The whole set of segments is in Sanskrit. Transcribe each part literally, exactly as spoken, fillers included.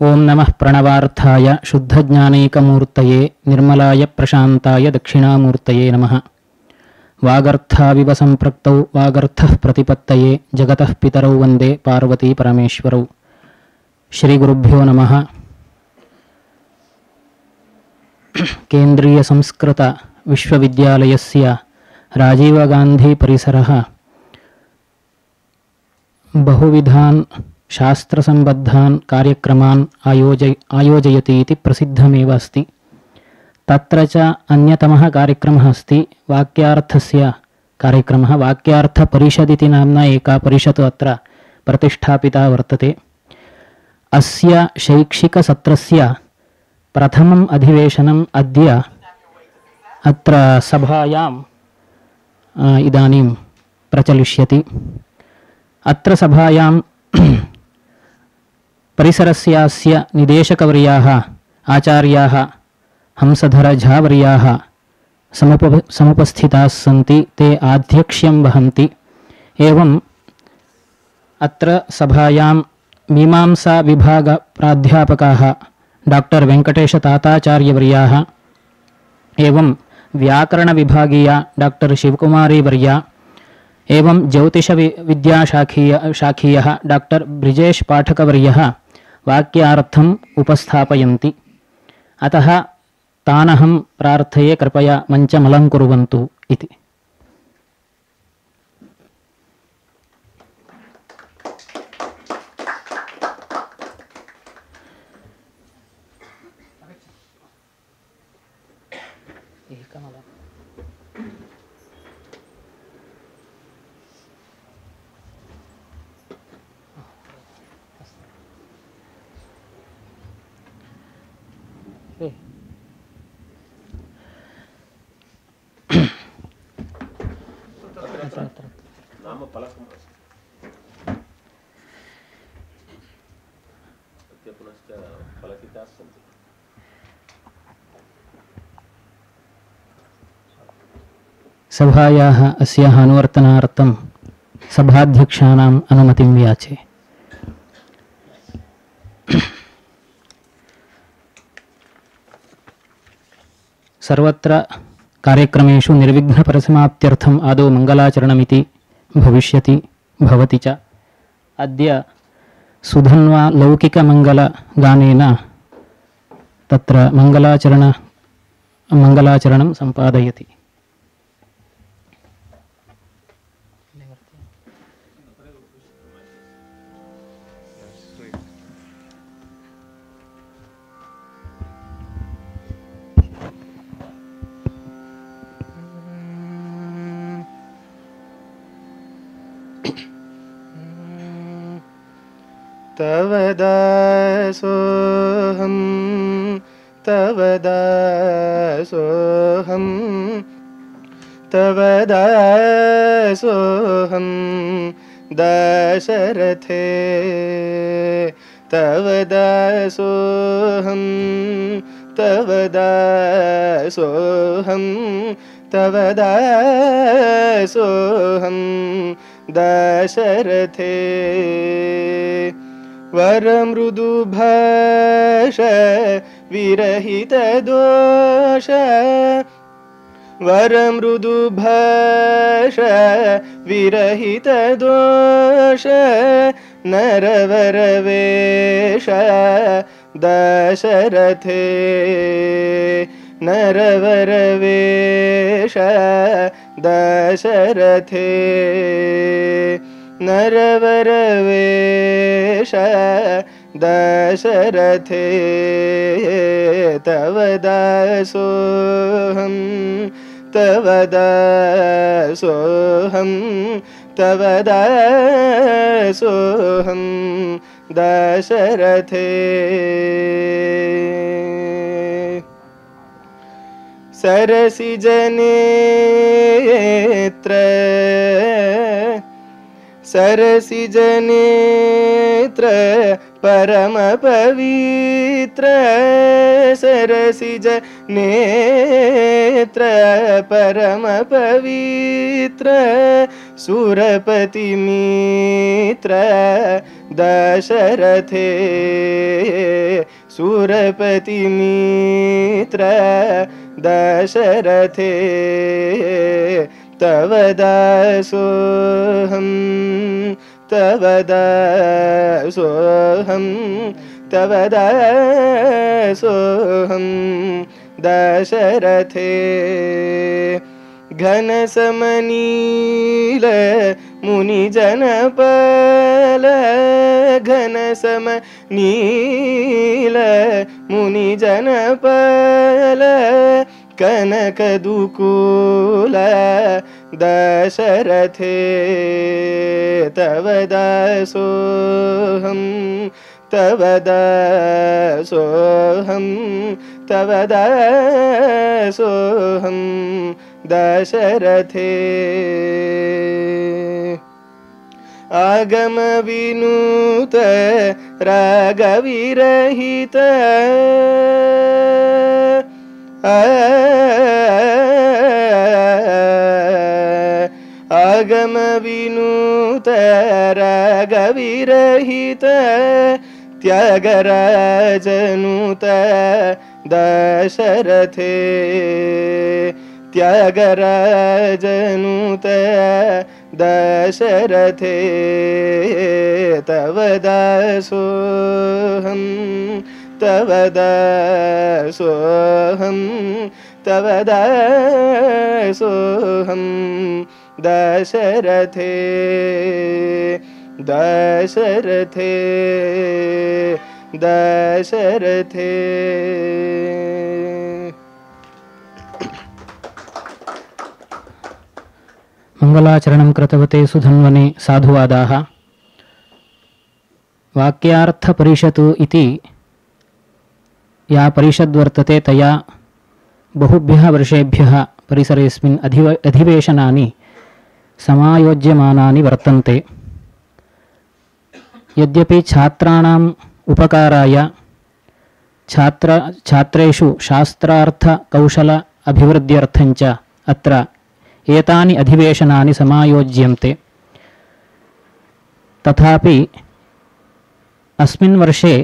ओं नमः प्रणवार्थाय शुद्धज्ञानैकमूर्तये निर्मलाय प्रशान्ताय दक्षिणामूर्तये नमः। वागर्थाविव सम्पृक्तौ वागर्थः प्रतिपत्तये जगतः पितरौ वन्दे पार्वती परमेश्वरौ। श्रीगुरुभ्यो नमः। केन्द्रीय संस्कृत विश्वविद्यालयस्य राजीव गांधी परिसरः बहुविधान् शास्त्रसम्बद्धान् कार्यक्रमान् आयोजय आयोजयति इति प्रसिद्धमेव अस्ति। तत्र च अन्यतमः कार्यक्रमः अस्ति वाक्यार्थस्य कार्यक्रमः। वाक्यार्थपरिषदिति नाम्ना एका परिषत् अत्र प्रतिष्ठापिता वर्तते। अस्य शैक्षिकसत्रस्य प्रथमम् अधिवेशनम् अद्य अत्र सभायाम् इदानीं प्रचलिष्यति। अत्र सभायां परिसरस्यास्य निदेशकवर्याः आचार्याः हंसधर झावर्याः समुप समुपस्थिताः सन्ति। ते आध्यक्ष्यं वहन्ति। एवं अत्र सभायां मीमांसा विभाग प्राध्यापकाः डॉक्टर वेंकटेश ताताचार्यवर्याः एवं व्याकरण विभागीया डॉक्टर शिवकुमारी वर्या एवं ज्योतिष विद्याशाखीय शाखीयः डॉक्टर ब्रिजेश पाठकवर्यः वाक्यार्थम् उपस्थापयन्ति। अतः तानहं प्रार्थये कृपया मञ्चमलङ्कुर्वन्तु इति। सभायाः अस्याः अनुवर्तनार्थं सभाध्यक्षाणाम् अनुमतिं याचे। सर्वत्र कार्यक्रमेषु निर्विघ्नपरिसमाप्त्यर्थम् आदौ मङ्गलाचरणमिति भविष्यति भवति च। अद्य सुधन्वा लौकिकमङ्गलगानेन तत्र मङ्गलाचरण मङ्गलाचरणं सम्पादयति। तव दासोऽहं तव दासोऽहं तव दासोऽहं दशरथे तव दासोऽहं तव दासोऽहं तव दासोऽहं दशरथे वरमृदुभाष विरहितदोष वरमृदुभाष विरहितदोष नरवरवेश दशरथे नरवरवेश दशरथे नरवरवेश दशरथे तव दासोऽहं तव दासोऽहं तव दासोऽहं दशरथे सरसिजनेत्र सरसिजनेत्र परम पवित्र सरसिजनेत्र परम पवित्र सुरपतिमित्र दशरथे सुरपतिमित्र दशरथे तव दासोऽहं तव दासोऽहं तव दासोऽहं दशरथे घनसमनील मुनिजनपल घनसमनील मुनिजनपल कनकदुकूल दशरथे तव दासोऽहं तव दासोऽहं तव दासोऽहं दशरथे आगम विनुत रागविरहित आगम विनुत रागविरहित त्यागराजनुत दशरथे त्यागराजनुत दशरथे तव दासोऽहं तव दासोऽहं तव दासोऽहं दशरथे दशरथे दशरथे मंगलाचरणं कृतवते सुधन्वने साधुवादाः। वाक्यार्थपरिषत् इति या परिषद् वर्तते तया बहुभ्यः वर्षेभ्यः परिसरेऽस्मिन् अधिव अधिवेशनानि समायोज्यमानानि वर्तन्ते। यद्यपि छात्राणाम् उपकाराय छात्र छात्रेषु शास्त्रार्थ कौशल अभिवृद्ध्यर्थं च अत्र एतानि अधिवेशनानि समायोज्यन्ते, तथापि अस्मिन् वर्षे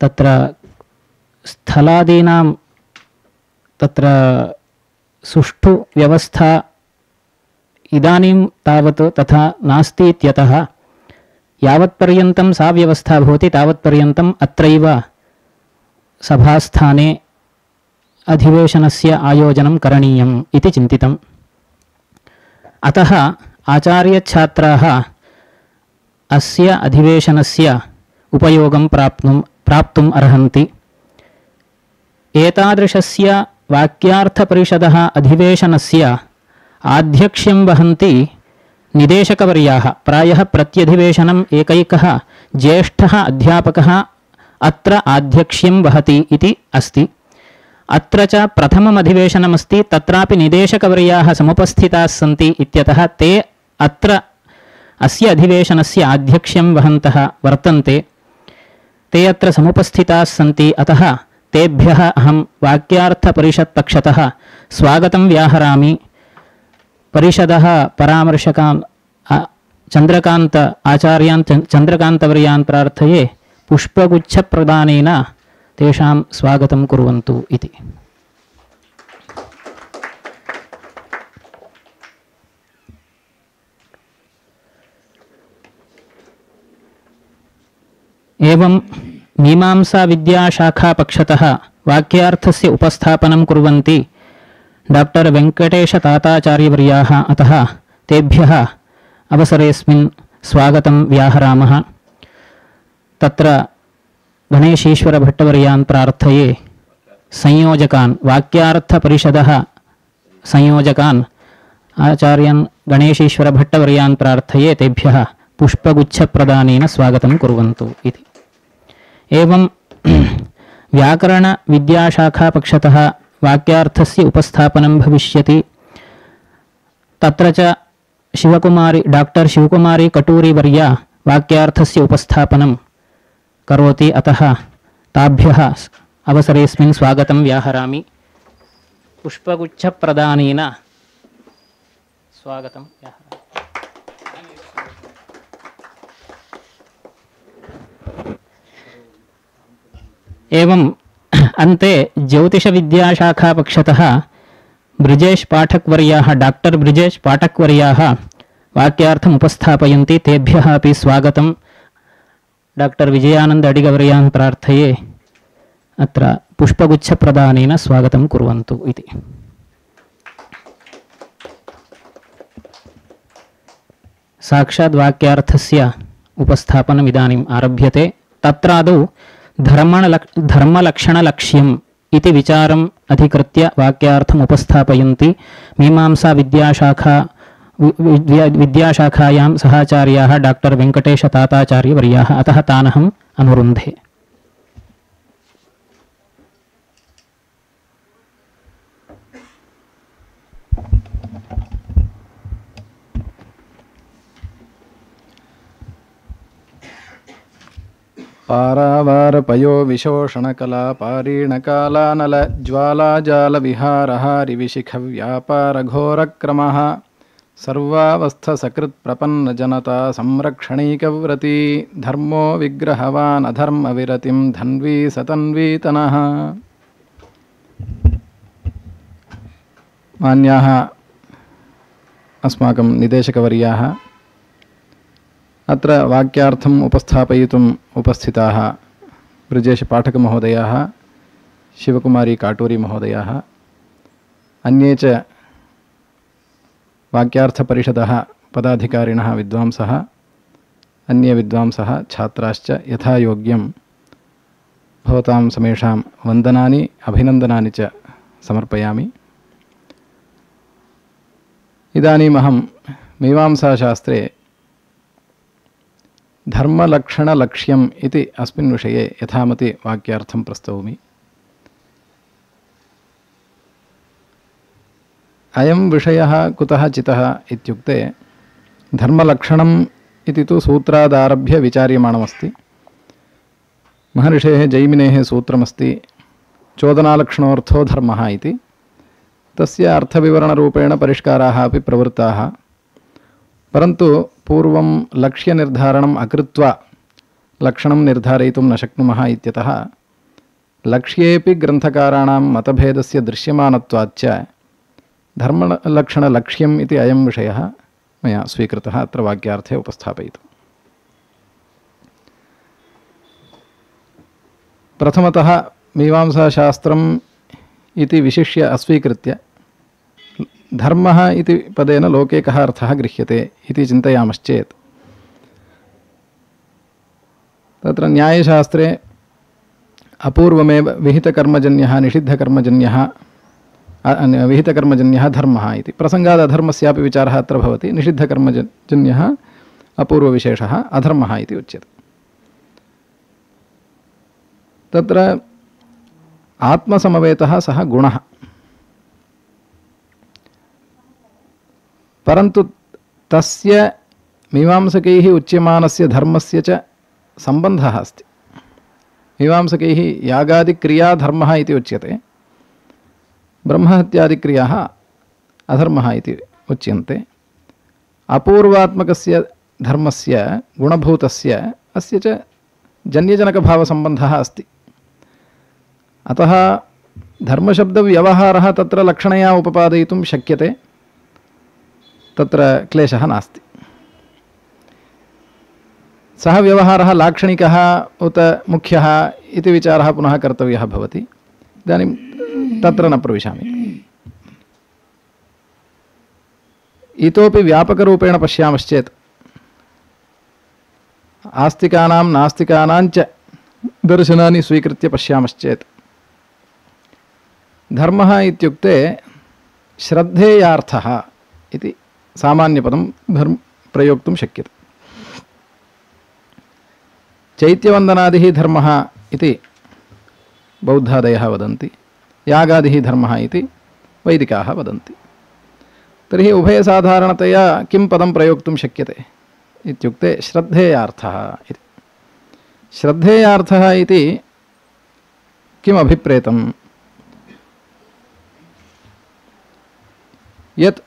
तत्र स्थलादीनां तत्र सुष्ठु व्यवस्था इदानीं तावत् तथा नास्ति इत्यतः यावत्पर्यन्तं सा व्यवस्था भवति तावत्पर्यन्तम् अत्रैव सभास्थाने अधिवेशनस्य आयोजनं करणीयम् इति चिन्तितम्। अतः आचार्यछात्राः अस्य अधिवेशनस्य उपयोगं प्राप्नुं प्राप्तुम् अर्हन्ति। एतादृशस्य वाक्यार्थपरिषदः अधिवेशनस्य आध्यक्ष्यं वहन्ति निदेशकवर्याः। प्रायः प्रत्यधिवेशनम् एकैकः ज्येष्ठः अध्यापकः अत्र आध्यक्ष्यं वहति इति अस्ति। अत्र च प्रथमम् अधिवेशनमस्ति, तत्रापि निदेशकवर्याः समुपस्थिताः सन्ति इत्यतः ते अत्र अस्य अधिवेशनस्य आध्यक्ष्यं वहन्तः वर्तन्ते। ते अत्र समुपस्थिताः सन्ति, अतः तेभ्यः अहं वाक्यार्थपरिषत्पक्षतः स्वागतं व्याहरामि। परिषदः परामर्शकान् चन्द्रकान्त आचार्यान् चन्द्रकान्तवर्यान् प्रार्थये पुष्पगुच्छप्रदानेन तेषां स्वागतं कुर्वन्तु इति। एवं मीमांसा विद्याशाखापक्षतः वाक्यार्थस्य उपस्थापनं कुर्वन्ति डॉक्टर वेङ्कटेशताताचार्यवर्याः। अतः तेभ्यः अवसरेऽस्मिन् स्वागतं व्याहरामः। तत्र गणेशीश्वरभट्टवर्यान् प्रार्थये संयोजकान् वाक्यार्थपरिषदः संयोजकान् आचार्यान् गणेशीश्वरभट्टवर्यान् प्रार्थये तेभ्यः पुष्पगुच्छप्रदानेन स्वागतं कुर्वन्तु इति। एवं व्याकरणविद्याशाखापक्षतः वाक्यार्थस्य उपस्थापनं भविष्यति। तत्र च शिवकुमारी डॉक्टर शिवकुमारी कटूरीवर्या वाक्यार्थस्य उपस्थापनं करोति, अतः ताभ्यः अवसरेऽस्मिन् स्वागतं व्याहरामि। पुष्पगुच्छप्रदानेन स्वागतं। एवम् अन्ते ज्योतिषविद्याशाखापक्षतः ब्रिजेश पाठकवर्याः डॉक्टर ब्रिजेश पाठकवर्याः वाक्यार्थम् उपस्थापयन्ति। तेभ्यः अपि स्वागतं। डॉक्टर विजयानंद अडिगवर्यान् प्रार्थये अत्र पुष्पगुच्छप्रदानेन स्वागतं कुर्वन्तु इति। साक्षात् वाक्यार्थस्य उपस्थापनम् इदानीम् आरभ्यते। तत्रादौ धर्मलक् धर्मलक्षणलक्ष्यम् इति विचारम् अधिकृत्य वाक्यार्थम् उपस्थापयन्ति मीमांसा विद्याशाखा विद्याशाखायां सहाचार्याः डॉक्टर वेंकटेश ताताचार्यवर्याः। अतः तानहम् अनुरुन्धे। पारावारपयो विशोषणकला पारीणकालानल ज्वालाजालविहारहारिविशिखव्यापारघोरक्रमः सर्वावस्थसकृत्प्रपन्नजनता संरक्षणैकव्रती धर्मो विग्रहवान् अधर्मविरतिं धन्वी सतन्वीतनः। मान्याः अस्माकं निदेशकवर्याः, अत्र वाक्यार्थम् उपस्थापयितुम् उपस्थिताः ब्रिजेशपाठकमहोदयाः, शिवकुमारी काटूरी महोदयाः, अन्ये च वाक्यार्थपरिषदः पदाधिकारिणः विद्वांसः, अन्ये विद्वांसः, छात्राश्च यथायोग्यं भवतां समेषां वन्दनानि अभिनन्दनानि च समर्पयामि। इदानीमहं मीमांसाशास्त्रे धर्मलक्षणलक्ष्यम् इति अस्मिन् विषये यथामति वाक्यार्थं प्रस्तौमि। अयं विषयः कुतः चितः इत्युक्ते धर्मलक्षणम् इति तु सूत्रादारभ्य विचार्यमाणमस्ति। महर्षेः जैमिनेः सूत्रमस्ति चोदनालक्षणोऽर्थो धर्मः इति। तस्य अर्थविवरणरूपेण परिष्काराः अपि प्रवृत्ताः, परन्तु पूर्वं लक्ष्यनिर्धारणम् अकृत्वा लक्षणं निर्धारयितुं न शक्नुमः इत्यतः लक्ष्येऽपि ग्रन्थकाराणां मतभेदस्य दृश्यमानत्वाच्च धर्मलक्षणलक्ष्यम् इति अयं विषयः मया स्वीकृतः अत्र वाक्यार्थे उपस्थापयितुम्। प्रथमतः मीमांसाशास्त्रम् इति विशिष्य अस्वीकृत्य धर्मः इति पदेन लोके कः अर्थः गृह्यते इति चिन्तयामश्चेत् तत्र न्यायशास्त्रे अपूर्वमेव विहितकर्मजन्यः निषिद्धकर्मजन्यः विहितकर्मजन्यः धर्मः इति प्रसङ्गात् अधर्मस्यापि विचारः अत्र भवति। निषिद्धकर्मजन्यः अपूर्वविशेषः अधर्मः इति उच्यते। तत्र आत्मसमवेतः सः गुणः, परन्तु तस्य मीमांसकैः उच्यमानस्य धर्मस्य च सम्बन्धः अस्ति। मीमांसकैः यागादिक्रिया धर्मः इति उच्यते, ब्रह्महत्यादिक्रियाः अधर्मः इति उच्यन्ते। अपूर्वात्मकस्य धर्मस्य गुणभूतस्य अस्य च जन्यजनकभावसम्बन्धः अस्ति। अतः धर्मशब्दव्यवहारः तत्र लक्षणया उपपादयितुं शक्यते, तत्र क्लेशः नास्ति। सः व्यवहारः लाक्षणिकः उत मुख्यः इति विचारः पुनः कर्तव्यः भवति। इदानीं तत्र न प्रविशामि। इतोपि व्यापकरूपेण पश्यामश्चेत् आस्तिकानां नास्तिकानां च दर्शनानि स्वीकृत्य पश्यामश्चेत् धर्मः इत्युक्ते श्रद्धेयार्थः इति सामान्यपदं धर्म प्रयोक्तुं शक्यते। चैत्यवन्दनादिः धर्मः इति बौद्धादयः वदन्ति, यागादिः धर्मः इति वैदिकाः वदन्ति। तर्हि उभयसाधारणतया किं पदं प्रयोक्तुं शक्यते इत्युक्ते श्रद्धेयार्थः इति। श्रद्धेयार्थः इति किम् अभिप्रेतम्? यत्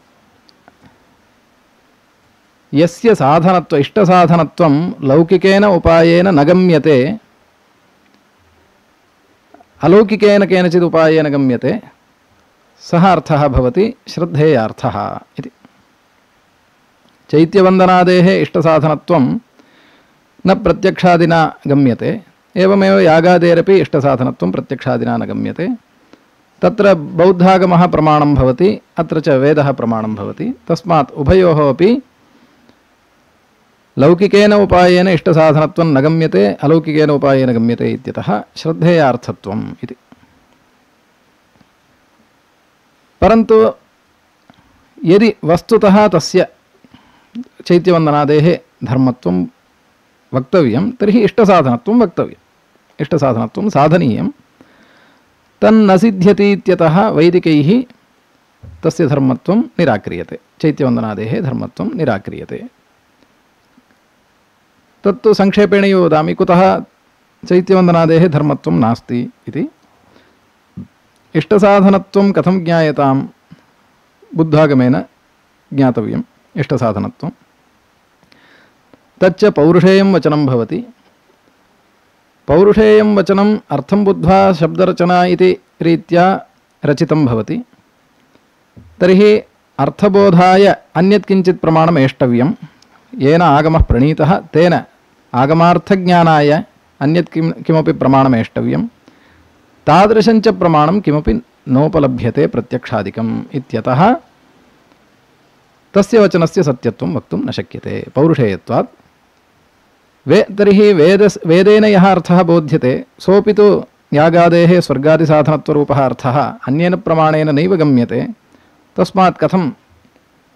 यस्य साधनत्व इष्टसाधनत्वं लौकिकेन उपायेन न गम्यते अलौकिकेन केनचित् उपायेन गम्यते सः अर्थः भवति श्रद्धेयार्थः इति। चैत्यवन्दनादेः इष्टसाधनत्वं न प्रत्यक्षादिना गम्यते, एवमेव यागादेरपि इष्टसाधनत्वं प्रत्यक्षादिना न गम्यते। तत्र बौद्धागमः प्रमाणं भवति, अत्र च वेदः प्रमाणं भवति। तस्मात् उभयोः अपि लौकिकेन उपायेन इष्टसाधनत्वं न गम्यते, अलौकिकेन उपायेन गम्यते इत्यतः श्रद्धेयार्थत्वम् इति। परन्तु यदि वस्तुतः तस्य चैत्यवन्दनादेः धर्मत्वं वक्तव्यं तर्हि इष्टसाधनत्वं वक्तव्यम्, इष्टसाधनत्वं साधनीयं। तन्न सिद्ध्यति इत्यतः वैदिकैः तस्य धर्मत्वं निराक्रियते, चैत्यवन्दनादेः धर्मत्वं निराक्रियते। तत्तु संक्षेपेण एव वदामि कुतः चैत्यवन्दनादेः धर्मत्वं नास्ति इति। इष्टसाधनत्वं कथं ज्ञायतां? बुद्धागमेन ज्ञातव्यम् इष्टसाधनत्वं। तच्च पौरुषेयं वचनं भवति। पौरुषेयं वचनम् अर्थं बुद्ध्वा शब्दरचना इति रीत्या रचितं भवति। तर्हि अर्थबोधाय अन्यत् किञ्चित् प्रमाणम् एष्टव्यं, येन आगमः प्रणीतः तेन आगमार्थज्ञानाय अन्यत् किं किमपि प्रमाणम् एष्टव्यं। तादृशञ्च प्रमाणं किमपि नोपलभ्यते प्रत्यक्षादिकम् इत्यतः तस्य वचनस्य सत्यत्वं वक्तुं न शक्यते पौरुषेयत्वात्। वे तर्हि वेद वेदेन यः अर्थः बोध्यते सोऽपि तु यागादेः स्वर्गादिसाधनत्वरूपः अर्थः अन्येन प्रमाणेन नैव गम्यते। तस्मात् कथं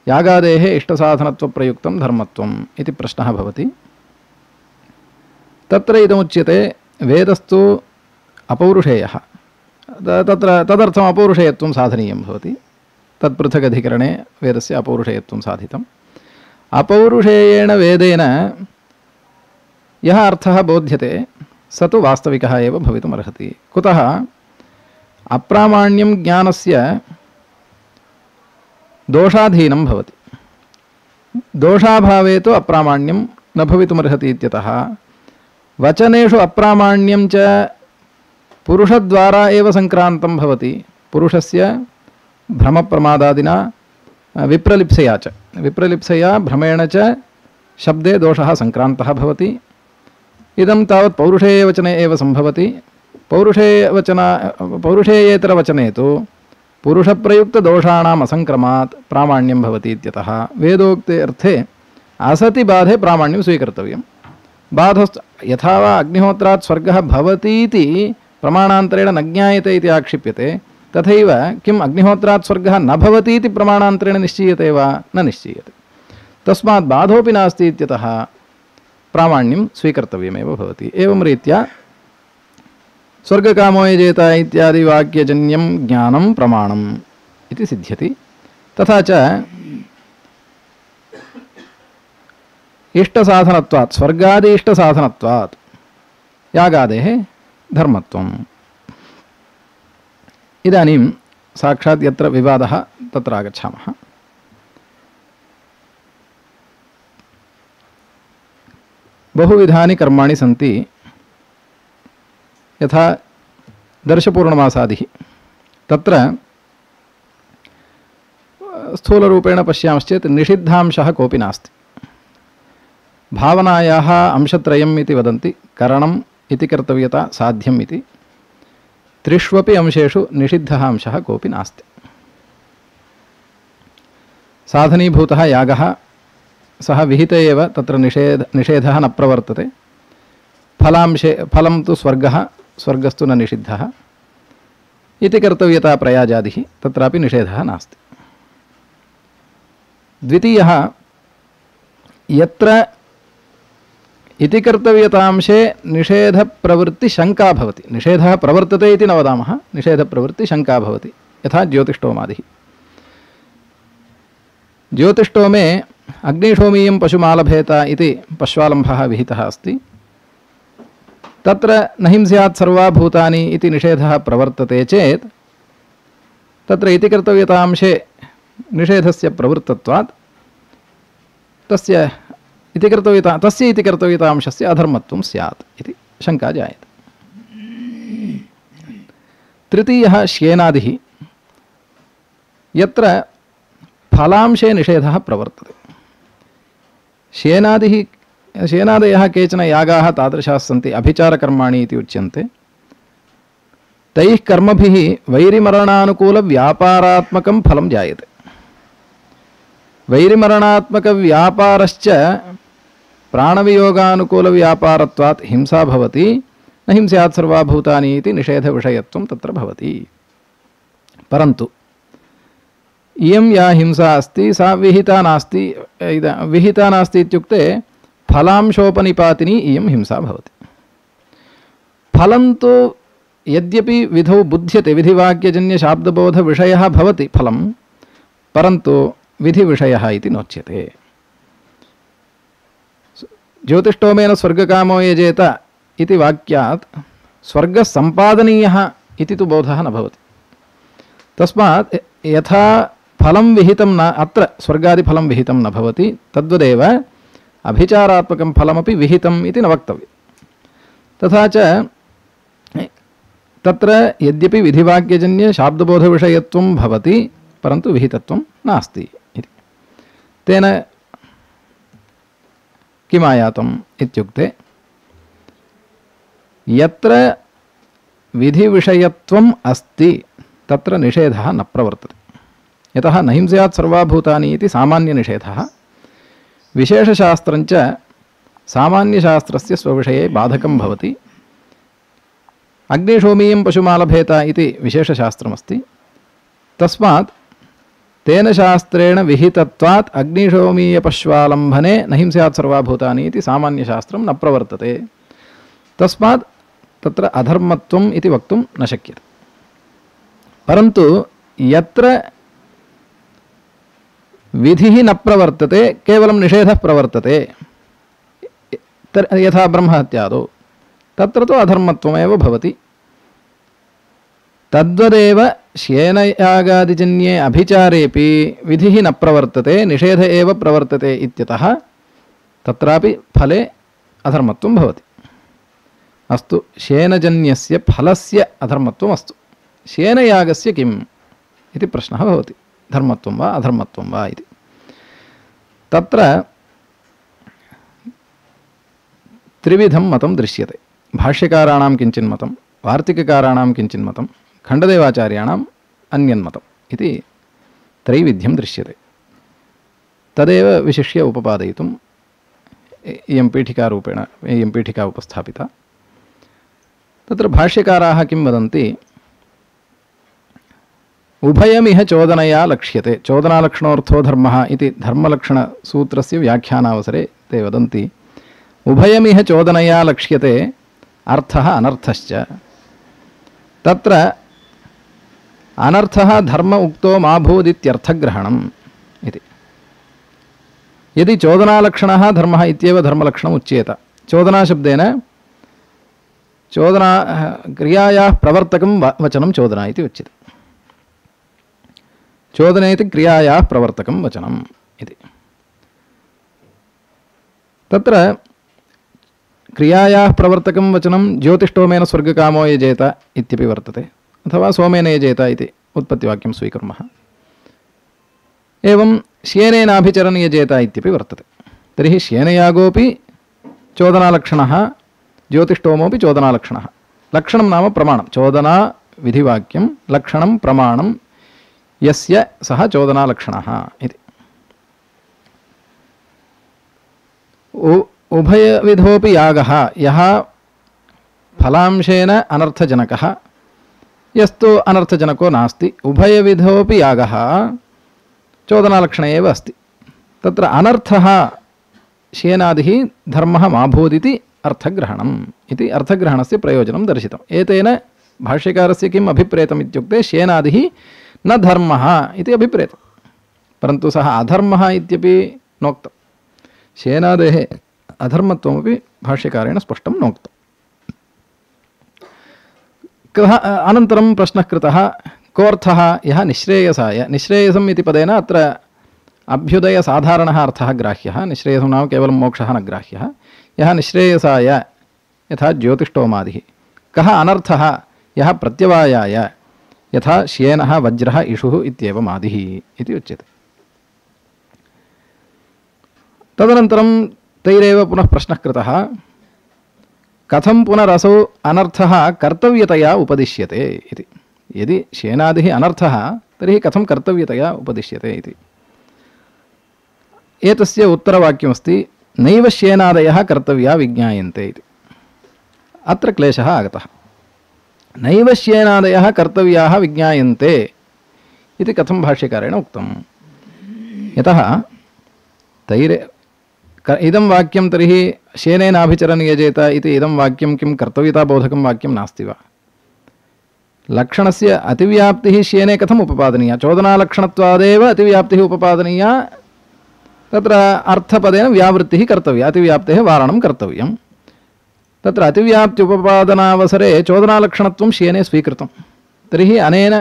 यागादेः इष्टसाधनत्वप्रयुक्तं धर्मत्वम् इति प्रश्नः भवति। तत्र इदमुच्यते वेदस्तु अपौरुषेयः, तत्र तदर्थम् अपौरुषेयत्वं साधनीयं भवति। तत्पृथगधिकरणे वेदस्य अपौरुषेयत्वं साधितम्। अपौरुषेयेण वेदेन यः अर्थः बोध्यते स तु वास्तविकः एव भवितुमर्हति। कुतः? अप्रामाण्यं ज्ञानस्य दोषाधीनं भवति। दोषाभावे तु अप्रामाण्यं न भवितुमर्हति इत्यतः वचनेषु अप्रामाण्यं च पुरुषद्वारा एव सङ्क्रान्तं भवति। पुरुषस्य भ्रमप्रमादादिना विप्रलिप्सया च विप्रलिप्सया भ्रमेण च शब्दे दोषः सङ्क्रान्तः भवति। इदं तावत् पौरुषेयवचने एव सम्भवति। पौरुषेयवचना पौरुषेयेतरवचने तु पुरुषप्रयुक्तदोषाणाम् असङ्क्रमात् प्रामाण्यं भवति इत्यतः वेदोक्ते अर्थे असति बाधे प्रामाण्यं स्वीकर्तव्यं। बाधश्च यथा वा अग्निहोत्रात् स्वर्गः भवतीति प्रमाणान्तरेण न ज्ञायते इति आक्षिप्यते, तथैव किम् अग्निहोत्रात् स्वर्गः न भवतीति प्रमाणान्तरेण निश्चीयते वा? न निश्चीयते। तस्मात् बाधोऽपि नास्ति इत्यतः प्रामाण्यं स्वीकर्तव्यमेव भवति। एवं रीत्या स्वर्गकामो यजेत इत्यादि वाक्यजन्यं ज्ञानं प्रमाणम् इति सिद्ध्यति। तथा च इष्टसाधनत्वात् स्वर्गादि इष्टसाधनत्वात् यागादेः धर्मत्वम्। इदानीं साक्षात् यत्र विवादः तत्र आगच्छामः। बहुविधानि कर्माणि सन्ति, यथा दर्शपूर्णमासादिः। तत्र स्थूलरूपेण पश्यामश्चेत् निषिद्धांशः कोऽपि नास्ति। भावनायाः अंशत्रयम् इति वदन्ति, करणम् इति कर्तव्यता, साध्यम् इति। त्रिष्वपि अंशेषु निषिद्धः अंशः कोऽपि नास्ति। साधनीभूतः यागः सः विहित एव, तत्र निषेध निषेधः न प्रवर्तते। फलांशे फलं तु स्वर्गः, स्वर्गस्तु न निषिद्धः इति कर्तव्यता प्रयाजादिः, तत्रापि निषेधः नास्ति। द्वितीयः, यत्र इति कर्तव्यतांशे निषेधप्रवृत्तिशङ्का भवति। निषेधः प्रवर्तते इति न वदामः, निषेधप्रवृत्तिशङ्का भवति। यथा ज्योतिष्टोमादिः। ज्योतिष्टोमे अग्निशोमीयं पशुमालभेत इति पश्वालम्भः विहितः अस्ति। तत्र न हिंस्यात् सर्वा भूतानि इति निषेधः प्रवर्तते चेत् तत्र इति कर्तव्यतांशे निषेधस्य प्रवृत्तत्वात् तस्य इति कर्तव्यता तस्य इति कर्तव्यतांशस्य अधर्मत्वं स्यात् इति शङ्का जायते। तृतीयः श्येनादिः, यत्र फलांशे निषेधः प्रवर्तते। श्येनादिः श्येनादयः केचन यागाः तादृशाः सन्ति, अभिचारकर्माणि इति उच्यन्ते। तैः कर्मभिः वैरिमरणानुकूलव्यापारात्मकं फलं जायते। वैरिमरणात्मकव्यापारश्च प्राणवियोगानुकूलव्यापारत्वात् हिंसा भवति, न हिंस्यात् सर्वाभूतानि इति निषेधविषयत्वं तत्र भवति। परन्तु इयं या हिंसा अस्ति सा विहिता नास्ति। विहिता नास्ति इत्युक्ते फलांशोपनिपातिनी इयं हिंसा भवति। फलं तु यद्यपि विधौ बुध्यते, विधिवाक्यजन्यशाब्दबोधविषयः भवति फलं, परन्तु विधिविषयः इति नोच्यते। ज्योतिष्टोमेन स्वर्गकामो यजेत इति वाक्यात् स्वर्गः सम्पादनीयः इति तु बोधः न भवति। तस्मात् यथा फलं विहितं न, अत्र स्वर्गादिफलं विहितं न भवति, तद्वदेव अभिचारात्मकं फलमपि विहितम् इति न वक्तव्यं। तथा च तत्र यद्यपि विधिवाक्यजन्य शाब्दबोधविषयत्वं भवति, परन्तु विहितत्वं नास्ति इति। तेन किमायातम् इत्युक्ते यत्र विधिविषयत्वम् अस्ति तत्र निषेधः न प्रवर्तते। यतः न हिंस्यात् सर्वाभूतानि इति सामान्यनिषेधः, विशेषशास्त्रञ्च सामान्यशास्त्रस्य स्वविषये बाधकं भवति। अग्निशोमीयं पशुमालभेत इति विशेषशास्त्रमस्ति। तस्मात् तेन शास्त्रेण विहितत्वात् अग्निशोमीयपश्वालम्भने न हिंस्यात् सर्वाभूतानि इति सामान्यशास्त्रं न प्रवर्तते। तस्मात् तत्र अधर्मत्वम् इति वक्तुं न शक्यते। परन्तु यत्र विधिः न प्रवर्तते, केवलं निषेधः प्रवर्तते, यथा ब्रह्महत्यादौ, तत्र तु अधर्मत्वमेव भवति। तद्वदेव श्येनयागादिजन्ये अभिचारेपि विधिः न प्रवर्तते, निषेध एव प्रवर्तते इत्यतः तत्रापि फले अधर्मत्वं भवति। अस्तु, श्येनजन्यस्य फलस्य अधर्मत्वम् अस्तु, श्येनयागस्य किम् इति प्रश्नः भवति, धर्मत्वं वा अधर्मत्वं वा इति। तत्र त्रिविधं मतं दृश्यते। भाष्यकाराणां किञ्चिन्मतं, वार्तिककाराणां किञ्चिन्मतं, खण्डदेवाचार्याणाम् अन्यन्मतम् इति त्रैविध्यं दृश्यते। तदेव विशिष्य उपपादयितुम् इयं पीठिकारूपेण इयं पीठिका उपस्थापिता। तत्र भाष्यकाराः किं वदन्ति, उभयमिह चोदनया लक्ष्यते। चोदनालक्षणोऽर्थो धर्मः इति धर्मलक्षणसूत्रस्य व्याख्यानावसरे ते वदन्ति, उभयमिह चोदनया लक्ष्यते अर्थः अनर्थश्च। तत्र अनर्थः धर्म उक्तो मा भूदित्यर्थग्रहणम् इति। यदि चोदनालक्षणः धर्मः इत्येव धर्मलक्षणम् उच्येत, चोदनाशब्देन चोदना क्रियायाः प्रवर्तकं वचनं चोदना इति उच्यते। चोदनेति क्रियायाः प्रवर्तकं वचनम् इति। तत्र क्रियायाः प्रवर्तकं वचनं ज्योतिष्टोमेन स्वर्गकामो यजेत इत्यपि वर्तते, अथवा सोमेन यजेत इति उत्पत्तिवाक्यं स्वीकुर्मः। एवं श्येनेनाभिचरन् यजेत इत्यपि वर्तते। तर्हि श्येनयागोऽपि चोदनालक्षणः, ज्योतिष्टोमोऽपि चोदनालक्षणः। लक्षणं नाम प्रमाणं, चोदना विधिवाक्यं, लक्षणं प्रमाणं यस्य सः चोदनालक्षणः इति। उभयविधोऽपि यागः, यः फलांशेन अनर्थजनकः, यस्तु अनर्थजनको नास्ति, उभयविधोऽपि यागः चोदनालक्षणे एव अस्ति। तत्र अनर्थः श्येनादिः धर्मः मा भूदिति अर्थग्रहणम् इति अर्थग्रहणस्य प्रयोजनं दर्शितम्। एतेन भाष्यकारस्य किम् अभिप्रेतम् इत्युक्ते, श्येनादिः न धर्मः इति अभिप्रेतम्, परन्तु सः अधर्मः इत्यपि नोक्तम्। श्येनादेः अधर्मत्वमपि भाष्यकारेण स्पष्टं नोक्तम्। कः अनन्तरं प्रश्नः कृतः, कोऽर्थः यः निःश्रेयसाय। निःश्रेयसम् इति पदेन अत्र अभ्युदयसाधारणः अर्थः ग्राह्यः, निःश्रेयसो नाम केवलं मोक्षः न ग्राह्यः। यः निःश्रेयसाय यथा ज्योतिष्टोमादिः, कः अनर्थः यः प्रत्यवायाय यथा श्येनः वज्रः इषुः इत्येवमादिः इति उच्यते। तदनन्तरं तैरेव पुनः प्रश्नः कृतः, कथं पुनरसौ अनर्थः कर्तव्यतया उपदिश्यते इति। यदि श्येनादिः अनर्थः तर्हि कथं कर्तव्यतया उपदिश्यते इति। एतस्य उत्तरवाक्यमस्ति नैव श्येनादयः कर्तव्या विज्ञायन्ते इति। अत्र क्लेशः आगतः। नैव श्येनादयः कर्तव्याः विज्ञायन्ते इति कथं भाष्यकारेण उक्तम्? यतः तैरे इदं वाक्यं तर्हि श्येनेनाभिचरन् यजेत इति इदं वाक्यं किं कर्तव्यताबोधकं वाक्यं नास्ति वा? लक्षणस्य अतिव्याप्तिः श्येने कथम् उपपादनीया? चोदनालक्षणत्वादेव अतिव्याप्तिः उपपादनीया। तत्र अर्थपदेन व्यावृत्तिः कर्तव्या, अतिव्याप्तेः वारणं कर्तव्यं। तत्र अतिव्याप्त्युपपादनावसरे चोदनालक्षणत्वं श्येने स्वीकृतं। तर्हि अनेन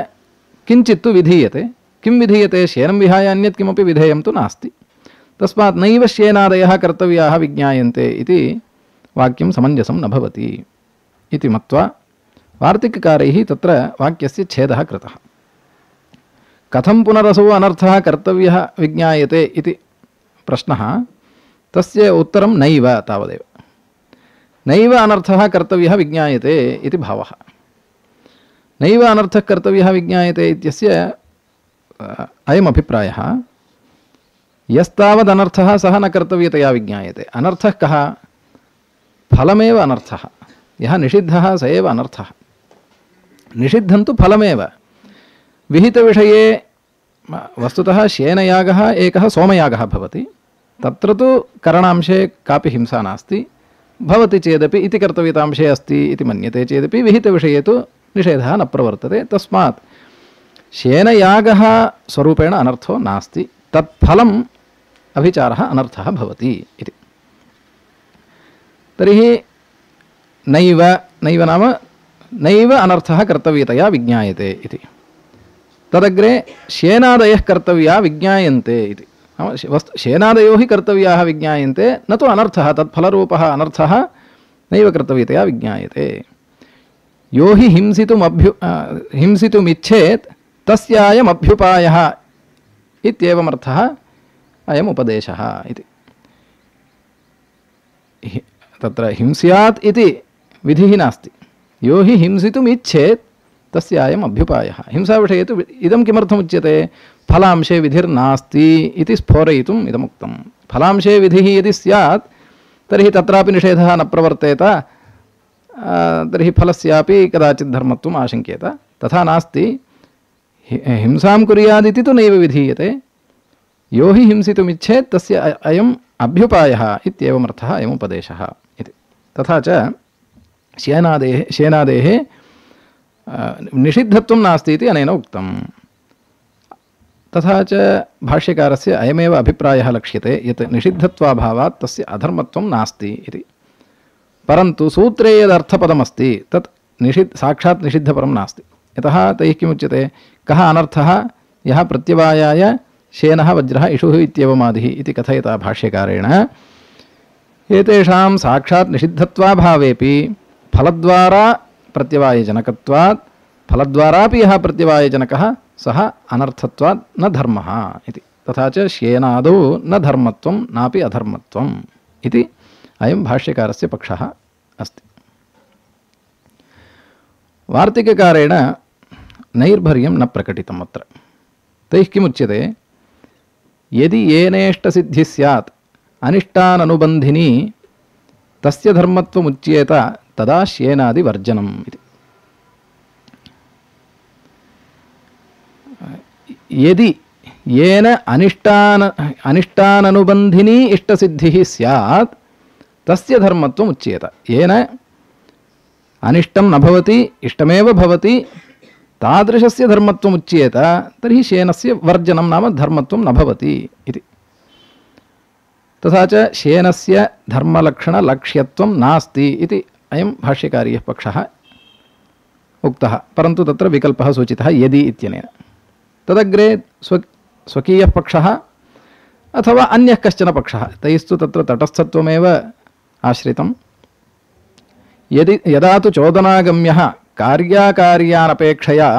किञ्चित् तु विधीयते। किं विधीयते? श्येनं विहाय अन्यत् किमपि विधेयं तु नास्ति। तस्मात् नैव श्येनादयः कर्तव्याः विज्ञायन्ते इति वाक्यं समञ्जसं न भवति इति मत्वा वार्तिककारैः तत्र वाक्यस्य छेदः कृतः। कथं पुनरसौ अनर्थः कर्तव्यः विज्ञायते इति प्रश्नः, तस्य उत्तरं नैव तावदेव। नैव अनर्थः कर्तव्यः विज्ञायते इति भावः। नैव अनर्थः कर्तव्यः विज्ञायते इत्यस्य अयम् अभिप्रायः, यस्तावदनर्थः सः न कर्तव्यतया विज्ञायते। अनर्थः कः? फलमेव अनर्थः। यः निषिद्धः स एव अनर्थः। निषिद्धं तु फलमेव। विहितविषये वस्तुतः श्येनयागः एकः सोमयागः भवति। तत्र तु करणांशे कापि हिंसा नास्ति। भवति चेदपि इति कर्तव्यतांशे अस्ति इति मन्यते चेदपि विहितविषये तु निषेधः न प्रवर्तते। तस्मात् श्येनयागः स्वरूपेण अनर्थो नास्ति, तत्फलम् अभिचारः अनर्थः भवति इति। तर्हि नैव नैव नाम नैव अनर्थः कर्तव्यतया विज्ञायते इति। तदग्रे श्येनादयः कर्तव्या विज्ञायन्ते इति। नाम वस्तु श्येनादयो हि कर्तव्याः विज्ञायन्ते, न तु अनर्थः। तत्फलरूपः अनर्थः नैव कर्तव्यतया विज्ञायते। यो हि हिंसितुमभ्यु हिंसितुमिच्छेत् तस्यायम् अभ्युपायः इत्येवमर्थः अयम् उपदेशः इति। तत्र हिंस्यात् इति विधिः नास्ति। यो हि हिंसितुमिच्छेत् तस्य अयम् अभ्युपायः। हिंसाविषये तु इदं किमर्थमुच्यते? फलांशे विधिर्नास्ति इति स्फोरयितुम् इदमुक्तं। फलांशे विधिः यदि स्यात् तर्हि तत्रापि निषेधः न प्रवर्तेत, तर्हि फलस्यापि कदाचित् धर्मत्वम् आशङ्क्येत। तथा नास्ति। हिंसां कुर्यादिति तु नैव विधीयते। यो हि हिंसितुमिच्छेत् तस्य अयम् अभ्युपायः इत्येवमर्थः अयम् उपदेशः इति। तथा च श्येनादेः श्येनादेः निषिद्धत्वं नास्ति इति अनेन उक्तम्। तथा च भाष्यकारस्य अयमेव अभिप्रायः लक्ष्यते यत् निषिद्धत्वाभावात् तस्य अधर्मत्वं नास्ति इति। परन्तु सूत्रे यदर्थपदमस्ति तत् निषिद्ध साक्षात् निषिद्धपरं नास्ति। यतः तैः किमुच्यते? कः अनर्थः यः प्रत्यवायाय श्येनः वज्रः इषुः इत्येवमादिः इति कथयता भाष्यकारेण। एतेषां साक्षात् निषिद्धत्वाभावेपि फलद्वारा प्रत्यवायजनकत्वात् फलद्वारापि यः प्रत्यवायजनकः सः अनर्थत्वात् न धर्मः इति। तथा च श्येनादौ न धर्मत्वं नापि अधर्मत्वम् इति अयं भाष्यकारस्य पक्षः अस्ति। वार्तिककारेण नैर्भर्यं न प्रकटितम् अत्र। तैः किमुच्यते? यदि येनेष्टसिद्धिः स्यात् अनिष्टाननुबन्धिनी तस्य धर्मत्वमुच्येत तदा श्येनादिवर्जनम् इति। यदि येन अनिष्टान अनिष्टाननुबन्धिनी इष्टसिद्धिः स्यात् तस्य धर्मत्वम् उच्येत। येन अनिष्टं न भवति, इष्टमेव भवति, तादृशस्य धर्मत्वम् उच्येत तर्हि श्येनस्य वर्जनं नाम धर्मत्वं न भवति इति। तथा च श्येनस्य धर्मलक्षणलक्ष्यत्वं नास्ति इति अयं भाष्यकारीयः पक्षः उक्तः। परन्तु तत्र विकल्पः सूचितः यदि इत्यनेन। तदग्रे स्व स्वकीयः पक्षः अथवा अन्यः कश्चन पक्षः तैस्तु तत्र तटस्थत्वमेव आश्रितं यदि यदा तु चोदनागम्यः कार्याकार्यानपेक्षया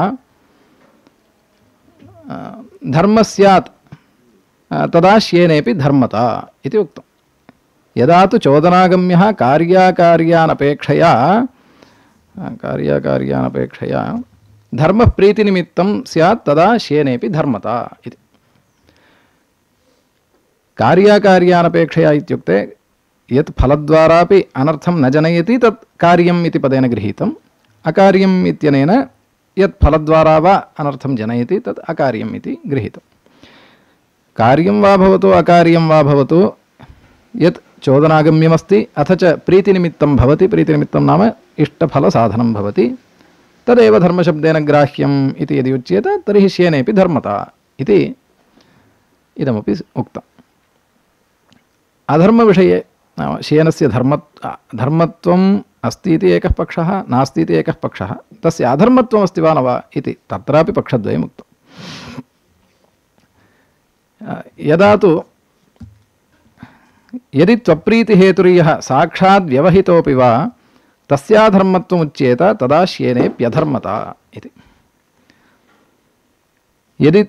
धर्मः स्यात् तदा श्येनेपि धर्मता इति उक्तं यदा तु चोदनागम्यः कार्याकार्यानपेक्षया कार्याकार्यानपेक्षया धर्मः प्रीतिनिमित्तं स्यात् तदा श्येनेपि धर्मता इति कार्याकार्यानपेक्षया इत्युक्ते यत् फलद्वारापि अनर्थं न जनयति तत् कार्यम् इति पदेन गृहीतम् अकार्यम् इत्यनेन यत् फलद्वारा वा अनर्थं जनयति तत् अकार्यम् इति गृहीतम् कार्यं वा भवतु अकार्यं वा भवतु यत् चोदनागम्यमस्ति अथ च प्रीतिनिमित्तं भवति प्रीतिनिमित्तं नाम इष्टफलसाधनं भवति तदेव धर्मशब्देन ग्राह्यम् इति यदि उच्यते तर्हि श्येनेपि धर्मता इति इदमपि उक्तम् अधर्मविषये नाम श्येनस्य धर्म धर्मत्वम् अस्ति इति एकः पक्षः नास्ति इति एकः पक्षः तस्य अधर्मत्वमस्ति वा न वा इति तत्रापि पक्षद्वयम् उक्तम् यदा तु यदि त्वप्रीतिहेतुर्यः साक्षात् व्यवहितोऽपि वा तस्याधर्मत्वमुच्येत तदा श्येनेप्यधर्मता इति यदि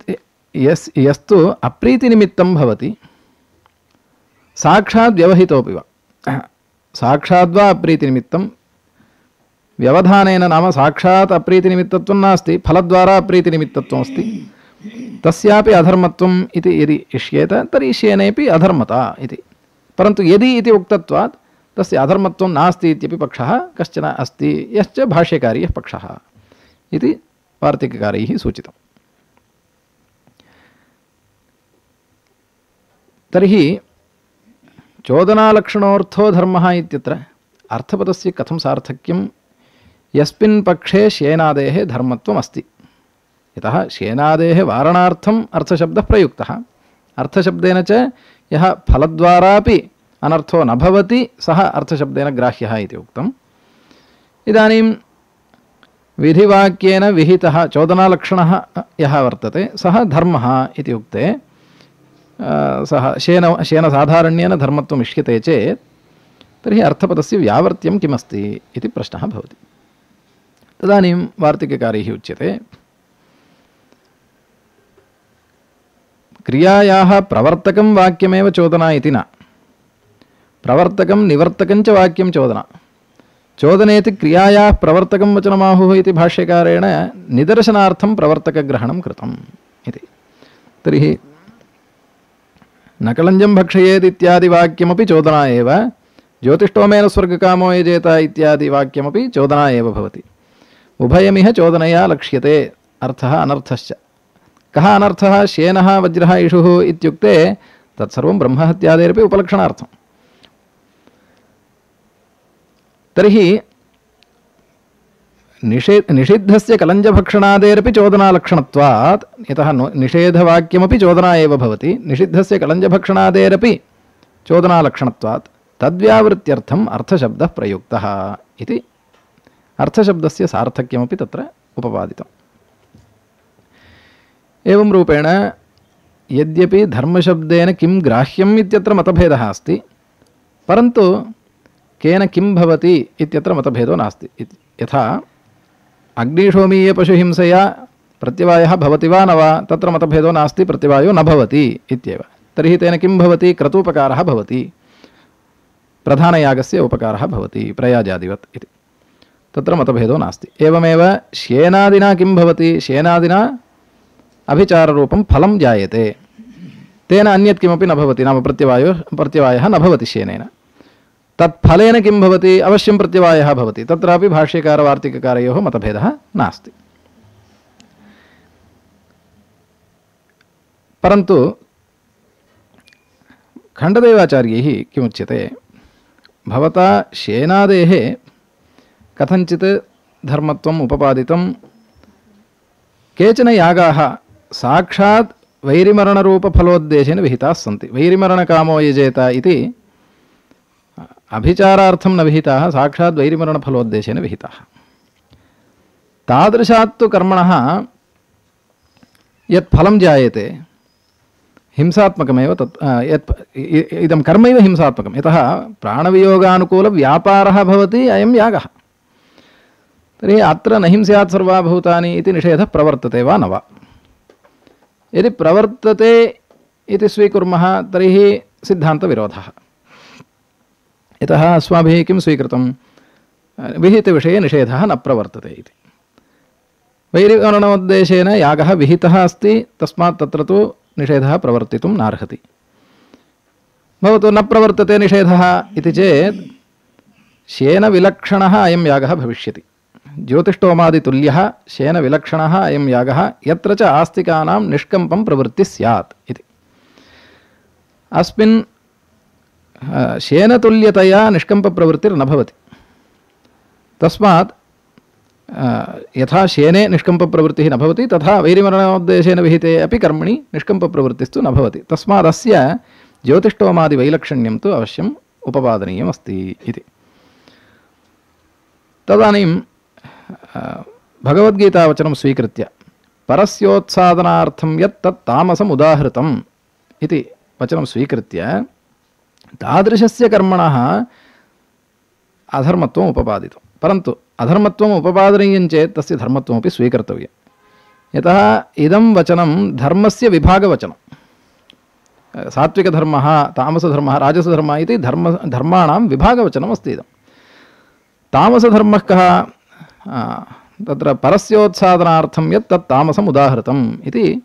यस् यस्तु अप्रीतिनिमित्तं भवति साक्षात् व्यवहितोऽपि वा साक्षाद्वा अप्रीतिनिमित्तं व्यवधानेन नाम साक्षात् अप्रीतिनिमित्तत्वं नास्ति फलद्वारा अप्रीतिनिमित्तत्वमस्ति तस्यापि अधर्मत्वम् इति यदि इष्येत तर्हि श्येनेपि अधर्मता इति परन्तु यदि इति उक्तत्वात् तस्य अधर्मत्वं नास्ति इत्यपि पक्षः कश्चन अस्ति यश्च भाष्यकार्यः पक्षः इति वार्तिककारैः सूचितम् तर्हि चोदनालक्षणोऽर्थो धर्मः इत्यत्र अर्थपदस्य कथं सार्थक्यं यस्मिन् पक्षे श्येनादेः धर्मत्वम् अस्ति यतः श्येनादेः वारणार्थम् अर्थशब्दः प्रयुक्तः अर्थशब्देन च यः फलद्वारापि अनर्थो न भवति सः अर्थशब्देन ग्राह्यः इति उक्तम् इदानीं विधिवाक्येन विहितः चोदनालक्षणः यः वर्तते सः धर्मः इति उक्ते सः शेन शेनसाधारण्येन धर्मत्वम् इष्यते चेत् तर्हि अर्थपदस्य व्यावर्त्यं किमस्ति इति प्रश्नः भवति तदानीं वार्तिककारैः उच्यते क्रियायाः प्रवर्तकं वाक्यमेव चोदना इति न प्रवर्तकं निवर्तकं च वाक्यं चोदना चोदनेति क्रियायाः प्रवर्तकं वचनमाहुः इति भाष्यकारेण निदर्शनार्थं प्रवर्तकग्रहणं कृतम् इति तर्हि न कलञ्जं भक्षयेत् इत्यादि वाक्यमपि चोदना एव ज्योतिष्टोमेन स्वर्गकामो यजेत इत्यादि वाक्यमपि चोदना एव भवति उभयमिह चोदनया लक्ष्यते अर्थः अनर्थश्च कः अनर्थः श्येनः वज्रः इषुः इत्युक्ते तत्सर्वं ब्रह्महत्यादेरपि उपलक्षणार्थम् तर्हि निषे निषिद्धस्य कलञ्जभक्षणादेरपि चोदनालक्षणत्वात् यतः निषेधवाक्यमपि चोदना एव भवति निषिद्धस्य कलञ्जभक्षणादेरपि चोदनालक्षणत्वात् तद्व्यावृत्त्यर्थम् अर्थशब्दः प्रयुक्तः इति अर्थशब्दस्य सार्थक्यमपि तत्र उपपादितम् एवं रूपेण यद्यपि धर्मशब्देन किं ग्राह्यम् इत्यत्र मतभेदः अस्ति परन्तु केन किं भवति इत्यत्र मतभेदो नास्ति यथा अग्निशोमीयपशुहिंसया प्रत्यवायः भवति वा न वा तत्र मतभेदो नास्ति प्रत्यवायो न भवति इत्येव तर्हि तेन किं भवति क्रतूपकारः भवति प्रधानयागस्य उपकारः भवति प्रयाजादिवत् इति तत्र मतभेदो नास्ति एवमेव श्येनादिना किं भवति श्येनादिना अभिचाररूपं फलं जायते तेन अन्यत् किमपि न भवति नाम प्रत्यवायो प्रत्यवायः न भवति श्येनेन तत्फलेन किं भवति अवश्यं प्रत्यवायः भवति तत्रापि भाष्यकारवार्तिककारयोः मतभेदः नास्ति परन्तु खण्डदेवाचार्यैः किमुच्यते भवता श्येनादेः कथञ्चित् धर्मत्वम् उपपादितं केचन यागाः साक्षात् वैरिमरणरूपफलोद्देशेन विहिताः सन्ति वैरिमरणकामो यजेत इति अभिचारार्थं न विहिताः साक्षात् वैरिमरणफलोद्देशेन विहिताः तादृशात्तु कर्मणः यत् फलं जायते हिंसात्मकमेव तत् यत् इदं कर्मैव हिंसात्मकं यतः प्राणवियोगानुकूलव्यापारः भवति अयं यागः। तर्हि अत्र न हिंस्यात् सर्वभूतानि इति निषेधः प्रवर्तते वा न वा? यदि प्रवर्तते इति स्वीकुर्मः तर्हि सिद्धान्तविरोधः। यतः अस्माभिः किं स्वीकृतं? विहितविषये निषेधः न प्रवर्तते इति। वैरिवर्णोद्देशेन यागः विहितः अस्ति, तस्मात् तत्र तु निषेधः प्रवर्तितुं नार्हति। भवतु न प्रवर्तते निषेधः इति चेत् शेनविलक्षणः अयं यागः भविष्यति। ज्योतिष्ठोमादितुल्यः शेनविलक्षणः अयं यागः यत्र च आस्तिकानां निष्कम्पं प्रवृत्तिः स्यात् इति। अस्मिन् शेनतुल्यतया निष्कम्पप्रवृत्तिर्न भवति। तस्मात् यथा शेने निष्कम्पप्रवृत्तिः न भवति तथा वैरिमरणोद्देशेन विहिते अपि कर्मणि निष्कम्पप्रवृत्तिस्तु न भवति। तस्मादस्य ज्योतिष्ठोमादिवैलक्षण्यं तु अवश्यम् उपपादनीयमस्ति इति। तदानीं भगवद्गीतावचनं स्वीकृत्य परस्योत्सादनार्थं यत् तत् तामसम् उदाहृतम् इति वचनं स्वीकृत्य तादृशस्य कर्मणः अधर्मत्वम् उपपादितं। परन्तु अधर्मत्वम् उपपादनीयं चेत् तस्य धर्मत्वमपि स्वीकर्तव्यं। यतः इदं वचनं धर्मस्य विभागवचनं। सात्विकधर्मः, तामसधर्मः, राजसधर्मः इति धर्म धर्माणां विभागवचनम् अस्ति इदं। तामसधर्मः कः? तत्र परस्योत्सादनार्थं यत् तत् तामसम् उदाहृतम् इति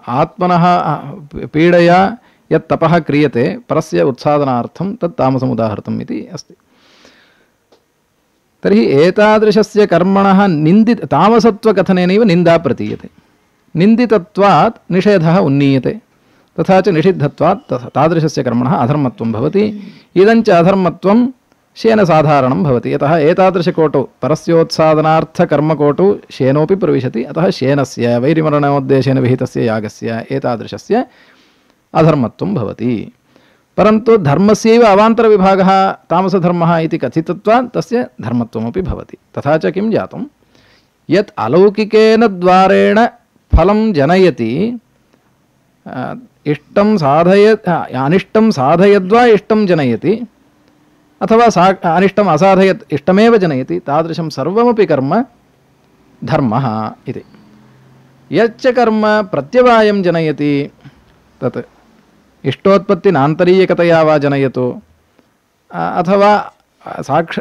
आत्मनः पीडया यत् तपः क्रियते परस्य उत्सादनार्थं तत् तामसम् उदाहृतम् इति अस्ति। तर्हि एतादृशस्य कर्मणः निन्दित तामसत्वकथनेनैव निन्दा प्रतीयते। निन्दितत्वात् निषेधः उन्नीयते, तथा च निषिद्धत्वात् तादृशस्य कर्मणः अधर्मत्वं भवति। इदञ्च अधर्मत्वं शेनसाधारणं भवति। यतः एतादृशकोटौ परस्योत्सादनार्थकर्मकोटौ शेनोपि प्रविशति। अतः शेनस्य वैरिमरणोद्देशेन विहितस्य यागस्य एतादृशस्य अधर्मत्वं भवति। परन्तु धर्मस्यैव अवान्तरविभागः तामसधर्मः इति कथितत्वात् तस्य धर्मत्वमपि भवति। तथा च किं जातं? यत् अलौकिकेन द्वारेण फलं जनयति, इष्टं साधय अनिष्टं साधयद्वा इष्टं जनयति, अथवा सा अनिष्टम् असाधयत् इष्टमेव जनयति, तादृशं सर्वमपि कर्म धर्मः इति। यच्च कर्म प्रत्यवायं जनयति तत् इष्टोत्पत्तिनान्तरीयकतया वा जनयतु, अथवा साक्ष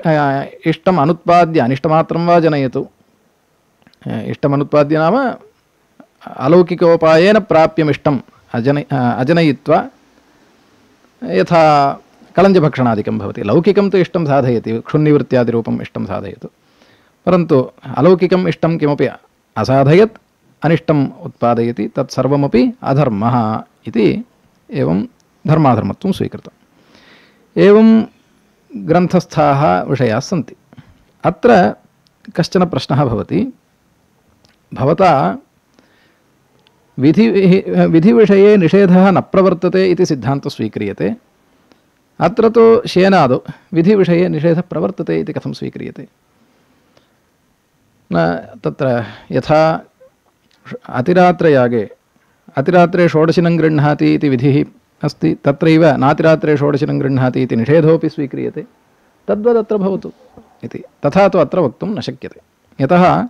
इष्टम् अनुत्पाद्य अनिष्टमात्रं वा जनयतु। इष्टमनुत्पाद्य नाम अलौकिकोपायेन प्राप्यमिष्टम् अजन अजनयित्वा, यथा कलञ्जभक्षणादिकं भवति। लौकिकं तु इष्टं साधयति, क्षुन्निवृत्त्यादिरूपम् इष्टं साधयतु। परन्तु अलौकिकम् इष्टं किमपि असाधयत् अनिष्टम् उत्पादयति, तत्सर्वमपि अधर्मः इति एवं धर्माधर्मत्वं स्वीकृतम्। एवं ग्रन्थस्थाः विषयाः सन्ति। अत्र कश्चन प्रश्नः भवति। भवता विधि विधिविषये निषेधः न प्रवर्तते इति सिद्धान्तः स्वीक्रियते। अत्र तु शेनादौ विधिविषये निषेधः प्रवर्तते इति कथं स्वीक्रियते? न तत्र यथा अतिरात्रयागे अतिरात्रे षोडशिनं गृह्णाति इति विधिः अस्ति, तत्रैव नातिरात्रे षोडशिनं गृह्णाति इति निषेधोऽपि स्वीक्रियते। तद्वदत्र भवतु इति। तथा तु अत्र वक्तुं न शक्यते। यतः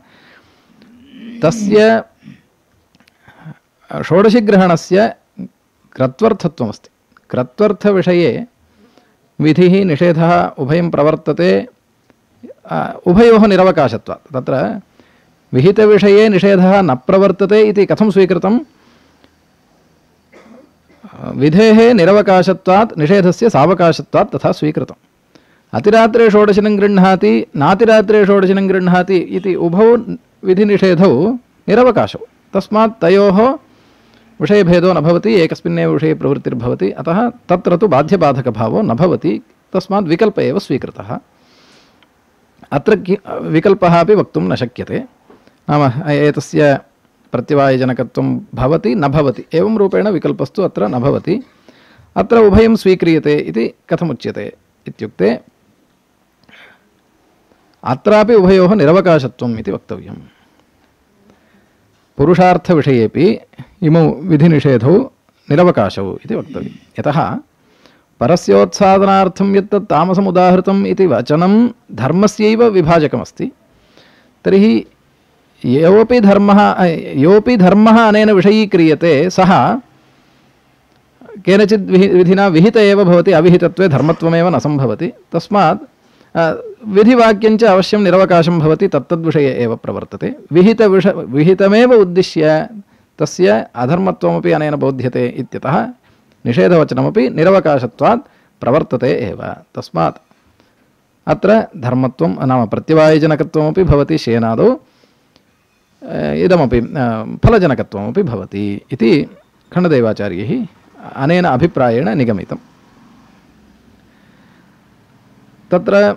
तस्य षोडशिग्रहणस्य क्रत्वर्थत्वमस्ति। क्रत्वर्थविषये विधिः निषेधः उभयं प्रवर्तते, उभयोः निरवकाशत्वात्। तत्र विहितविषये निषेधः न प्रवर्तते इति कथं स्वीकृतं? विधेः निरवकाशत्वात् निषेधस्य सावकाशत्वात् तथा स्वीकृतम्। अतिरात्रे षोडशिनं गृह्णाति, नातिरात्रे षोडशिनं गृह्णाति इति उभौ विधिनिषेधौ निरवकाशौ। तस्मात् तयोः विषयभेदो न भवति, एकस्मिन्नेव विषये प्रवृत्तिर्भवति। अतः तत्र तु बाध्यबाधकभावो न भवति। तस्मात् विकल्प एव स्वीकृतः। अत्र विकल्पः अपि वक्तुं न शक्यते। नाम एतस्य प्रत्यवायजनकत्वं भवति न भवति, एवं रूपेण विकल्पस्तु अत्र न भवति। अत्र उभयं स्वीक्रियते इति कथमुच्यते इत्युक्ते अत्रापि उभयोः निरवकाशत्वम् इति वक्तव्यम्। पुरुषार्थविषयेपि इमौ विधिनिषेधौ निरवकाशौ इति वक्तव्यं। यतः परस्योत्सादनार्थं यत्तत् तामसम् उदाहृतम् इति वचनं धर्मस्यैव विभाजकमस्ति। तर्हि योऽपि धर्मः योऽपि धर्मः अनेन विषयीक्रियते सः केनचित् विहि विधिना विहित एव भवति, अविहितत्वे धर्मत्वमेव न सम्भवति। तस्मात् विधिवाक्यञ्च अवश्यं निरवकाशं भवति, तत्तद्विषये एव प्रवर्तते। विहितविष विहितमेव उद्दिश्य तस्य अधर्मत्वमपि अनेन बोध्यते इत्यतः निषेधवचनमपि निरवकाशत्वात् प्रवर्तते एव। तस्मात् अत्र धर्मत्वं नाम प्रत्यवायजनकत्वमपि भवति शेनादौ, इदमपि फलजनकत्वमपि भवति इति खण्डदेवाचार्यैः अनेन अभिप्रायेण निगमितम्। तत्र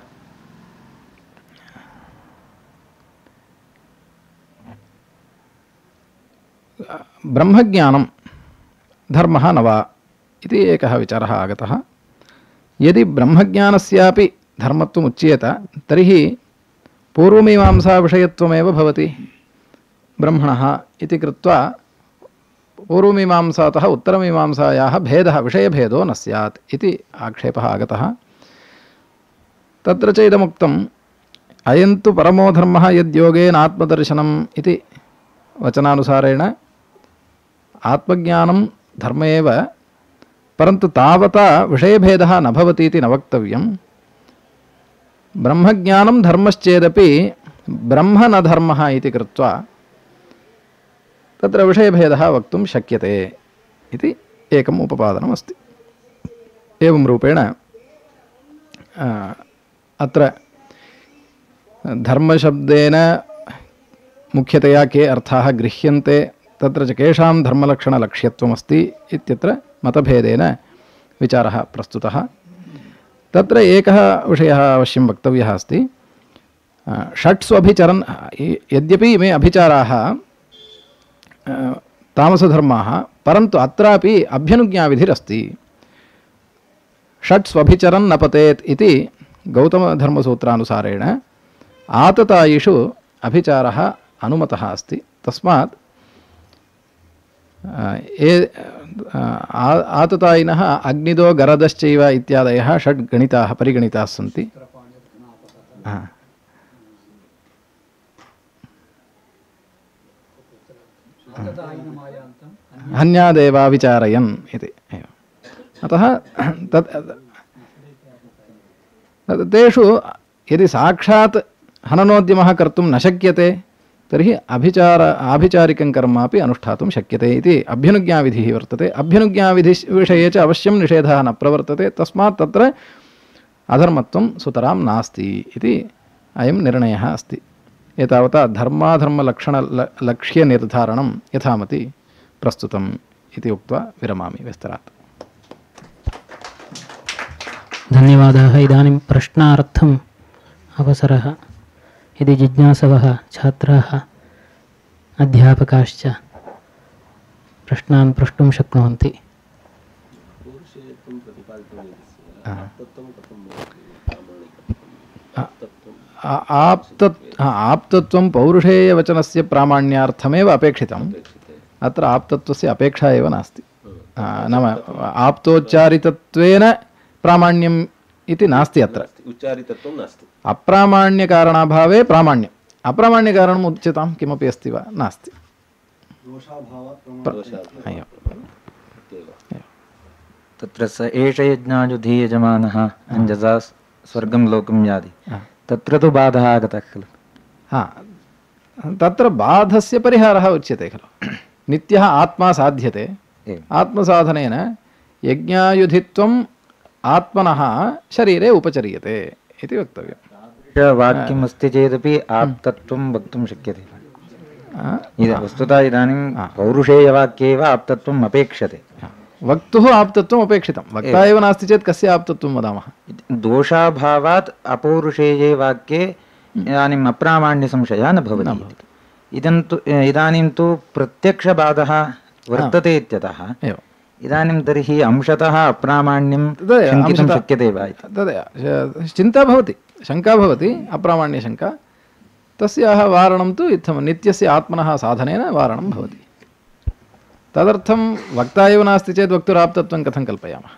ब्रह्मज्ञानं धर्मः न वा इति एकः विचारः आगतः। यदि ब्रह्मज्ञानस्यापि धर्मत्वम् उच्येत तर्हि पूर्वमीमांसाविषयत्वमेव भवति ब्रह्मणः इति कृत्वा पूर्वमीमांसातः उत्तरमीमांसायाः भेदः विषयभेदो न स्यात् इति आक्षेपः आगतः। तत्र च इदमुक्तम् अयन्तु परमो धर्मः यद्योगेन आत्मदर्शनम् इति वचनानुसारेण आत्मज्ञानं धर्म एव, परन्तु तावता विषयभेदः न भवति इति न वक्तव्यं। ब्रह्मज्ञानं धर्मश्चेदपि ब्रह्म न धर्मः इति कृत्वा तत्र विषयभेदः वक्तुं शक्यते इति एकम् उपपादनमस्ति। एवं रूपेण अत्र धर्मशब्देन मुख्यतया के अर्थाः गृह्यन्ते, तत्र च केषां धर्मलक्षणलक्ष्यत्वमस्ति इत्यत्र मतभेदेन विचारः प्रस्तुतः। तत्र एकः विषयः अवश्यं वक्तव्यः अस्ति। षट्स्वभिचरन्, यद्यपि इमे अभिचाराः तामसधर्माः, परन्तु अत्रापि अभ्यनुज्ञाविधिरस्ति। षट्स्वभिचरन् न पतेत् इति गौतमधर्मसूत्रानुसारेण आततायिषु अभिचारः अनुमतः अस्ति। तस्मात् ये आततायिनः अग्निदो गरदश्चैव इत्यादयः षड् गणिताः परिगणिताः सन्ति। हन्यादेवा विचारयन् इति। अतः तत् तेषु यदि साक्षात् हननोद्यमः कर्तुं न शक्यते तर्हि अभिचार आभिचारिकं कर्मापि अनुष्ठातुं शक्यते इति अभ्यनुज्ञाविधिः वर्तते। अभ्यनुज्ञाविधिविषये च अवश्यं निषेधः न प्रवर्तते। तस्मात् तत्र अधर्मत्वं सुतरां नास्ति इति अयं निर्णयः अस्ति। एतावता धर्माधर्मलक्षणलक्ष्यनिर्धारणं यथामति प्रस्तुतम् इति उक्त्वा विरमामि विस्तरात्। धन्यवादाः। इदानीं प्रश्नार्थम् अवसरः। यदि जिज्ञासवः छात्राः अध्यापकाश्च प्रश्नान् प्रष्टुं शक्नुवन्ति। आप्तत्वं पौरुषेयवचनस्य प्रामाण्यार्थमेव अपेक्षितम्। अत्र आप्तत्वस्य अपेक्षा एव नास्ति। नाम आप्तोच्चारितत्वेन प्रामाण्यम् इति नास्ति। अत्र उच्चारितत्वं नास्ति। अप्रामाण्यकारणाभावे प्रामाण्यम्। अप्रामाण्यकारणम् उच्यतां किमपि अस्ति वा? नास्ति। तत्र स एष यज्ञायुधीयजमानः अञ्जसा स्वर्गं लोकं याति, तत्र तु बाधः आगतः खलु। हा, तत्र बाधस्य परिहारः उच्यते खलु। नित्यः आत्मा साध्यते, आत्मसाधनेन यज्ञायुधित्वम् आत्मनः शरीरे उपचर्यते इति वक्तव्यम्। वाक्यम् अस्ति चेदपि आप्तत्वं वक्तुं शक्यते। वस्तुतः इदानीं पौरुषेयवाक्ये एव आप्तत्वम् अपेक्षते। वक्तुः आप्तत्वम् अपेक्षितं। वक्ता एव नास्ति चेत् कस्य आप्तत्वं वदामः? दोषाभावात् अपौरुषेये वाक्ये इदानीम् अप्रामाण्यसंशयः न भवति। इदं तु इदानीं तु प्रत्यक्षबाधः वर्तते इत्यतः इदानीं तर्हि अंशतः अप्रामाण्यं शङ्कितुं शक्यते वा इति तदेव चिन्ता भवति, शङ्का भवति, अप्रामाण्यशङ्का। तस्याः वारणं तु इत्थं नित्यस्य आत्मनः साधनेन वारणं भवति। तदर्थं वक्ता एव नास्ति चेत् वक्तुराप्तत्वं कथं कल्पयामः?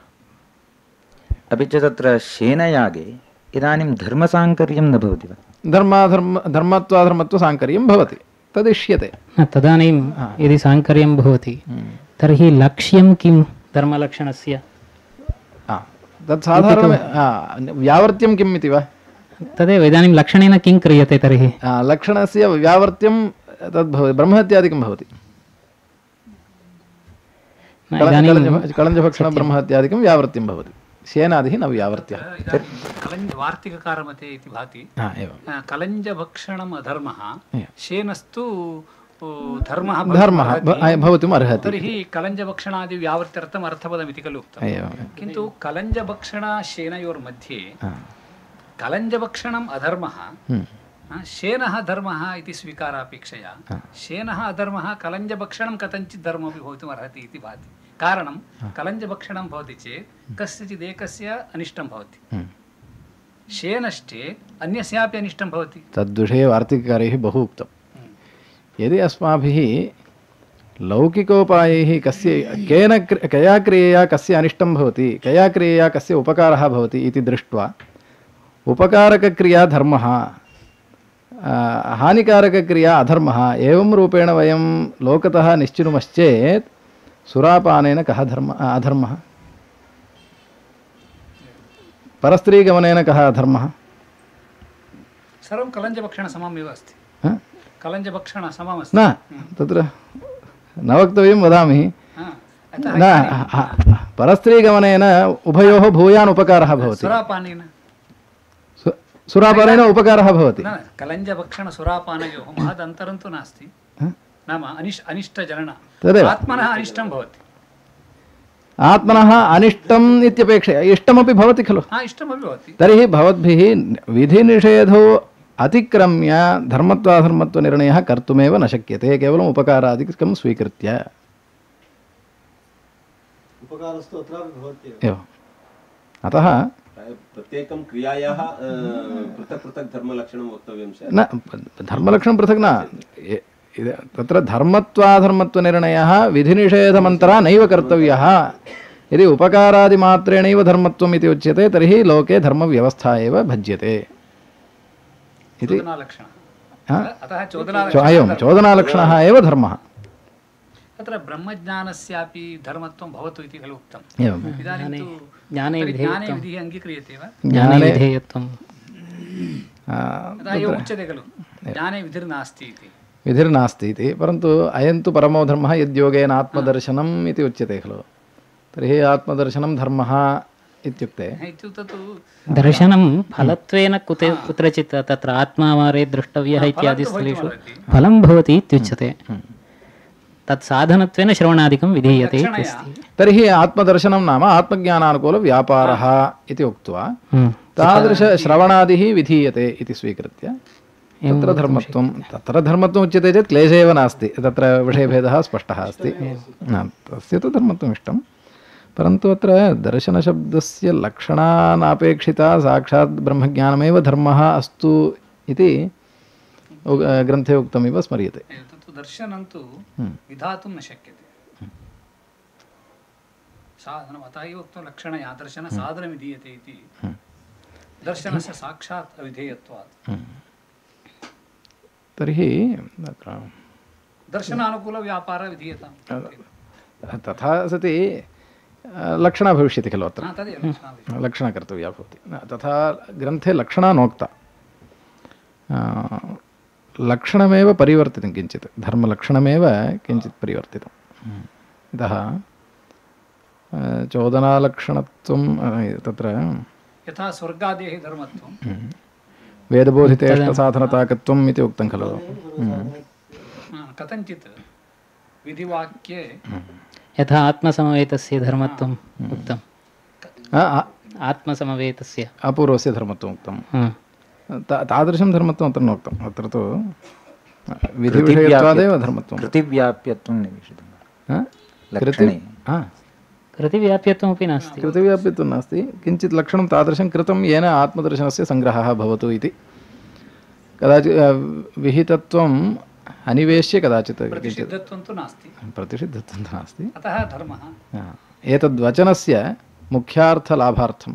अपि च तत्र शेनयागे इदानीं धर्मसाङ्कर्यं न भवति वा? धर्माधर्म धर्मत्वाधर्मत्वसाङ्कर्यं भवति, तदिष्यते। न, तदानीं यदि साङ्कर्यं भवति तर्हि लक्ष्यं किं धर्मलक्षणस्य? तत् साधारणं व्यावर्त्यं किम् इति वा? तदेव इदानीं लक्षणेन किं क्रियते तर्हि? लक्षणस्य व्यावर्त्यं तद् भवति, ब्रह्महत्यादिकं भवति। कलञ्जभक्षणं ब्रह्महत्यादिकं व्यावर्त्यं भवति, शेनादिः न व्यावर्त्यः। कलञ्ज वार्तिककारमते इति भाति। कलञ्जभक्षणम् अधर्मः, शेनस्तु धर्मः धर्मः भवितुम् अर्हति। तर्हि कलञ्जभक्षणादि व्यावर्त्यर्थम् अर्थपदमिति खलु उक्तं। किन्तु कलञ्जभक्षणशेनयोर्मध्ये कलञ्जभक्षणम् अधर्मः, शेनः धर्मः इति स्वीकारापेक्षया शेनः अधर्मः कलञ्जभक्षणं कथञ्चित् धर्ममपि भवितुम् अर्हति इति भाति। कारणं कलञ्जभक्षणं भवति चेत् कस्यचिदेकस्य अनिष्टं भवति, शेनश्चेत् अन्यस्यापि अनिष्टं भवति। तद्विषये वार्तिककारैः बहु उक्तं। यदि अस्माभिः लौकिकोपायैः कस्य केन कया क्रियया कस्य अनिष्टं भवति, कया क्रियया कस्य उपकारः भवति इति दृष्ट्वा उपकारकक्रिया धर्मः, हानिकारकक्रिया अधर्मः, एवं रूपेण वयं लोकतः निश्चिनुमश्चेत् सुरापानेन कः धर्म अधर्मः? परस्त्रीगमनेन कः अधर्मः? सर्वं कलञ्जभक्षणसममेव अस्ति। कलञ्जभक्षणसममस्ति। न, तत्र न वक्तव्यं वदामि। न, परस्त्रीगमनेन उभयोः भूयान् उपकारः भवति। सुरापानेन सुरापानेन उपकारः भवति। कलञ्जभक्षणसुरापानयोः महदन्तरं तु नास्ति। नाम अनिष् अनिष्टजनन तदेव आत्मनः अनिष्टं भवति। आत्मनः अनिष्टम् इत्यपेक्षया इष्टमपि भवति खलु? इष्टमपि भवति। तर्हि भवद्भिः विधिनिषेधो अतिक्रम्य धर्मत्वाधर्मत्वनिर्णयः कर्तुमेव न शक्यते, केवलम् उपकारादिकं स्वीकृत्य। एवम्। अतः प्रत्येकं क्रियायाः पृथक् पृथक् धर्मलक्षणं वक्तव्यं स्यात्। न, धर्मलक्षणं पृथक् न, तत्र धर्मत्वाधर्मत्वनिर्णयः विधिनिषेधमन्तरा नैव कर्तव्यः। यदि उपकारादिमात्रेणैव धर्मत्वम् इति उच्यते तर्हि लोके धर्मव्यवस्था एव भज्यते इति। अयं चोदनालक्षणः एव धर्मः। तत्र ब्रह्मज्ञानस्यापि धर्मत्वं भवतु इति खलु उक्तम्। एवम्। इदानीं तु ज्ञाने ज्ञाने विधिः अङ्गीक्रियते वा? ज्ञाने विधेयत्वं तथा एव उच्यते खलु, ज्ञाने विधिर्नास्ति इति। विधिर्नास्ति इति, परन्तु अयं तु परमो धर्मः यद्योगेन आत्मदर्शनम् इति उच्यते खलु। तर्हि आत्मदर्शनं धर्मः इत्युक्ते दर्शनं फलत्वेन कुते कुत्रचित् तत्र आत्मावारे द्रष्टव्यः इत्यादि स्थलेषु फलं भवति इत्युच्यते। तत् साधनत्वेन श्रवणादिकं विधीयते इत्यस्ति। तर्हि आत्मदर्शनं नाम आत्मज्ञानानुकूलव्यापारः इति उक्त्वा तादृशश्रवणादिः विधीयते इति स्वीकृत्य तत्र धर्मत्वं तत्र धर्मत्वम् उच्यते चेत् क्लेशः एव नास्ति, तत्र विषयभेदः स्पष्टः अस्ति। तस्य तु धर्मत्वम् इष्टं, परन्तु अत्र दर्शनशब्दस्य लक्षणानापेक्षिता साक्षात् ब्रह्मज्ञानमेव धर्मः अस्तु इति ग्रन्थे उक्तमिव स्मर्यते। दर्शनं तु विधातुं न शक्यते। साधनम् अतः एव उक्तं लक्षणया दर्शन साधनं विधीयते इति। दर्शनस्य साक्षात् अविधेयत्वात् तर्हि दर्शनानुकूलव्यापारः विधीयताम्। तथा सति लक्षणा भविष्यति खलु अत्र, तदेव लक्षणा कर्तव्या भवति। तथा ग्रन्थे लक्षणा नोक्ता, लक्षणमेव परिवर्तितं किञ्चित्, धर्मलक्षणमेव किञ्चित् परिवर्तितम्। इतः चोदनालक्षणत्वं तत्र यथा स्वर्गादेः धर्मत्वं वेदबोधितेष्टसाधनताकत्वम् इति उक्तं खलु। कथञ्चित् विधिवाक्ये यथा आत्मसमवेतस्य धर्मत्वम् उक्तम्, आत्मसमवेतस्य अपूर्वस्य धर्मत्वम् उक्तं, तादृशं धर्मत्वम् अत्र नोक्तम्। अत्र तु विधिविषयत्वादेव धर्मत्वं, कृतिव्याप्यत्वं निवेशितं। कृतिव्याप्यत्वमपि नास्ति, कृतिव्याप्यत्वं नास्ति, किञ्चित् लक्षणं तादृशं कृतं येन आत्मदर्शनस्य सङ्ग्रहः भवतु इति। कदाचित् विहितत्वं अनिवेश्य कदाचित् किञ्चित् प्रतिषिद्धत्वं तु नास्ति, प्रतिषिद्धत्वं नास्ति। अतः धर्मः। एतद्वचनस्य मुख्यार्थलाभार्थं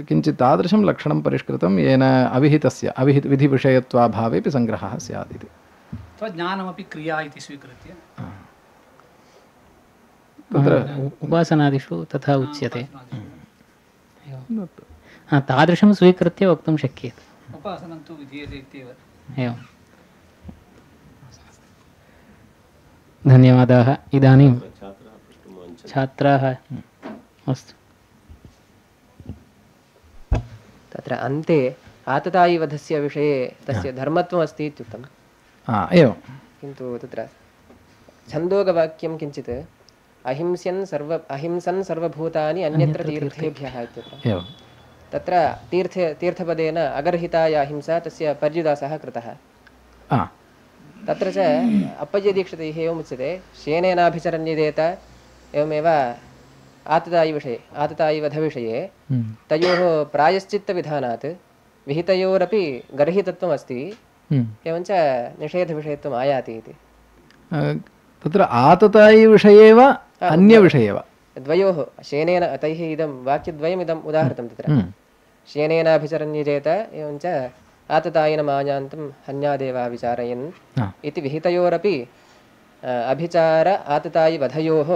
किञ्चित् तादृशं लक्षणं परिष्कृतं येन अविहितस्य अविहित विधिविषयत्वाभावेपि सङ्ग्रहः स्यात् इति। ज्ञानमपि क्रिया इति स्वीकृत्य तत्र उपासनादिषु तथा उच्यते। तादृशं स्वीकृत्य वक्तुं शक्यते। उपासनं तु विधीयते इत्येव। एवं। धन्यवादाः। इदानीं छात्राः अस्तु। तत्र अन्ते आततायिवधस्य विषये तस्य धर्मत्वम् अस्ति इत्युक्तम्। एवं। किन्तु तत्र छन्दोगवाक्यं किञ्चित् अहिंस्यन् सर्व अहिंसन् सर्वभूतानि अन्यत्र तीर्थेभ्यः इत्यत्र। एवं। तत्र तीर्थ तीर्थपदेन अगर्हिताया अहिंसा तस्य पर्युदासः कृतः। तत्र च अप्पय्यदीक्षितैः एवमुच्यते शेनेनाभिचरन्यदेत। एवमेव आततायिविषये आततायिवधविषये तयोः प्रायश्चित्तविधानात् विहितयोरपि गर्हितत्वम् अस्ति, एवञ्च निषेधविषयत्वम् आयाति इति। तत्र आततायिविषये वा अन्यविषये वा? द्वयोः शेनेन तैः इदं वाक्यद्वयमिदम् उदाहृतं तत्र शेनेनाभिचरन्यजेत एवञ्च आततायिनमायान्तं हन्यादेवा विचारयन् इति विहितयोरपि अभिचार आततायिवधयोः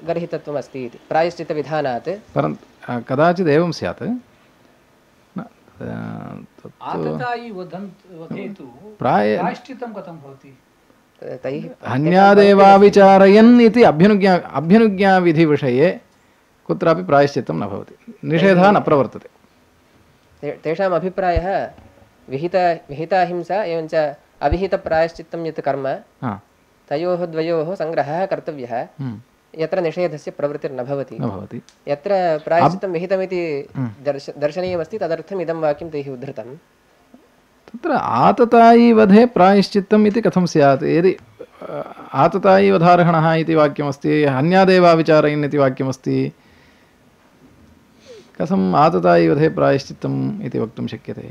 गर्हितत्वम् अस्ति इति प्रायश्चित्तविधानात्। परन्तु कदाचित् एवं स्यात् प्रायश्चित्तं कथं भवति? तैः हन्यादेवाविचारयन् इति अभ्यनुज्ञा अभ्यनुज्ञाविधिविषये कुत्रापि प्रायश्चित्तं न भवति, निषेधः न प्रवर्तते। तेषाम् अभिप्रायः विहित विहिताहिंसा एवञ्च अविहितप्रायश्चित्तं यत् कर्म तयोः द्वयोः सङ्ग्रहः कर्तव्यः, यत्र निषेधस्य प्रवृत्तिर्न भवति। यत्र प्रायश्चित्तं विहितमिति दर्श दर्शनीयमस्ति तदर्थम् इदं वाक्यं तैः उद्धृतं। तत्र आततायिवधे प्रायश्चित्तम् इति कथं स्यात्? यदि आततायिवधार्हणः इति वाक्यमस्ति, हन्यादेवाविचारयन् इति वाक्यमस्ति, कथम् आततायिवधे प्रायश्चित्तम् इति वक्तुं शक्यते?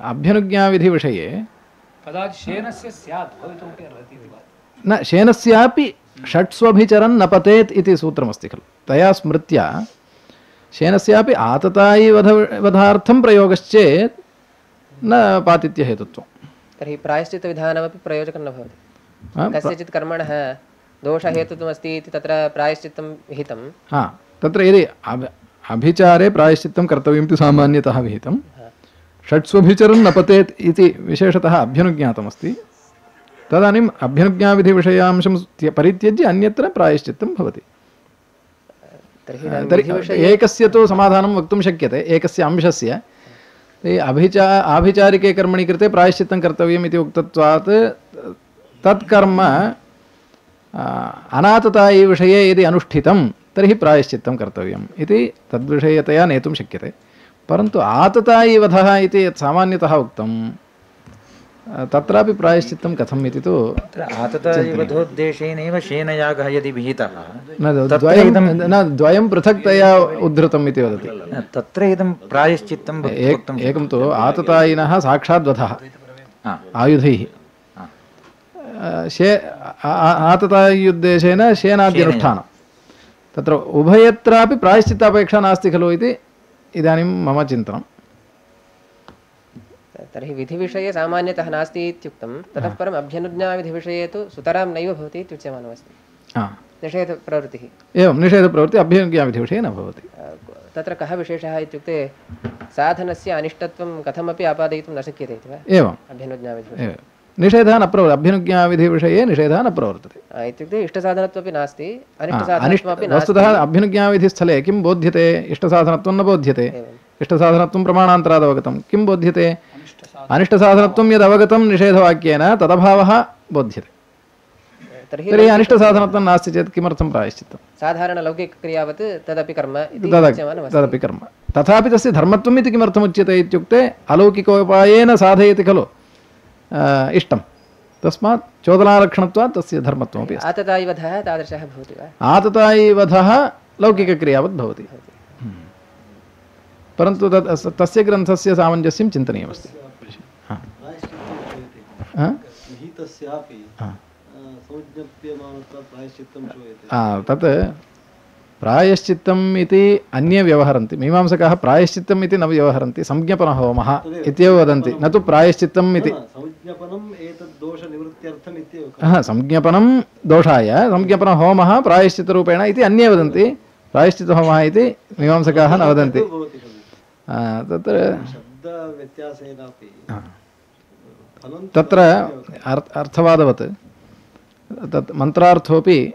अभ्यनुज्ञाविधिविषये न शेनस्यापि षट्स्वभिचरन् न पतेत् इति सूत्रमस्ति खलु। तया स्मृत्या शेनस्यापि आततायिवध वधार्थं प्रयोगश्चेत् न पातित्यहेतुत्वं। तर्हि प्रायश्चित्तविधानमपि प्रयोजकं न भवति। कस्यचित् कर्मणः दोषहेतुत्वमस्ति इति तत्र प्रायश्चित्तं विहितं। हा, तत्र यदि अभिचारे प्रायश्चित्तं कर्तव्यम् इति सामान्यतः विहितं, षट्स्वभिचरन् न पतेत् इति विशेषतः अभ्यनुज्ञातमस्ति, तदानीम् अभ्यनुज्ञाविधिविषयांशं परित्यज्य अन्यत्र प्रायश्चित्तं भवति। तर्हि एकस्य तु समाधानं वक्तुं शक्यते, एकस्य अंशस्य अभिचा आभिचारिके कर्मणि कृते प्रायश्चित्तं कर्तव्यम् इति उक्तत्वात् तत्कर्म अनाततायिविषये यदि अनुष्ठितं तर्हि प्रायश्चित्तं कर्तव्यम् इति तद्विषयतया नेतुं शक्यते। परन्तु आततायिवधः इति यत् सामान्यतः उक्तं तत्रापि प्रायश्चित्तं कथम् इति तु आततायिवधोद्देशेनैव शेनयागः यदि विहितः न द्वयं पृथक्तया उद्धृतम् इति वदति। तत्र इदं प्रायश्चित्तं एकं तु आततायिनः साक्षाद्वधः आयुधैः, शे आततायुद्देशेन शेनाद्यनुष्ठानं, तत्र उभयत्रापि प्रायश्चित्तापेक्षा नास्ति खलु इति इदानीं मम चिन्तनं। तर्हि विधिविषये सामान्यतः नास्ति इत्युक्तं, ततः परम् अभ्यनुज्ञाविधिविषये तु सुतरां नैव भवति इत्युच्यमानमस्ति। निषेधप्रवृत्तिः एवं निषेधप्रवृत्तिः अभ्यनुज्ञाविधिविषये न भवति। तत्र कः विशेषः इत्युक्ते साधनस्य अनिष्टत्वं कथमपि आपादयितुं न शक्यते इति वा? एवं अभ्यनुज्ञाविधिविषये निषेधः न प्रवर्तते, अभ्यनुज्ञाविधिविषये निषेधः न प्रवर्तते। इत्युक्ते इष्टसाधनत्वमपि नास्ति, अनिष्टसाधनत्वमपि नास्ति। वस्तुतः अभ्यनुज्ञाविधिस्थले किं बोध्यते? इष्टसाधनत्वं न बोध्यते, इष्टसाधनत्वं प्रमाणान्तरादवगतं। किं बोध्यते? अनिष्टसाधनत्वं यद् अवगतं निषेधवाक्येन तदभावः बोध्यते। तर्हि अनिष्टसाधनत्वं नास्ति चेत् किमर्थं प्रायश्चित्तं? साधारणलौकिकक्रियावत् तदपि कर्म तदपि कर्म, तथापि तस्य धर्मत्वम् इति किमर्थमुच्यते इत्युक्ते अलौकिकोपायेन साधयति खलु इष्टं, तस्मात् चोदनालक्षणत्वात् तस्य धर्मत्वमपि अस्ति। आततायिवधः तादृशः भवति वा? आततायिवधः लौकिकक्रियावत् भवति। परन्तु तत् तस्य ग्रन्थस्य सामञ्जस्यं चिन्तनीयमस्ति। तत् प्रायश्चित्तम् इति अन्ये व्यवहरन्ति, मीमांसकाः प्रायश्चित्तम् इति न व्यवहरन्ति, संज्ञपनहोमः इत्येव वदन्ति, न तु प्रायश्चित्तम् इति। हा, संज्ञपनं दोषाय संज्ञपनहोमः प्रायश्चित्तरूपेण इति अन्ये वदन्ति, प्रायश्चित्तहोमः इति मीमांसकाः न वदन्ति। तत्र तत्र अर्थवादवत् तत् मन्त्रार्थोपि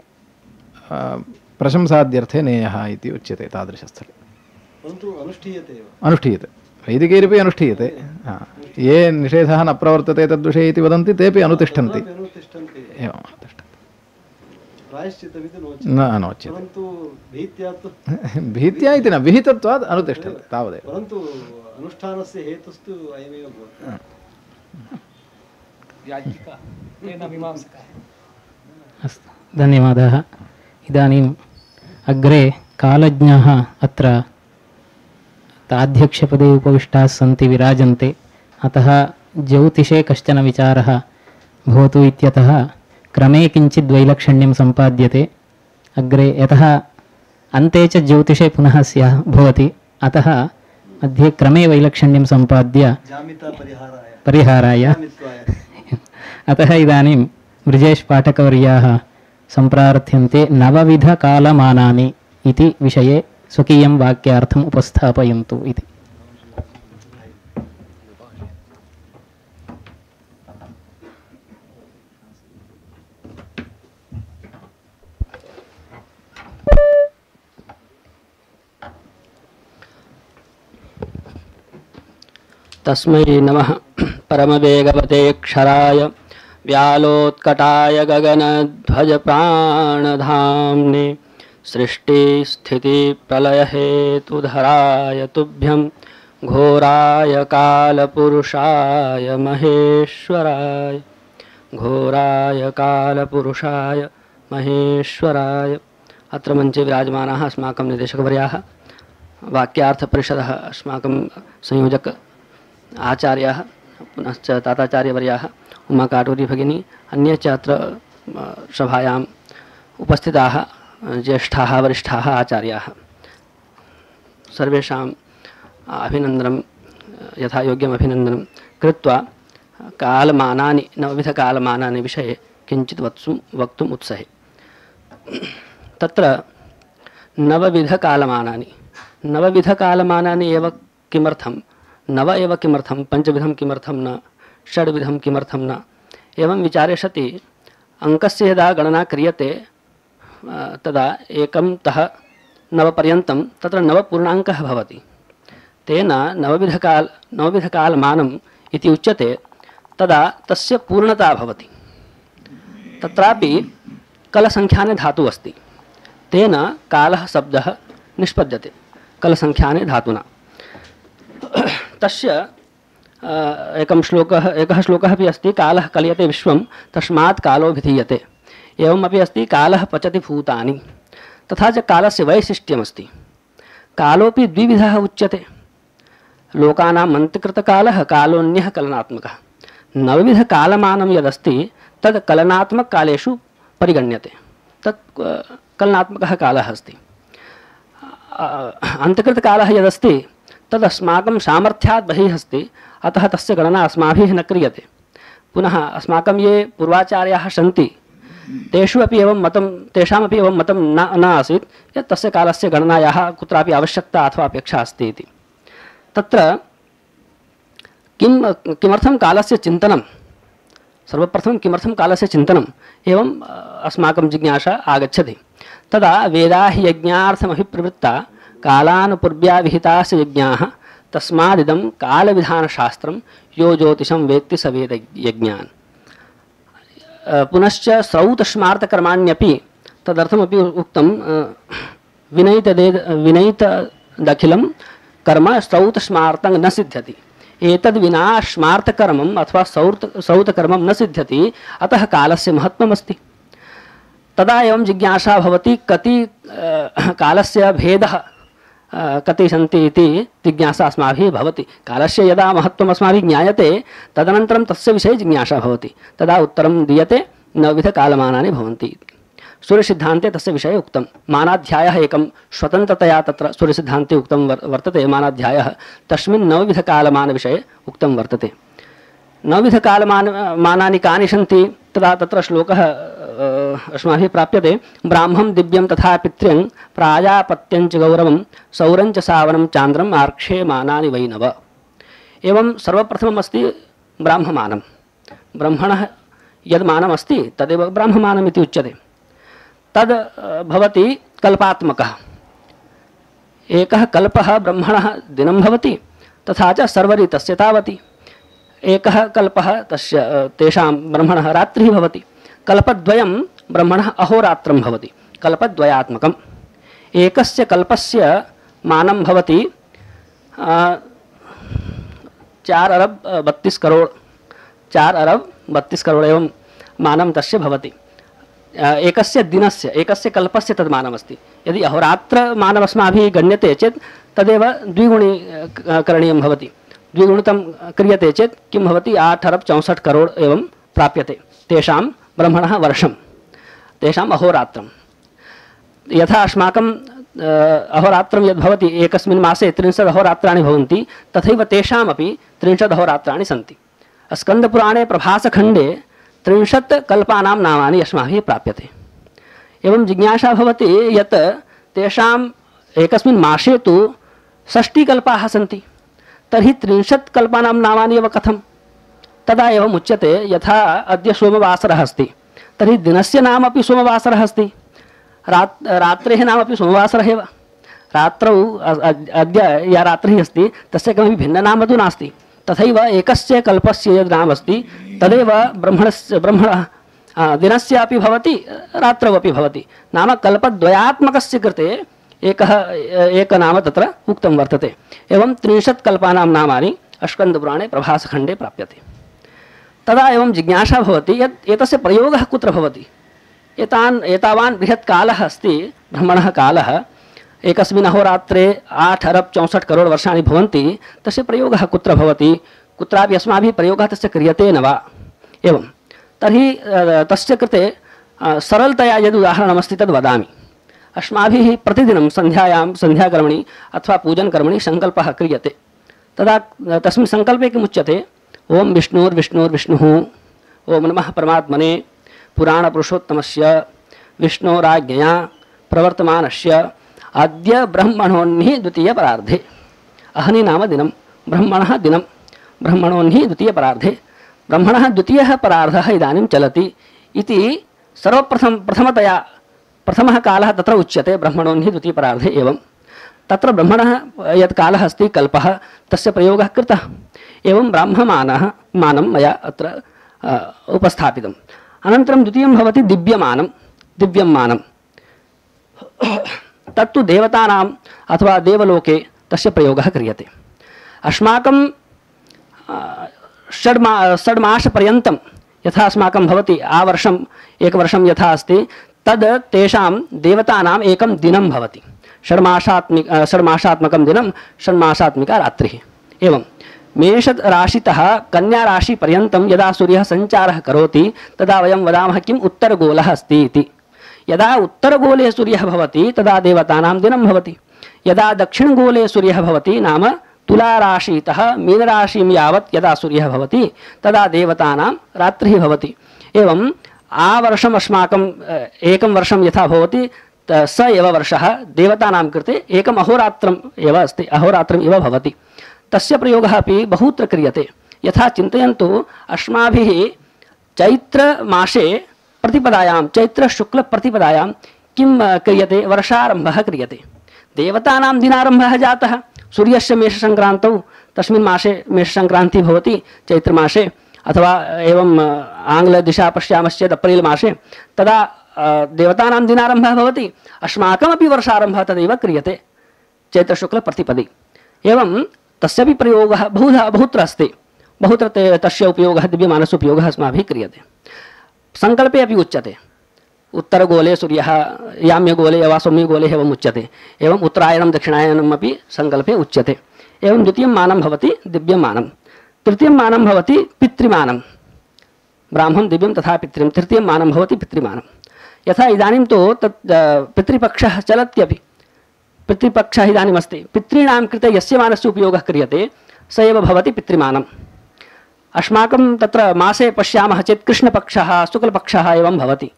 प्रशंसाद्यर्थे नेयः इति उच्यते तादृशस्थले। अनुष्ठीयते, वैदिकैरपि अनुष्ठीयते। ये निषेधः न प्रवर्तते तद्विषये इति वदन्ति तेपि अनुतिष्ठन्ति। एवं न नोच्यते, भीत्या इति न, विहितत्वात् अनुतिष्ठन्ति तावदेव। परन्तु अनुष्ठानस्य हेतुस्तु अयमेव भवति। अस्तु, धन्यवादाः। इदानीम् अग्रे कालज्ञाः अत्र ताध्यक्षपदे उपविष्टाः सन्ति, विराजन्ते। अतः ज्योतिषे कश्चन विचारः भवतु इत्यतः क्रमे किञ्चित् वैलक्षण्यं सम्पाद्यते। अग्रे यतः अन्ते च ज्योतिषे पुनः स्याः भवति, अतः मध्ये क्रमे वैलक्षण्यं सम्पाद्य परिहाराय अतः इदानीं ब्रिजेश पाठकवर्याः सम्प्रार्थ्यन्ते नवविधकालमानानि इति विषये स्वकीयं वाक्यार्थम् उपस्थापयन्तु इति। तस्मै नमः परमवेगवते क्षराय व्यालोत्कटाय गगनध्वजप्राणधाम्ने सृष्टिस्थितिप्रलयहेतुधराय तुभ्यं घोराय कालपुरुषाय महेश्वराय घोराय कालपुरुषाय महेश्वराय। अत्र मञ्चे विराजमानाः अस्माकं निदेशकवर्याः, वाक्यार्थपरिषदः अस्माकं संयोजक आचार्याः, पुनश्च ताताचार्यवर्याः, उमा काटूरी भगिनी, अन्ये च अत्र सभायाम् उपस्थिताः ज्येष्ठाः वरिष्ठाः आचार्याः, सर्वेषाम् अभिनन्दनं यथा योग्यम् अभिनन्दनं कृत्वा कालमानानि नवविधकालमानानि विषये किञ्चित् वत्सुं वक्तुम् उत्सहे। तत्र नवविधकालमानानि नवविधकालमानानि एव किमर्थं, नव एव किमर्थं, पञ्चविधं किमर्थं न, षड्विधं किमर्थं न, एवं विचारे सति अङ्कस्य यदा गणना क्रियते तदा एकं तः नवपर्यन्तं तत्र नवपूर्णाङ्कः भवति। तेन नवविधकाल नवविधकालमानम् इति उच्यते, तदा तस्य पूर्णता भवति। तत्रापि कलसङ्ख्याने धातुः अस्ति, तेन कालः शब्दः निष्पद्यते कलसङ्ख्याने धातुना। तस्य एकं श्लोकः एकः श्लोकः अपि अस्ति, कालः कलयते विश्वं तस्मात् कालो विधीयते। एवमपि अस्ति, कालः पचति भूतानि। तथा च कालस्य वैशिष्ट्यमस्ति, कालोपि द्विविधः उच्यते। लोकानाम् अन्त्यकृतकालः, कालोऽन्यः कलनात्मकः। नवविधकालमानं यदस्ति तद् कलनात्मककालेषु परिगण्यते, तत् कलनात्मकः कालः अस्ति। अन्त्यकृतकालः यदस्ति तद् अस्माकं सामर्थ्यात् बहिः अस्ति, अतः तस्य गणना अस्माभिः न क्रियते। पुनः अस्माकं ये पूर्वाचार्याः सन्ति तेषु अपि एवं मतं तेषामपि एवं मतं न न आसीत् यत् तस्य कालस्य गणनायाः कुत्रापि आवश्यकता अथवा अपेक्षा अस्ति इति। तत्र किं किमर्थं कालस्य चिन्तनं, सर्वप्रथमं किमर्थं कालस्य चिन्तनम् एवं अस्माकं जिज्ञासा आगच्छति। तदा वेदा हि यज्ञार्थमभिप्रवृत्ता कालानुपूर्व्या विहितास्य यज्ञाः तस्मादिदं कालविधानशास्त्रं यो ज्योतिषं वेत्ति स वेद यज्ञान्। पुनश्च श्रौतस्मार्तकर्माण्यपि तदर्थमपि उक्तं, विनयितदे विनयितदखिलं कर्म श्रौतस्मार्तं न सिद्ध्यति। एतद् विना स्मार्तकर्मम् अथवा सौर्त श्रौतकर्मं न सिद्ध्यति, अतः कालस्य महत्त्वमस्ति। तदा एवं जिज्ञासा भवति, कति कालस्य भेदः कति सन्ति इति जिज्ञासा अस्माभिः भवति। कालस्य यदा महत्त्वम् अस्माभिः ज्ञायते तदनन्तरं तस्य विषये जिज्ञासा भवति, तदा उत्तरं दीयते। नवविधकालमानानि भवन्ति। सूर्यसिद्धान्ते तस्य विषये उक्तं। मानाध्यायः एकं स्वतन्त्रतया तत्र सूर्यसिद्धान्ते उक्तं वर्तते। मानाध्यायः तस्मिन् नवविधकालमानविषये उक्तं वर्तते। नवविधकालमान मानानि कानि सन्ति तदा तत्र श्लोकः अस्माभिः प्राप्यते। ब्राह्मं दिव्यं तथा पितृं प्राजापत्यञ्च गौरवं सौरञ्च सावनं चान्द्रम् आर्क्षे मानानि वैनव। एवं सर्वप्रथमम् अस्ति ब्राह्ममानं। ब्रह्मणः यद् मानमस्ति तदेव ब्राह्ममानम् इति उच्यते। तद् भवति कल्पात्मकः। एकः कल्पः ब्रह्मणः दिनं भवति, तथा च सर्वरितस्य तावति। एकः कल्पः तस्य तेषां ब्रह्मणः रात्रिः भवति। कल्पद्वयं ब्रह्मणः अहोरात्रं भवति, कल्पद्वयात्मकम्। एकस्य कल्पस्य मानं भवति चार अरब बत्तीस करोड़ चार अरब बत्तीस करोड़ एवं मानं तस्य भवति। एकस्य दिनस्य एकस्य कल्पस्य तद् मानमस्ति। यदि अहोरात्रमानम् अस्माभिः गण्यते चेत् तदेव द्विगुणी करणीयं भवति। द्विगुणितं क्रियते चेत् किं भवति? आठ अरब चौंसठ करोड़ एवं प्राप्यते तेषां ब्रह्मणः वर्षं, तेषाम् अहोरात्रं। यथा अस्माकं अहोरात्रं यद्भवति एकस्मिन् मासे त्रिंशत् अहोरात्राणि भवन्ति, तथैव तेषामपि त्रिंशत् अहोरात्राणि सन्ति। स्कन्दपुराणे प्रभासखण्डे त्रिंशत् कल्पानां नामानि अस्माभिः प्राप्यते। एवं जिज्ञासा भवति यत् तेषाम् एकस्मिन् मासे तु षष्टिकल्पाः सन्ति, तर्हि त्रिंशत् कल्पानां नामानि एव कथं? तदा एवम् उच्यते यथा अद्य सोमवासरः अस्ति, तर्हि दिनस्य नाम अपि सोमवासरः अस्ति, रात् रात्रेः नाम अपि सोमवासरः एव। रात्रौ अद्य या रात्रिः अस्ति तस्य किमपि भिन्ननाम तु नास्ति। तथैव एकस्य कल्पस्य यद् नाम अस्ति तदेव ब्रह्मणस्य ब्रह्मणः दिनस्य अपि भवति, रात्रौ अपि भवति। नाम कल्पद्वयात्मकस्य कृते एकः एकनाम तत्र उक्तं वर्तते। एवं त्रिंशत् कल्पानां नामानि स्कन्दपुराणे प्रभासखण्डे प्राप्यते। तदा एवं जिज्ञासा भवति यत् एतस्य प्रयोगः कुत्र भवति? एतान् एतावान् बृहत् कालः अस्ति ब्रह्मणः कालः, एकस्मिन् अहोरात्रे आठ अरब चौंसठ करोड़ वर्षाणि भवन्ति, तस्य प्रयोगः कुत्र भवति? कुत्रापि अस्माभिः प्रयोगः तस्य क्रियते न वा? एवं तर्हि तस्य कृते सरलतया यद् उदाहरणमस्ति तद् वदामि। अस्माभिः प्रतिदिनं सन्ध्यायां सन्ध्याकर्मणि अथवा पूजनकर्मणि सङ्कल्पः क्रियते। तदा तस्मिन् सङ्कल्पे किमुच्यते? ओम विष्णुर्विष्णुर्विष्णुः, ओम नमः परमात्मने पुराणपुरुषोत्तमस्य विष्णोराज्ञया प्रवर्तमानस्य अद्य ब्रह्मणोन्हि द्वितीयपरार्धे। अहनि नाम दिनं, ब्रह्मणः दिनं, ब्रह्मणोन्हि द्वितीयपरार्धे। ब्रह्मणः द्वितीयः परार्धः इदानीं चलति इति सर्वप्रथम प्रथमतया प्रथमः कालः तत्र उच्यते ब्रह्मणोन्हि द्वितीयपरार्धे। एवं तत्र ब्रह्मणः यत् कालः अस्ति कल्पः, तस्य प्रयोगः कृतः। एवं ब्राह्ममानः मानं मया अत्र उपस्थापितम्। अनन्तरं द्वितीयं भवति दिव्यमानं। दिव्यं मानं तत्तु देवतानाम् अथवा देवलोके तस्य प्रयोगः क्रियते। अस्माकं षड्मा षड्मासपर्यन्तं यथा अस्माकं भवति आवर्षम् एकवर्षं यथा अस्ति तद् तेषां देवतानाम् एकं दिनं भवति। षड्मासात्मिक षड्मासात्मकं दिनं, षड्मासात्मिका रात्रिः। एवं मेषराशितः कन्याराशिपर्यन्तं यदा सूर्यः सञ्चारः करोति तदा वयं वदामः किम्? उत्तरगोलः अस्ति इति। यदा उत्तरगोले सूर्यः भवति तदा देवतानां दिनं भवति। यदा दक्षिणगोले सूर्यः भवति नाम तुलाराशितः मीनराशिं यावत् यदा सूर्यः भवति तदा देवतानां रात्रिः भवति। एवं आवर्षम् अस्माकं एकं वर्षं यथा भवति स एव वर्षः देवतानां कृते एकम् अहोरात्रम् एव अस्ति, अहोरात्रम् इव भवति। तस्य प्रयोगः अपि बहुत्र क्रियते। यथा चिन्तयन्तु, अस्माभिः चैत्रमासे प्रतिपदायां चैत्रशुक्लप्रतिपदायां किं क्रियते? वर्षारम्भः क्रियते। देवतानां दिनारम्भः जातः सूर्यस्य मेषसङ्क्रान्तौ, तस्मिन् मासे मेषसङ्क्रान्तिः भवति चैत्रमासे, अथवा एवं आङ्ग्लदिशा पश्यामश्चेत् अप्रिल् मासे, तदा देवतानां दिनारम्भः भवति। अस्माकमपि वर्षारम्भः तदेव क्रियते चैत्रशुक्लप्रतिपदे। एवं तस्यापि प्रयोगः बहुधा बहुत्र अस्ति। बहुत्र ते तस्य उपयोगः दिव्यमानस्य उपयोगः अस्माभिः क्रियते। सङ्कल्पे अपि उच्यते उत्तरगोले सूर्यः याम्यगोले वा सौम्यगोले एवम् उच्यते। एवम् उत्तरायणं दक्षिणायनम् अपि सङ्कल्पे उच्यते। एवं द्वितीयं मानं भवति दिव्यं मानं। तृतीयं मानं भवति पितृमानं। ब्राह्मं दिव्यं तथा पितृं। तृतीयं मानं भवति पितृमानं। यथा इदानीं तु तत् पितृपक्षः चलत्यपि। पितृपक्षः इदानीमस्ति। पितॄणां कृते यस्य मानस्य उपयोगः क्रियते स एव भवति पितृमानम्। अस्माकं तत्र मासे पश्यामः चेत् कृष्णपक्षः शुक्लपक्षः एवं भवति।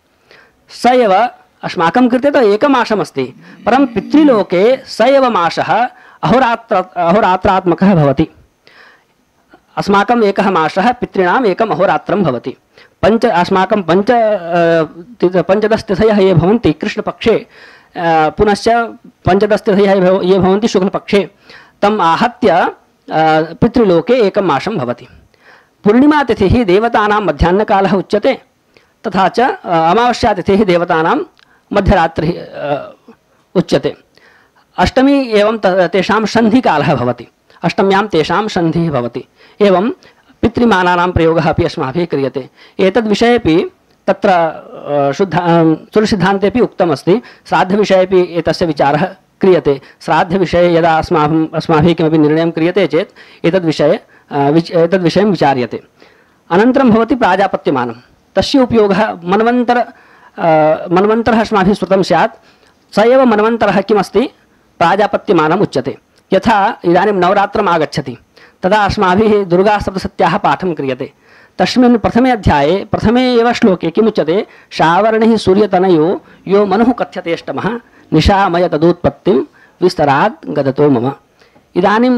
स एव अस्माकं कृते तु एकमासमस्ति, परं पितृलोके स एव मासः अहोरात्र अहोरात्रात्मकः भवति। अस्माकं एकः मासः पितॄणाम् एकम् अहोरात्रं भवति। पञ्च अस्माकं पञ्च पञ्चदश तिथयः ये भवन्ति कृष्णपक्षे, पुनश्च पञ्चदश तिथयः ये भवन्ति शुक्लपक्षे, तम् आहत्य पितृलोके एकं मासं भवति। पूर्णिमातिथिः देवतानां मध्याह्नकालः उच्यते, तथा च अमावास्यातिथिः देवतानां मध्यरात्रिः उच्यते। अष्टमी एवं तेषां सन्धिकालः भवति। अष्टम्यां तेषां सन्धिः भवति। एवं पितृमानानां प्रयोगः अपि अस्माभिः क्रियते। एतद्विषयेपि तत्र शुद्ध सुरसिद्धान्तेपि उक्तमस्ति। श्राद्धविषयेपि एतस्य विचारः क्रियते। श्राद्धविषये यदा अस्माभिः अस्माभिः किमपि निर्णयं क्रियते चेत् एतद्विषये एतद्विषयं विचार्यते। अनन्तरं भवति प्राजापत्यमानं। तस्य उपयोगः मन्वन्तर मन्वन्तरः अस्माभिः श्रुतं स्यात्। स एव मन्वन्तरः किमस्ति प्राजापत्यमानम् उच्यते। यथा इदानीं नवरात्रम् आगच्छति, तदा अस्माभिः दुर्गासप्तशत्याः पाठं क्रियते। तस्मिन् प्रथमे अध्याये प्रथमे एव श्लोके किमुच्यते? शावर्णिः सूर्यतनयो यो मनुः कथ्यतेष्टमः निशामय तदुत्पत्तिं विस्तरात् गदतो मम। इदानीं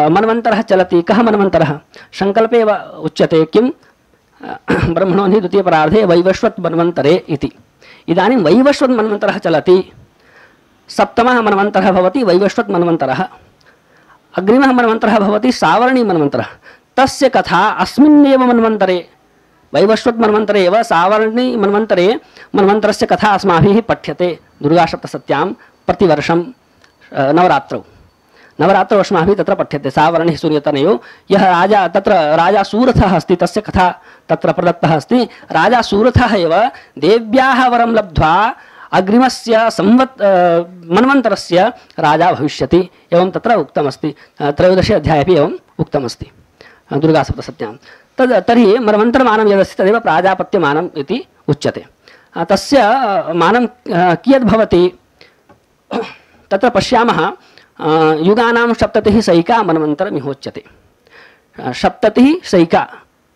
मन्वन्तरः चलति। कः मन्वन्तरः? सङ्कल्पे एव उच्यते किं ब्रह्मणो हि द्वितीयपरार्धे वैवस्वत् मन्वन्तरे इति। इदानीं वैवस्वत् मन्वन्तरः चलति। सप्तमः मन्वन्तरः भवति वैवस्वत् मन्वन्तरः। अग्रिमः मन्वन्तरः भवति सावर्णी मन्वन्तरः। तस्य कथा अस्मिन्नेव मन्वन्तरे, वैवस्वत् मन्वन्तरे एव सावर्णी मन्वन्तरे मन्वन्तरस्य कथा अस्माभिः पठ्यते दुर्गासप्तशत्यां प्रतिवर्षं नवरात्रौ। नवरात्रौ अस्माभिः तत्र पठ्यते सावर्णिः सूर्यतनयो। यः राजा तत्र राजा सूरथः अस्ति, तस्य कथा तत्र प्रदत्तः अस्ति। राजा सूरथः एव देव्याः वरं लब्ध्वा अग्रिमस्य संवत् मन्वन्तरस्य राजा भविष्यति। एवं तत्र उक्तमस्ति। त्रयोदशे अध्याये अपि एवम् उक्तमस्ति दुर्गासप्तशत्यां। तद् तर्हि मन्वन्तरमानं यदस्ति तदेव प्राजापत्यमानम् इति उच्यते। तस्य मानं कियद्भवति तत्र पश्यामः। युगानां सप्ततिः सैका मन्वन्तरमिहोच्यते। सप्ततिः Saika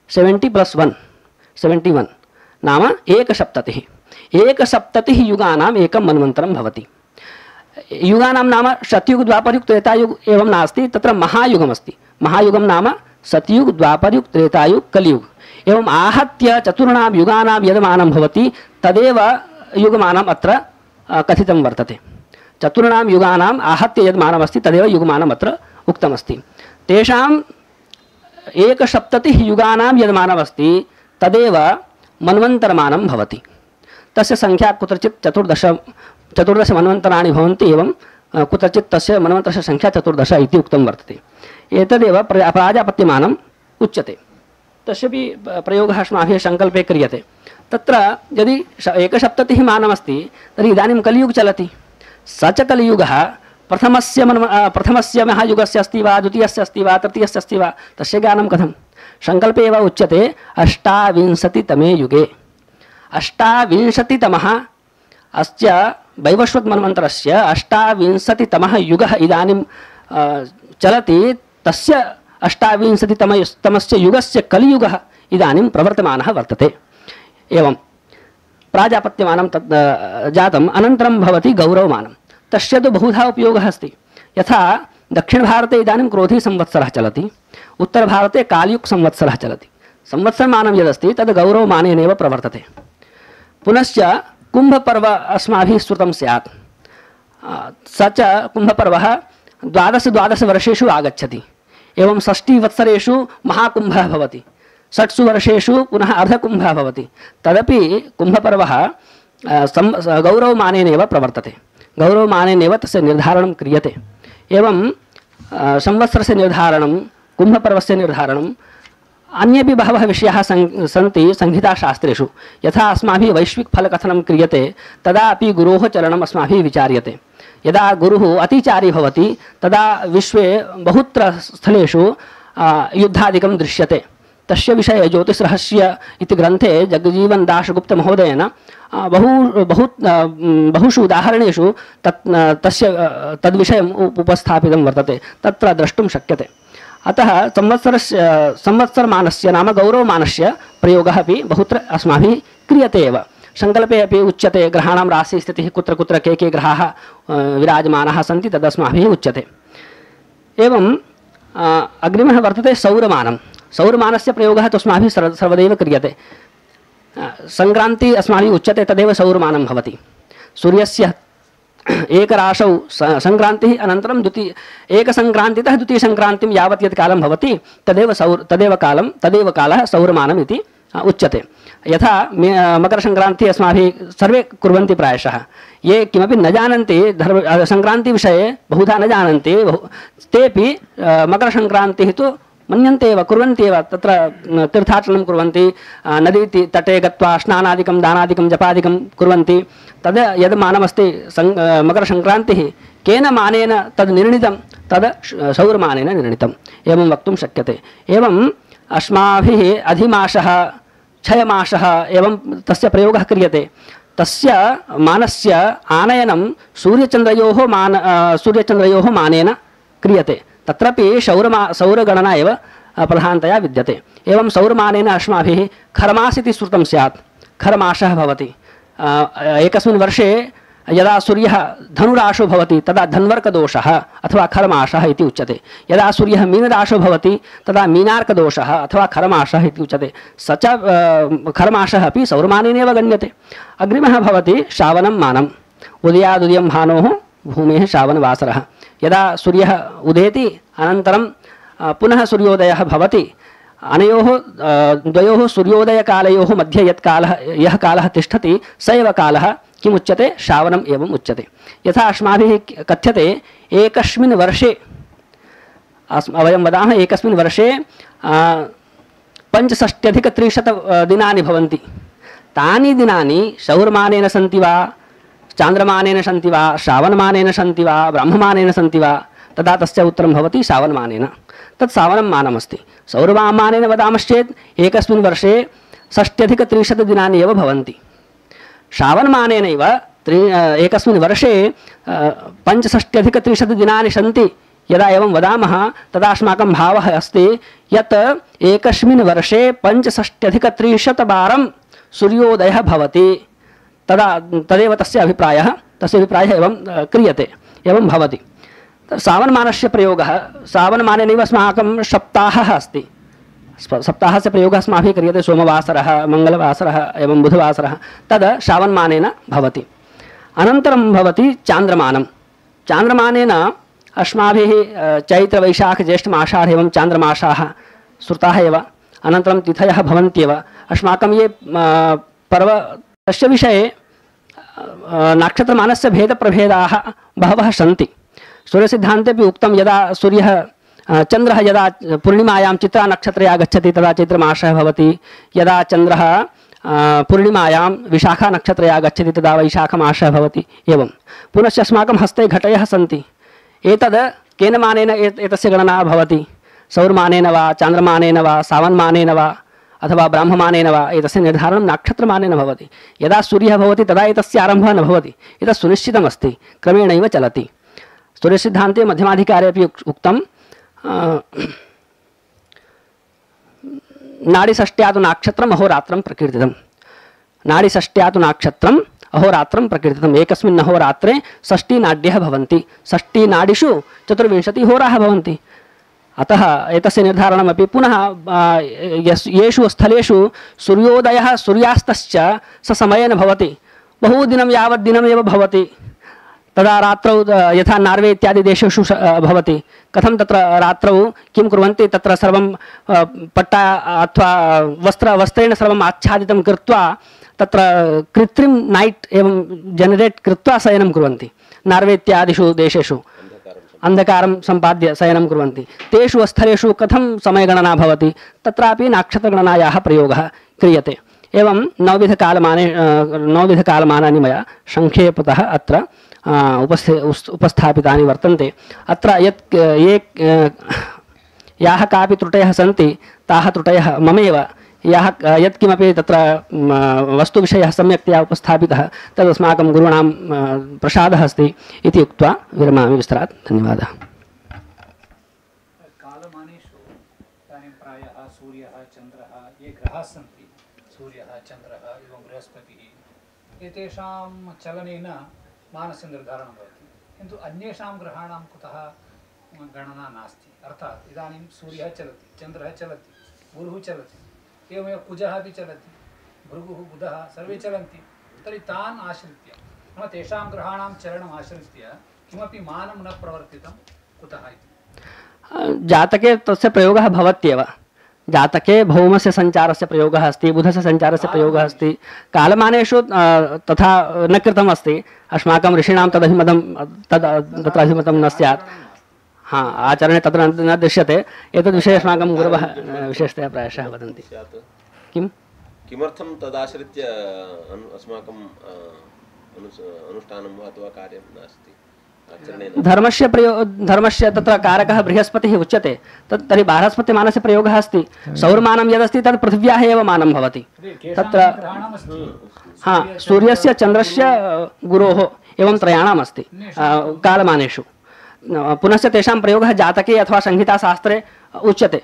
seventy plus one seventy one नाम एकसप्ततिः। एकसप्ततिः युगानाम् एकं मन्वन्तरं भवति। युगानां नाम सत्युग द्वापरयुग त्रेतायुग एवं नास्ति, तत्र महायुगमस्ति। महायुगं नाम सत्युग द्वापरयुग त्रेतायुग कलियुग एवम् आहत्य चतुर्णां युगानां यद्मानं भवति तदेव युगमानम् अत्र कथितं वर्तते। चतुर्णां युगानाम् आहत्य यद्मानमस्ति तदेव युगमानम् अत्र उक्तमस्ति। तेषां एकसप्ततिः युगानां यद्मानमस्ति तदेव मन्वन्तरमानं भवति। तस्य संख्या कुत्रचित् चतुर्दश चतुर्दश मन्वन्तराणि भवन्ति। एवं कुत्रचित् तस्य मन्वन्तरस्य संख्या चतुर्दश इति उक्तं वर्तते। एतदेव प्राजापत्यमानम् उच्यते। तस्यपि प्रयोगः अस्माभिः सङ्कल्पे क्रियते। तत्र यदि एकसप्ततिः मानमस्ति तर्हि इदानीं कलियुग चलति। स च कलियुगः प्रथमस्य मन्व प्रथमस्य महायुगस्य अस्ति वा, द्वितीयस्य अस्ति वा, तृतीयस्य अस्ति वा, तस्य ज्ञानं कथं? सङ्कल्पे एव उच्यते अष्टाविंशतितमे युगे। अष्टाविंशतितमः अस्य वैवस्वत् मन्वन्तरस्य अष्टाविंशतितमः युगः इदानीं चलति। तस्य अष्टाविंशतितमस्य युगस्य कलियुगः इदानीं प्रवर्तमानः वर्तते। एवं प्राजापत्यमानं तत् जातम्। अनन्तरं भवति गौरवमानं। तस्य तु बहुधा उपयोगः अस्ति। यथा दक्षिणभारते इदानीं क्रोधी संवत्सरः चलति, उत्तरभारते कालयुग संवत्सरः चलति। संवत्सरमानं यदस्ति तद् गौरवमानेनैव प्रवर्तते। पुनश्च कुम्भपर्व अस्माभिः श्रुतं स्यात्। स च कुम्भपर्वः द्वादश द्वादशवर्षेषु आगच्छति। एवं षष्टिवत्सरेषु महाकुम्भः भवति, षट्सु वर्षेषु पुनः अर्धकुम्भः भवति। तदपि कुम्भपर्वः गौरवमानेनैव प्रवर्तते। गौरवमानेनैव तस्य निर्धारणं क्रियते। एवं संवत्सरस्य निर्धारणं, कुम्भपर्वस्य निर्धारणं अन्येपि बहवः विषयाः सं सन्ति संहिताशास्त्रेषु। यथा अस्माभिः वैश्विकफलकथनं क्रियते तदा अपि गुरोः चरणम् अस्माभिः विचार्यते। यदा गुरुः अतिचारी भवति तदा विश्वे बहुत्र स्थलेषु युद्धादिकं दृश्यते। तस्य विषये ज्योतिषरहस्य इति ग्रन्थे जगजीवन दासगुप्त महोदयेन बहु बहु बहुषु उदाहरणेषु तत् तस्य तद्विषयम् उपस्थापितं वर्तते, तत्र द्रष्टुं शक्यते। अतः संवत्सरस्य संवत्सरमानस्य नाम गौरवमानस्य प्रयोगः अपि बहुत्र अस्माभिः क्रियते एव। संकल्पे अपि उच्यते ग्रहाणां राशिस्थितिः कुत्र कुत्र के के ग्रहाः विराजमानाः सन्ति तदस्माभिः उच्यते। एवं अग्रिमः वर्तते सौरमानं। सौरमानस्य प्रयोगः तु अस्माभिः सर्व सर्वदैव क्रियते। सङ्क्रान्ति अस्माभिः उच्यते तदेव सौरमानं भवति। सूर्यस्य एकराशौ सङ्क्रान्तिः अनन्तरं द्वितीय एकसङ्क्रान्तितः द्वितीयसङ्क्रान्तिं यावत् यत् कालं भवति तदेव सौर तदेव कालं तदेव कालः सौरमानम् इति उच्यते। यथा मकरसङ्क्रान्तिः अस्माभिः सर्वे कुर्वन्ति प्रायशः। ये किमपि न जानन्ति धर्म सङ्क्रान्तिविषये बहुधा न जानन्ति तेपि मकरसङ्क्रान्तिः तु मन्यन्ते एव कुर्वन्ति एव। तत्र तीर्थाटनं कुर्वन्ति, नदी तटे गत्वा स्नानादिकं दानादिकं जपादिकं कुर्वन्ति। तद् यद् मानमस्ति सङ् मकरसङ्क्रान्तिः केन मानेन तद् निर्णीतं तद् सौरमानेन निर्णीतम् एवं वक्तुं शक्यते। एवम् अस्माभिः अधिमासः क्षयमासः एवं तस्य प्रयोगः क्रियते। तस्य मानस्य आनयनं सूर्यचन्द्रयोः मान सूर्यचन्द्रयोः मानेन क्रियते। तत्रापि सौरमा सौरगणना एव प्रधानतया विद्यते। एवं सौरमानेन अस्माभिः खरमास इति श्रुतं स्यात्। खरमासः भवति एकस्मिन् वर्षे यदा सूर्यः धनुराशो भवति तदा धन्वर्कदोषः अथवा खरमासः इति उच्यते। यदा सूर्यः मीनराशो भवति तदा मीनार्कदोषः अथवा खरमासः इति उच्यते। स च खरमासः अपि सौरमानेनैव गण्यते। अग्रिमः भवति श्रावणं मानम्। उदयादुदयं भानोः भूमेः श्रावणवासरः। यदा सूर्यः उदेति अनन्तरं पुनः सूर्योदयः भवति, अनयोः द्वयोः सूर्योदयकालयोः मध्ये यत् कालः यः कालः तिष्ठति स एव कालः किमुच्यते श्रावणम् एवम् उच्यते। यथा अस्माभिः कथ्यते एकस्मिन् वर्षे वयं वदामः एकस्मिन् वर्षे पञ्चषष्ट्यधिकत्रिशत दिनानि भवन्ति। तानि दिनानि सौरमानेन सन्ति वा चान्द्रमानेन सन्ति वा श्रावणमानेन सन्ति वा ब्रह्ममानेन सन्ति वा तदा तस्य उत्तरं भवति श्रावणमानेन। तत् श्रावणं मानमस्ति। सौरमानेन वदामश्चेत् एकस्मिन् वर्षे षष्ट्यधिकत्रिशत दिनानि एव भवन्ति। श्रावणमानेनैव त्रि एकस्मिन् वर्षे पञ्चषष्ट्यधिकत्रिशत दिनानि सन्ति। यदा एवं वदामः तदा अस्माकं भावः अस्ति यत् एकस्मिन् वर्षे पञ्चषष्ट्यधिकत्रिशतवारं सूर्योदयः भवति। तदा तदेव तस्य अभिप्रायः तस्य अभिप्रायः एवं क्रियते एवं भवति। श्रावणमानस्य प्रयोगः श्रावणमानेनैव अस्माकं सप्ताहः अस्ति। सप्ताहस्य प्रयोगः अस्माभिः क्रियते। सोमवासरः, मङ्गलवासरः एवं बुधवासरः तद् श्रावणमानेन भवति। अनन्तरं भवति चान्द्रमानं। चान्द्रमानेन अस्माभिः चैत्रवैशाखज्येष्ठमासाः एवं चान्द्रमासाः श्रुताः एव। अनन्तरं तिथयः भवन्त्येव। अस्माकं ये पर्व तस्य विषये नक्षत्रमानस्य भेदप्रभेदाः बहवः सन्ति। सूर्यसिद्धान्तेपि उक्तं यदा सूर्यः चन्द्रः यदा पूर्णिमायां चित्रानक्षत्रे आगच्छति तदा चैत्रमासः भवति। यदा चन्द्रः पूर्णिमायां विशाखानक्षत्रे आगच्छति तदा वैशाखमासः भवति। एवं पुनश्च अस्माकं हस्ते घटयः सन्ति। एतद् केन मानेन एतस्य गणना भवति? सौरमानेन वा चान्द्रमानेन वा सावनमानेन वा अथवा ब्राह्ममानेन वा एतस्य निर्धारणं नक्षत्रमानेन भवति। यदा सूर्यः भवति तदा एतस्य आरम्भः न भवति। एतत् सुनिश्चितमस्ति, क्रमेणैव चलति। सूर्यसिद्धान्ते मध्यमाधिकारे अपि उक्तं नाडीषष्ट्यातु नाक्षत्रम् अहोरात्रं प्रकीर्तितं। नाडीषष्ट्यातु नाक्षत्रम् अहोरात्रं प्रकीर्तितम्। एकस्मिन् अहोरात्रे षष्टिनाड्यः भवन्ति। षष्टिनाडीषु चतुर्विंशतिहोराः भवन्ति। अतः एतस्य निर्धारणमपि पुनः येषु स्थलेषु सूर्योदयः सूर्यास्तश्च ससमयेन भवति। बहुदिनं यावत् दिनमेव भवति। तदा रात्रौ यथा नार्वे इत्यादि देशेषु भवति। कथं तत्र रात्रौ किं कुर्वन्ति? तत्र सर्वं पट्टा अथवा वस्त्र वस्त्रेण सर्वम् आच्छादितं कृत्वा तत्र कृत्रिम नाइट एवं जनरेट कृत्वा शयनं कुर्वन्ति नार्वे इत्यादिषु देशेषु। अन्धकारं सम्पाद्य शयनं कुर्वन्ति तेषु स्थलेषु कथं समयगणना भवति तत्रापि नक्षत्रगणनायाः प्रयोगः क्रियते एवं नवविधकालमाने नवविधकालमानानि मया संक्षेपतः अत्र उपस्थि उपस्थापितानि वर्तन्ते अत्र यत् ये याः कापि त्रुटयः सन्ति ताः त्रुटयः ममेव याः यत्किमपि तत्र वस्तुविषयः सम्यक्तया उपस्थापितः तदस्माकं गुरूणां प्रसादः अस्ति इति उक्त्वा विरमामि विस्तरात् धन्यवादः कालमानेषु इदानीं प्रायः सूर्यः चन्द्रः ये ग्रहाः सन्ति सूर्यः चन्द्रः एवं बृहस्पतिः एतेषां चलनेन मानस्य निर्धारणं भवति किन्तु अन्येषां ग्रहाणां कुतः गणना नास्ति अर्थात् इदानीं सूर्यः चलति चन्द्रः चलति गुरुः चलति एवमेव कुजः अपि चलति भृगुः बुधः सर्वे चलन्ति तर्हि तान् आश्रित्य नाम तेषां ग्रहाणां चलनम् आश्रित्य किमपि मानं न प्रवर्तितं कुतः इति जातके तस्य प्रयोगः भवत्येव जातके भौमस्य सञ्चारस्य प्रयोगः अस्ति बुधस्य सञ्चारस्य प्रयोगः अस्ति कालमानेषु तथा न कृतम् अस्ति अस्माकं ऋषीणां तदभिमतं तद् तत्र अभिमतं न स्यात् हाँ आचरणे तत्र न दृश्यते एतद्विषये अस्माकं गुरवः विशेषतया प्रायशः वदन्ति किं किमर्थं तदाश्रित्य अस्माकं अनुष्ठानं वा अथवा कार्यं नास्ति धर्मस्य प्रयो धर्मस्य तत्र कारकः बृहस्पतिः उच्यते तत् तर्हि बृहस्पतिमानस्य प्रयोगः अस्ति सौरमानं यदस्ति तत् पृथिव्याः एव मानं भवति तत्र हाँ सूर्यस्य चन्द्रस्य गुरोः एवं त्रयाणाम् अस्ति कालमानेषु पुनश्च तेषां प्रयोगः जातके अथवा संहिताशास्त्रे उच्यते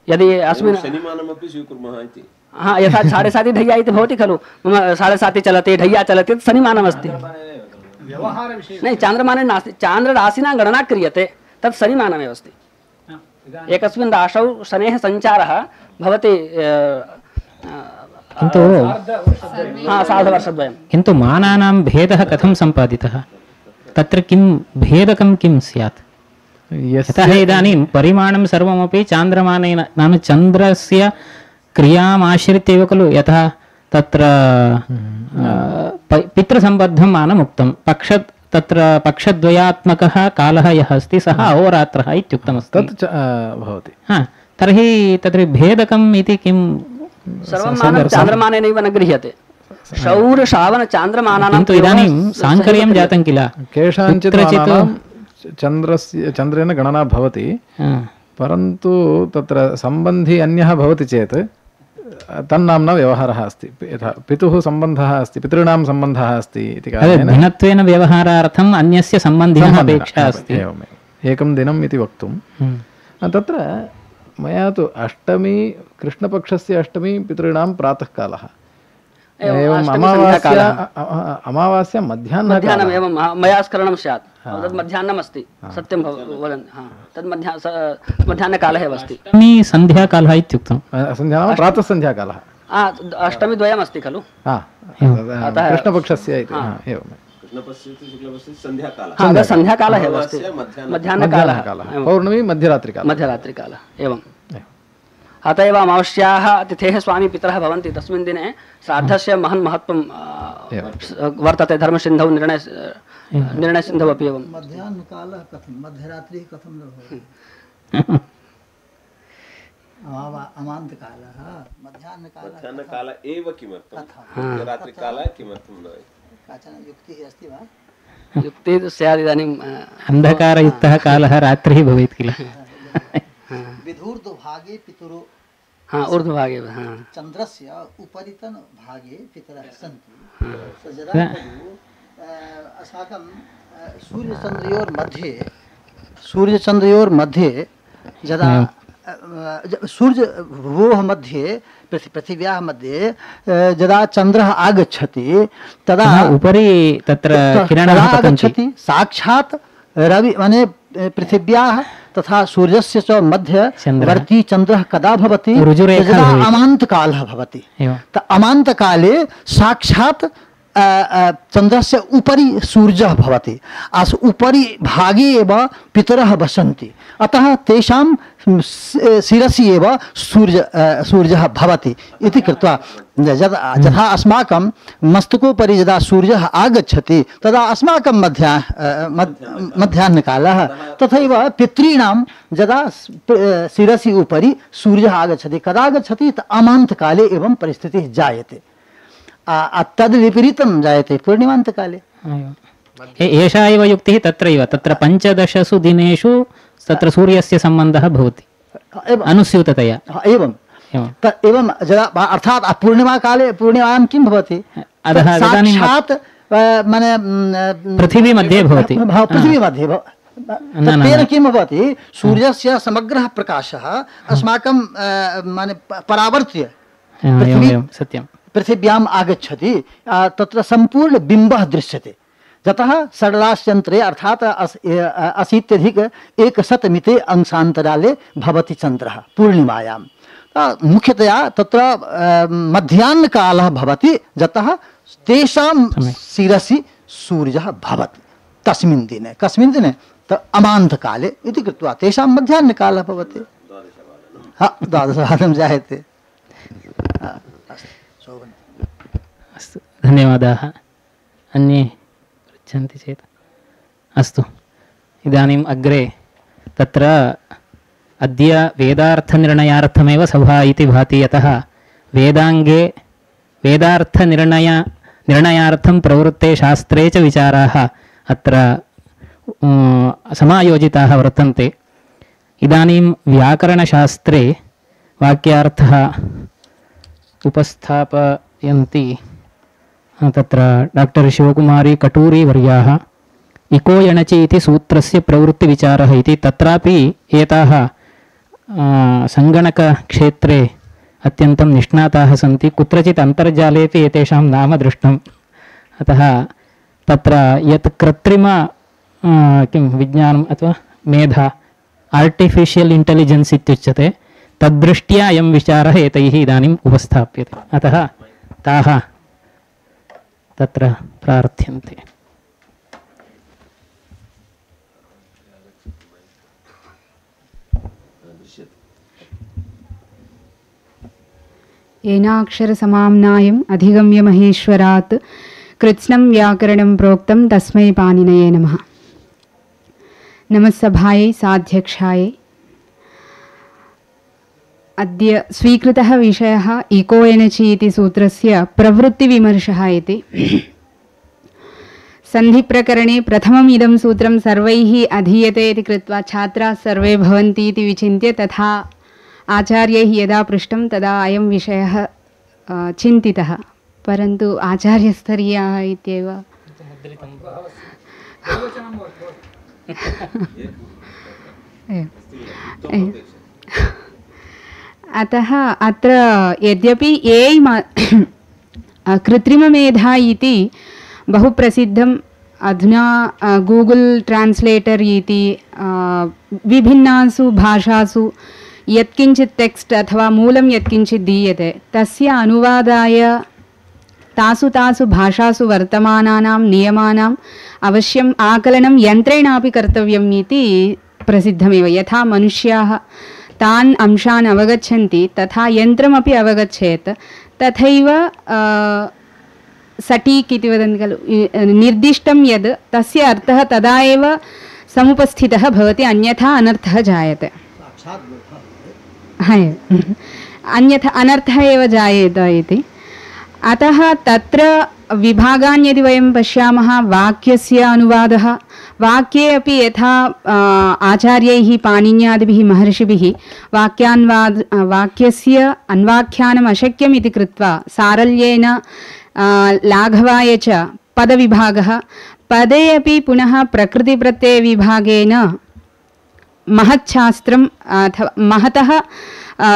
यदि अस्मिन् शनिमानमपि स्वीकुर्मः इति हाँ यथा साढ़े साति ढय्या इति भवति खलु मम साढ़े साति चलति ढय्या चलति तत् शनिमानमस्ति नहीं चान्द्रमाने नास्ति चान्द्रराशिना गणना क्रियते तत् शनिमानमेव अस्ति एकस्मिन् राशौ शनेः सञ्चारः भवति किन्तु हाँ सार्धवर्षद्वयं किन्तु मानानां भेदः कथं सम्पादितः तत्र किं भेदकं किं स्यात् यतः इदानीं परिमाणं सर्वमपि चान्द्रमानेन नाम चन्द्रस्य क्रियाम् आश्रित्य एव खलु यथा तत्र पितृसम्बद्धं मानम् उक्तं पक्ष तत्र पक्षद्वयात्मकः कालः यः अस्ति सः अहोरात्रः इत्युक्तमस्ति तत् भवति हा तर्हि तत्र भेदकम् इति किं सर्वं मानं चान्द्रमानेनैव न गृह्यते शौर श्रावण चान्द्रमानानां किन्तु इदानीं साङ्कर्यं जातं किल केषाञ्चित् चन्द्रस्य चन्द्रेण गणना भवति परन्तु तत्र सम्बन्धी अन्यः भवति चेत् तन्नाम्ना व्यवहारः अस्ति यथा पितुः सम्बन्धः अस्ति पितॄणां सम्बन्धः अस्ति इति कारणेन भिन्नत्वेन व्यवहारार्थम् अन्यस्य सम्बन्धिनः अपेक्षा अस्ति एवमेव एकं दिनम् इति वक्तुं तत्र मया तु अष्टमी कृष्णपक्षस्य अष्टमी पितॄणां प्रातःकालः एवम् अमावास्या अमावास्या मध्याह्नम् एवं मया स्मरणं स्यात् तद् मध्याह्नम् अस्ति सत्यं वदन् तद् मध्या मध्याह्नकालः एव अस्ति अष्टमी सन्ध्याकालः इत्युक्तं सन्ध्या नाम प्रातःसन्ध्याकालः अष्टमी द्वयम् अस्ति खलु कृष्णपक्षस्य इति एवं सन्ध्याकालः एव अस्ति मध्याह्नकालः पौर्णमी मध्यरात्रिकालः मध्यरात्रिकालः एवं अत एव अमावस्याः तिथेः स्वामी पितरः भवन्ति तस्मिन् दिने श्राद्धस्य महन् महत्त्वं वर्तते धर्मसिन्धौ निर्णय निर्णयसिन्धौ अपि एवं मध्याह्नकालः कथं मध्यरात्रिः कथं न भवति अमान्तकालः मध्याह्नकाल एव किमर्थं मध्यरात्रिकालः किमर्थं न काचन युक्तिः अस्ति वा युक्तिः स्यात् इदानीम् अन्धकारयुक्तः कालः रात्रिः भवेत् किल विधूर्ध्वभागे पितरो हाँ ऊर्ध्वभागे हाँ चन्द्रस्य उपरितन भागे पितरः सन्ति यदा अस्माकं सूर्यचन्द्रयोर्मध्ये सूर्यचन्द्रयोर्मध्ये यदा सूर्यभुवोः मध्ये पृथिव्याः मध्ये यदा चन्द्रः आगच्छति तदा उपरि तत्र किरणः आगच्छति साक्षात् रवि माने पृथिव्याः तथा सूर्यस्य च मध्यवर्ती चन्द्रः कदा भवति यदा अमान्तकालः भवति त अमान्तकाले साक्षात् चन्द्रस्य उपरि सूर्यः भवति, अस् उपरि भागे एव पितरः वसन्ति, अतः तेषां शिरसि एव सूर्य सूर्यः भवति इति कृत्वा यदा यथा अस्माकं मस्तकोपरि यदा सूर्यः आगच्छति तदा अस्माकं मध्या मध्याह्नकालः, तथैव पितॄणां यदा शिरसि उपरि सूर्यः आगच्छति, कदा आगच्छति अमान्तकाले एवं परिस्थितिः जायते, तद् विपरीतं जायते पूर्णिमान्तकाले। एषा एव युक्तिः तत्रैव, तत्र पञ्चदशसु दिनेषु तत्र सूर्यस्य सम्बन्धः भवति अनुस्यूततया। एवं एवं यदा अर्थात् पूर्णिमाकाले पूर्णिमायां किं भवति, साक्षात् माने पृथिवी मध्ये भवति, पृथिवी मध्ये तेन किं भवति, सूर्यस्य समग्रः प्रकाशः अस्माकं माने परावर्त्य सत्यं पृथिव्याम् आगच्छति, तत्र सम्पूर्ण बिम्बः दृश्यते, यतः सरलाश्यन्त्रे अर्थात् अशीत्यधिक एकशतमिते अंशान्तराले भवति चन्द्रः पूर्णिमायां। मुख्यतया तत्र मध्याह्नकालः भवति, यतः तेषां शिरसि सूर्यः भवति तस्मिन् दिने, कस्मिन् दिने अमान्तकाले इति कृत्वा तेषां मध्याह्नकालः भवति। हा, द्वादशवादनं जायते। अस्तु, धन्यवादाः। अन्ये पृच्छन्ति चेत् अस्तु। इदानीम् अग्रे तत्र अद्य वेदार्थनिर्णयार्थमेव सभा इति भाति, यतः वेदाङ्गे वेदार्थनिर्णय निर्णयार्थं प्रवृत्ते शास्त्रे च विचाराः अत्र समायोजिताः वर्तन्ते। इदानीं व्याकरणशास्त्रे वाक्यार्थः उपस्थापयन्ति तत्र डाक्टर् शिवकुमारी कटूरी वर्याः। इको यणचि इति सूत्रस्य प्रवृत्तिविचारः इति, तत्रापि एताः सङ्गणकक्षेत्रे अत्यन्तं निष्णाताः सन्ति, कुत्रचित् अन्तर्जालेपि एतेषां नाम दृष्टम्। अतः तत्र यत् कृत्रिम किं विज्ञानम् अथवा मेधा आर्टिफिशियल् इण्टेलिजेन्स् इत्युच्यते, तद्दृष्ट्या अयं विचारः एतैः इदानीम् उपस्थाप्यते, अतः ताः तत्र प्रार्थ्यन्ते। येनाक्षरसमाम्नायम् अधिगम्य महेश्वरात् कृत्स्नं व्याकरणं प्रोक्तं तस्मै पाणिनये नमः। नमस्सभायै साध्यक्षायै। अद्य स्वीकृतः विषयः इको एनचि इति सूत्रस्य प्रवृत्तिविमर्शः इति। सन्धिप्रकरणे प्रथमम् इदं सूत्रं सर्वैः अधीयते इति कृत्वा छात्राः सर्वे भवन्ति इति विचिन्त्य, तथा आचार्यैः यदा पृष्टं तदा अयं विषयः चिन्तितः, परन्तु आचार्यस्तरीयाः इत्येव अतः अत्र यद्यपि ए कृत्रिममेधा इति बहु प्रसिद्धम्, अधुना गूगल् ट्रान्स्लेटर् इति विभिन्नासु भाषासु यत्किञ्चित् टेक्स्ट् अथवा मूलं यत्किञ्चित् दीयते तस्य अनुवादाय तासु तासु भाषासु वर्तमानानां नियमानाम् अवश्यम् आकलनं यन्त्रेणापि कर्तव्यम् इति प्रसिद्धमेव। यथा मनुष्याः तान् अंशान् अवगच्छन्ति तथा यन्त्रमपि अवगच्छेत्, तथैव सटीक् इति वदन्ति खलु, निर्दिष्टं यद् तस्य अर्थः तदा एव समुपस्थितः भवति, अन्यथा अनर्थः जायते। अन्यथा अनर्थः एव जायेत इति। अतः तत्र विभागान् यदि वयं पश्यामः, वाक्यस्य अनुवादः, वाक्ये अपि यथा आचार्यैः पाणिन्यादिभिः महर्षिभिः वाक्यान्वाद वाक्यस्य अन्वाख्यानम् अशक्यम् इति कृत्वा सारल्येन लाघवाय च पदविभागः, पदे अपि पुनः प्रकृतिप्रत्ययविभागेन महच्छास्त्रम् अथवा महतः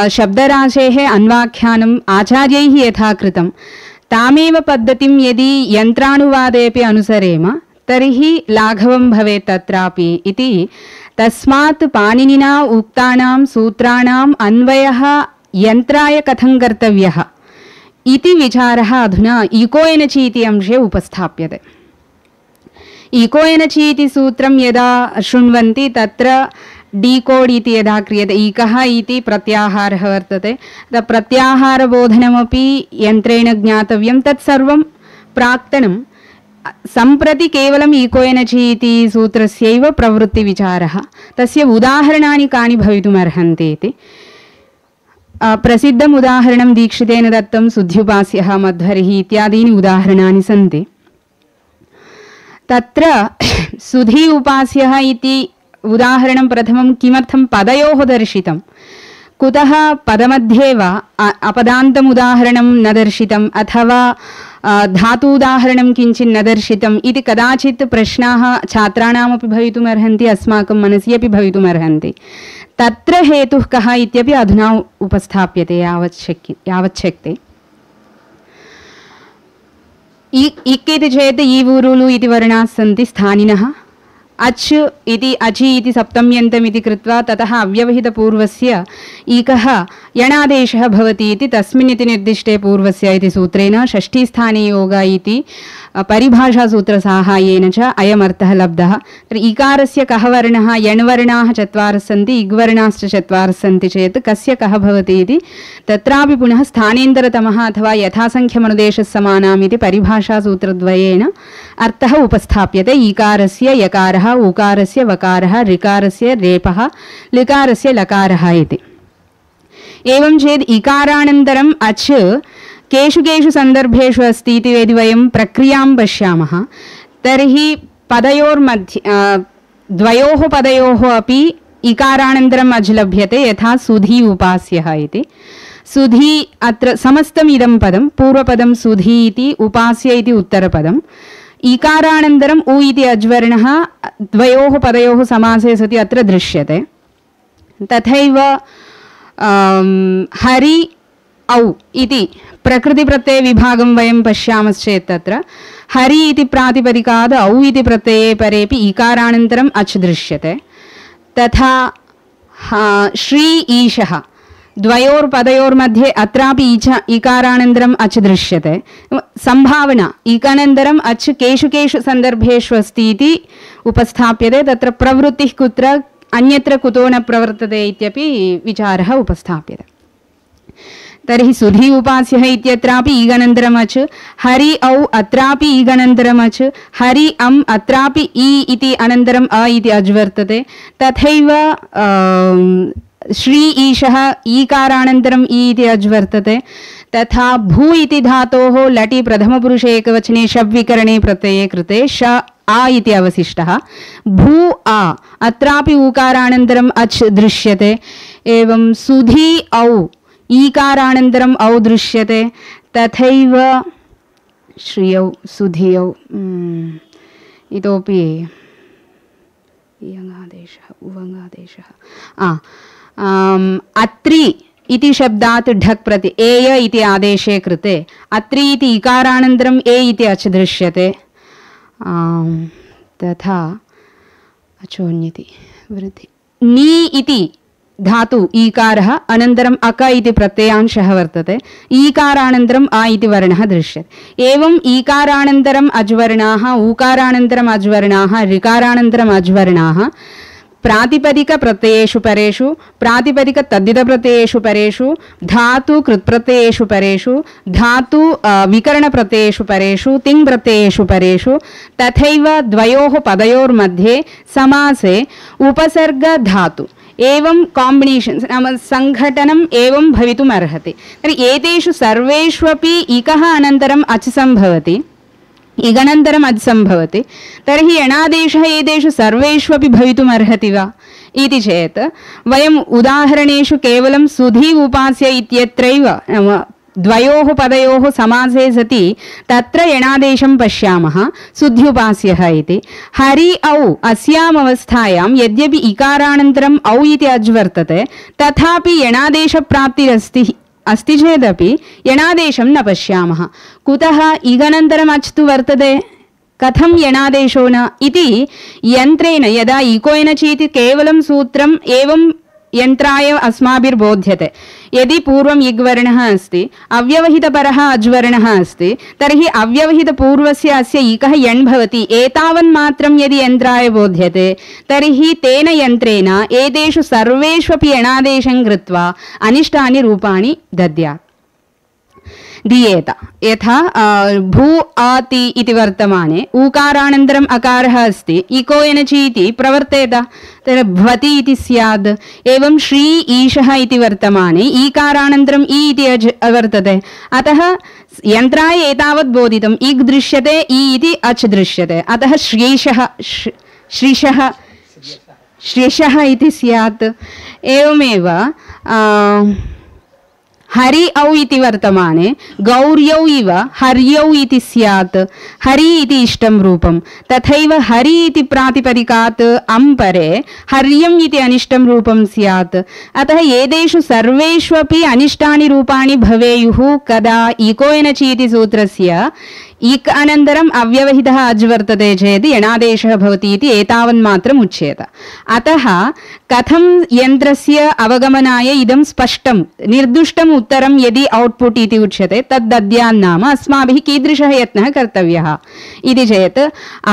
शब्दराशेः अन्वाख्यानम् आचार्यैः यथा कृतं तामेव पद्धतिं यदि यन्त्रानुवादेपि अनुसरेम तर्हि लाघवं भवेत् तत्रापि इति। तस्मात् पाणिनिना उक्तानां सूत्राणाम् अन्वयः यन्त्राय कथं कर्तव्यः इति विचारः अधुना इको एनचि इति अंशे उपस्थाप्यते। इको एनचि इति सूत्रं यदा शृण्वन्ति तत्र डीकोड् इति यदा क्रियते, इकः इति प्रत्याहारः वर्तते, तत् प्रत्याहारबोधनमपि यन्त्रेण ज्ञातव्यं, तत्सर्वं प्राक्तनं। सम्प्रति केवलम् इको एनचि इति सूत्रस्यैव प्रवृत्तिविचारः, तस्य उदाहरणानि कानि भवितुमर्हन्ति इति। प्रसिद्धम् उदाहरणं दीक्षितेन दत्तं सुध्युपास्यः मध्वरिः इत्यादीनि उदाहरणानि सन्ति। तत्र सुधी उपास्यः इति उदाहरणं प्रथमं किमर्थं पदयोः दर्शितं, कुतः पदमध्ये वा अपदान्तम् उदाहरणं न दर्शितम् अथवा धातूदाहरणं किञ्चित् न दर्शितम् इति कदाचित् प्रश्नाः छात्राणामपि भवितुमर्हन्ति, अस्माकं मनसि अपि भवितुमर्हन्ति। तत्र हेतुः कः इत्यपि अधुना उपस्थाप्यते यावत् शक्य यावत् शक्यते। इक् इति चेत् ईवुरुलु इति वर्णाः सन्ति स्थानिनः। अच् इति अचि इति सप्तम्यन्तम् इति कृत्वा ततः अव्यवहितपूर्वस्य इकः यणादेशः भवति इति तस्मिन् इति निर्दिष्टे पूर्वस्य इति सूत्रेण षष्ठीस्थाने योग इति परिभाषासूत्रसाहाय्येन च अयमर्थः लब्धः। इकारस्य कः वर्णः, यण्वर्णाः चत्वारः सन्ति, इग्वर्णाश्च चत्वारः सन्ति चेत् कस्य कः भवति इति तत्रापि पुनः स्थानेन्तरतमः अथवा यथासङ्ख्यमनुदेशसमानाम् इति परिभाषासूत्रद्वयेन अर्थः उपस्थाप्यते। ईकारस्य यकारः, उकारस्य वकारः, ऋकारस्य रेपः, लिकारस्य लकारः इति। एवं चेत् इकारानन्तरम् अच् केषु केषु सन्दर्भेषु अस्ति इति यदि वयं प्रक्रियां पश्यामः तर्हि पदयोर्मध्ये द्वयोः पदयोः अपि इकारानन्तरम् अच् लभ्यते, यथा सुधी उपास्यः इति। सुधी अत्र समस्तम् इदं पदं, पूर्वपदं सुधी इति, उपास्य इति उत्तरपदम्। इकारानन्तरम् उ इति अज्वर्णः द्वयोः पदयोः समासे सति अत्र दृश्यते। तथैव हरि औ इति प्रकृतिप्रत्ययविभागं वयं पश्यामश्चेत् तत्र हरि इति प्रातिपदिकाद् औ इति प्रत्यये परेपि इकारानन्तरम् अच् दृश्यते। तथा श्री ईशः द्वयोर्पदयोर्मध्ये अत्रापि ईच इकारानन्तरम् अच् दृश्यते। संभावना इकानन्तरम् अच् केषु केषु सन्दर्भेषु अस्ति इति उपस्थाप्यते। तत्र प्रवृत्तिः कुत्र अन्यत्र कुतो न प्रवर्तते इत्यपि विचारः उपस्थाप्यते। तर्हि सुधी उपास्यः इत्यत्रापि ईगनन्तरम् अच्, हरि औ अत्रापि ईगनन्तरम् अच्, हरि अम् अत्रापि इ इति अनन्तरम् अ इति अज् वर्तते। तथैव श्री ईशः ईकारानन्तरम् इ इति अज् वर्तते। तथा भू इति धातोः लटि प्रथमपुरुषे एकवचने शब्विकरणे प्रत्यये कृते श आ इति अवशिष्टः। भू आ अत्रापि ऊकारानन्तरम् अच् दृश्यते। एवं सुधी औ ईकारानन्तरम् औ दृश्यते। तथैव श्रियौ सुधियौ इतोपि इयङादेशः उवङादेशः आ अत्रि इति शब्दात् ढक् प्रति एय इति आदेशे कृते अत्रि इति इकारानन्तरम् ए इति अच् दृश्यते। तथा अचोन्यति वृद्धि नी इति धातु ईकारः अनन्तरम् अक इति प्रत्ययांशः वर्तते। ईकारानन्तरम् आ इति वर्णः दृश्यते। एवम् ईकारानन्तरम् अज्वर्णाः, ऊकारानन्तरम् अज्वर्णाः, ऋकारानन्तरम् अज्वर्णाः प्रातिपदिकप्रत्ययेषु परेषु, प्रातिपदिकतद्धितप्रत्ययेषु परेषु, धातु कृत्प्रत्ययेषु परेषु, धातु विकरणप्रत्ययेषु परेषु, तिङ् प्रत्ययेषु परेषु, तथैव द्वयोः पदयोर्मध्ये समासे उपसर्ग धातु एवं काम्बिनेशन्स् नाम सङ्घटनम् एवं भवितुम् अर्हति। तर्हि एतेषु सर्वेष्वपि इकः अनन्तरम् अच् सम्भवति, इगनन्तरम् अच् सम्भवति। तर्हि यणादेशः एतेषु सर्वेष्वपि भवितुम् अर्हति वा इति चेत् वयम् उदाहरणेषु केवलं सुधी उपास्य इत्यत्रैव नाम द्वयोः पदयोः समासे सति तत्र यणादेशं पश्यामः सुध्युपास्यः इति। हरि औ अस्याम् अवस्थायां यद्यपि इकारानन्तरम् औ इति अज् वर्तते तथापि यणादेशप्राप्तिरस्ति अस्ति चेदपि यणादेशं न पश्यामः। कुतः इगनन्तरम् अच् तु वर्तते, कथं यणादेशो न इति यन्त्रेण यदा इको एनचि इति केवलं सूत्रम् एवं यन्त्राय अस्माभिर्बोध्यते यदि पूर्वम् इग्वर्णः अस्ति अव्यवहितपरः अज्वर्णः अस्ति तर्हि अव्यवहितपूर्वस्य अस्य इकः यण् भवति एतावन्मात्रं यदि यन्त्राय बोध्यते तर्हि तेन यन्त्रेण एतेषु सर्वेष्वपि यणादेशं कृत्वा अनिष्टानि रूपाणि दद्यात् दीयेत यथा भू आति इति वर्तमाने ऊकारानन्तरम् अकारः अस्ति इको एनचि इति प्रवर्तेत तर्हि भवति इति स्यात् एवं श्री ईशः इति वर्तमाने ईकारानन्तरम् इ इति वर्तते अतः यन्त्राय एतावत् बोधितम् इग् दृश्यते इ इति अच् दृश्यते अतः श्रीशः श्रीशः श्रीशः इति स्यात् एवमेव हरि औ इति वर्तमाने गौर्यौ इव हर्यौ इति स्यात् हरि इति इष्टं रूपं तथैव हरि इति प्रातिपदिकात् अम्परे हर्यम् इति अनिष्टं रूपं स्यात् अतः एतेषु सर्वेष्वपि अनिष्टानि रूपाणि भवेयुः कदा इको एनचि इति सूत्रस्य इक् अनन्तरम् अव्यवहितः अज् वर्तते चेत् यणादेशः भवति इति एतावन्मात्रम् उच्येत अतः कथं यन्त्रस्य अवगमनाय इदं स्पष्टं निर्दुष्टम् उत्तरं यदि औट्पुट् इति उच्यते तद् दद्यान्नाम अस्माभिः कीदृशः यत्नः कर्तव्यः इति चेत्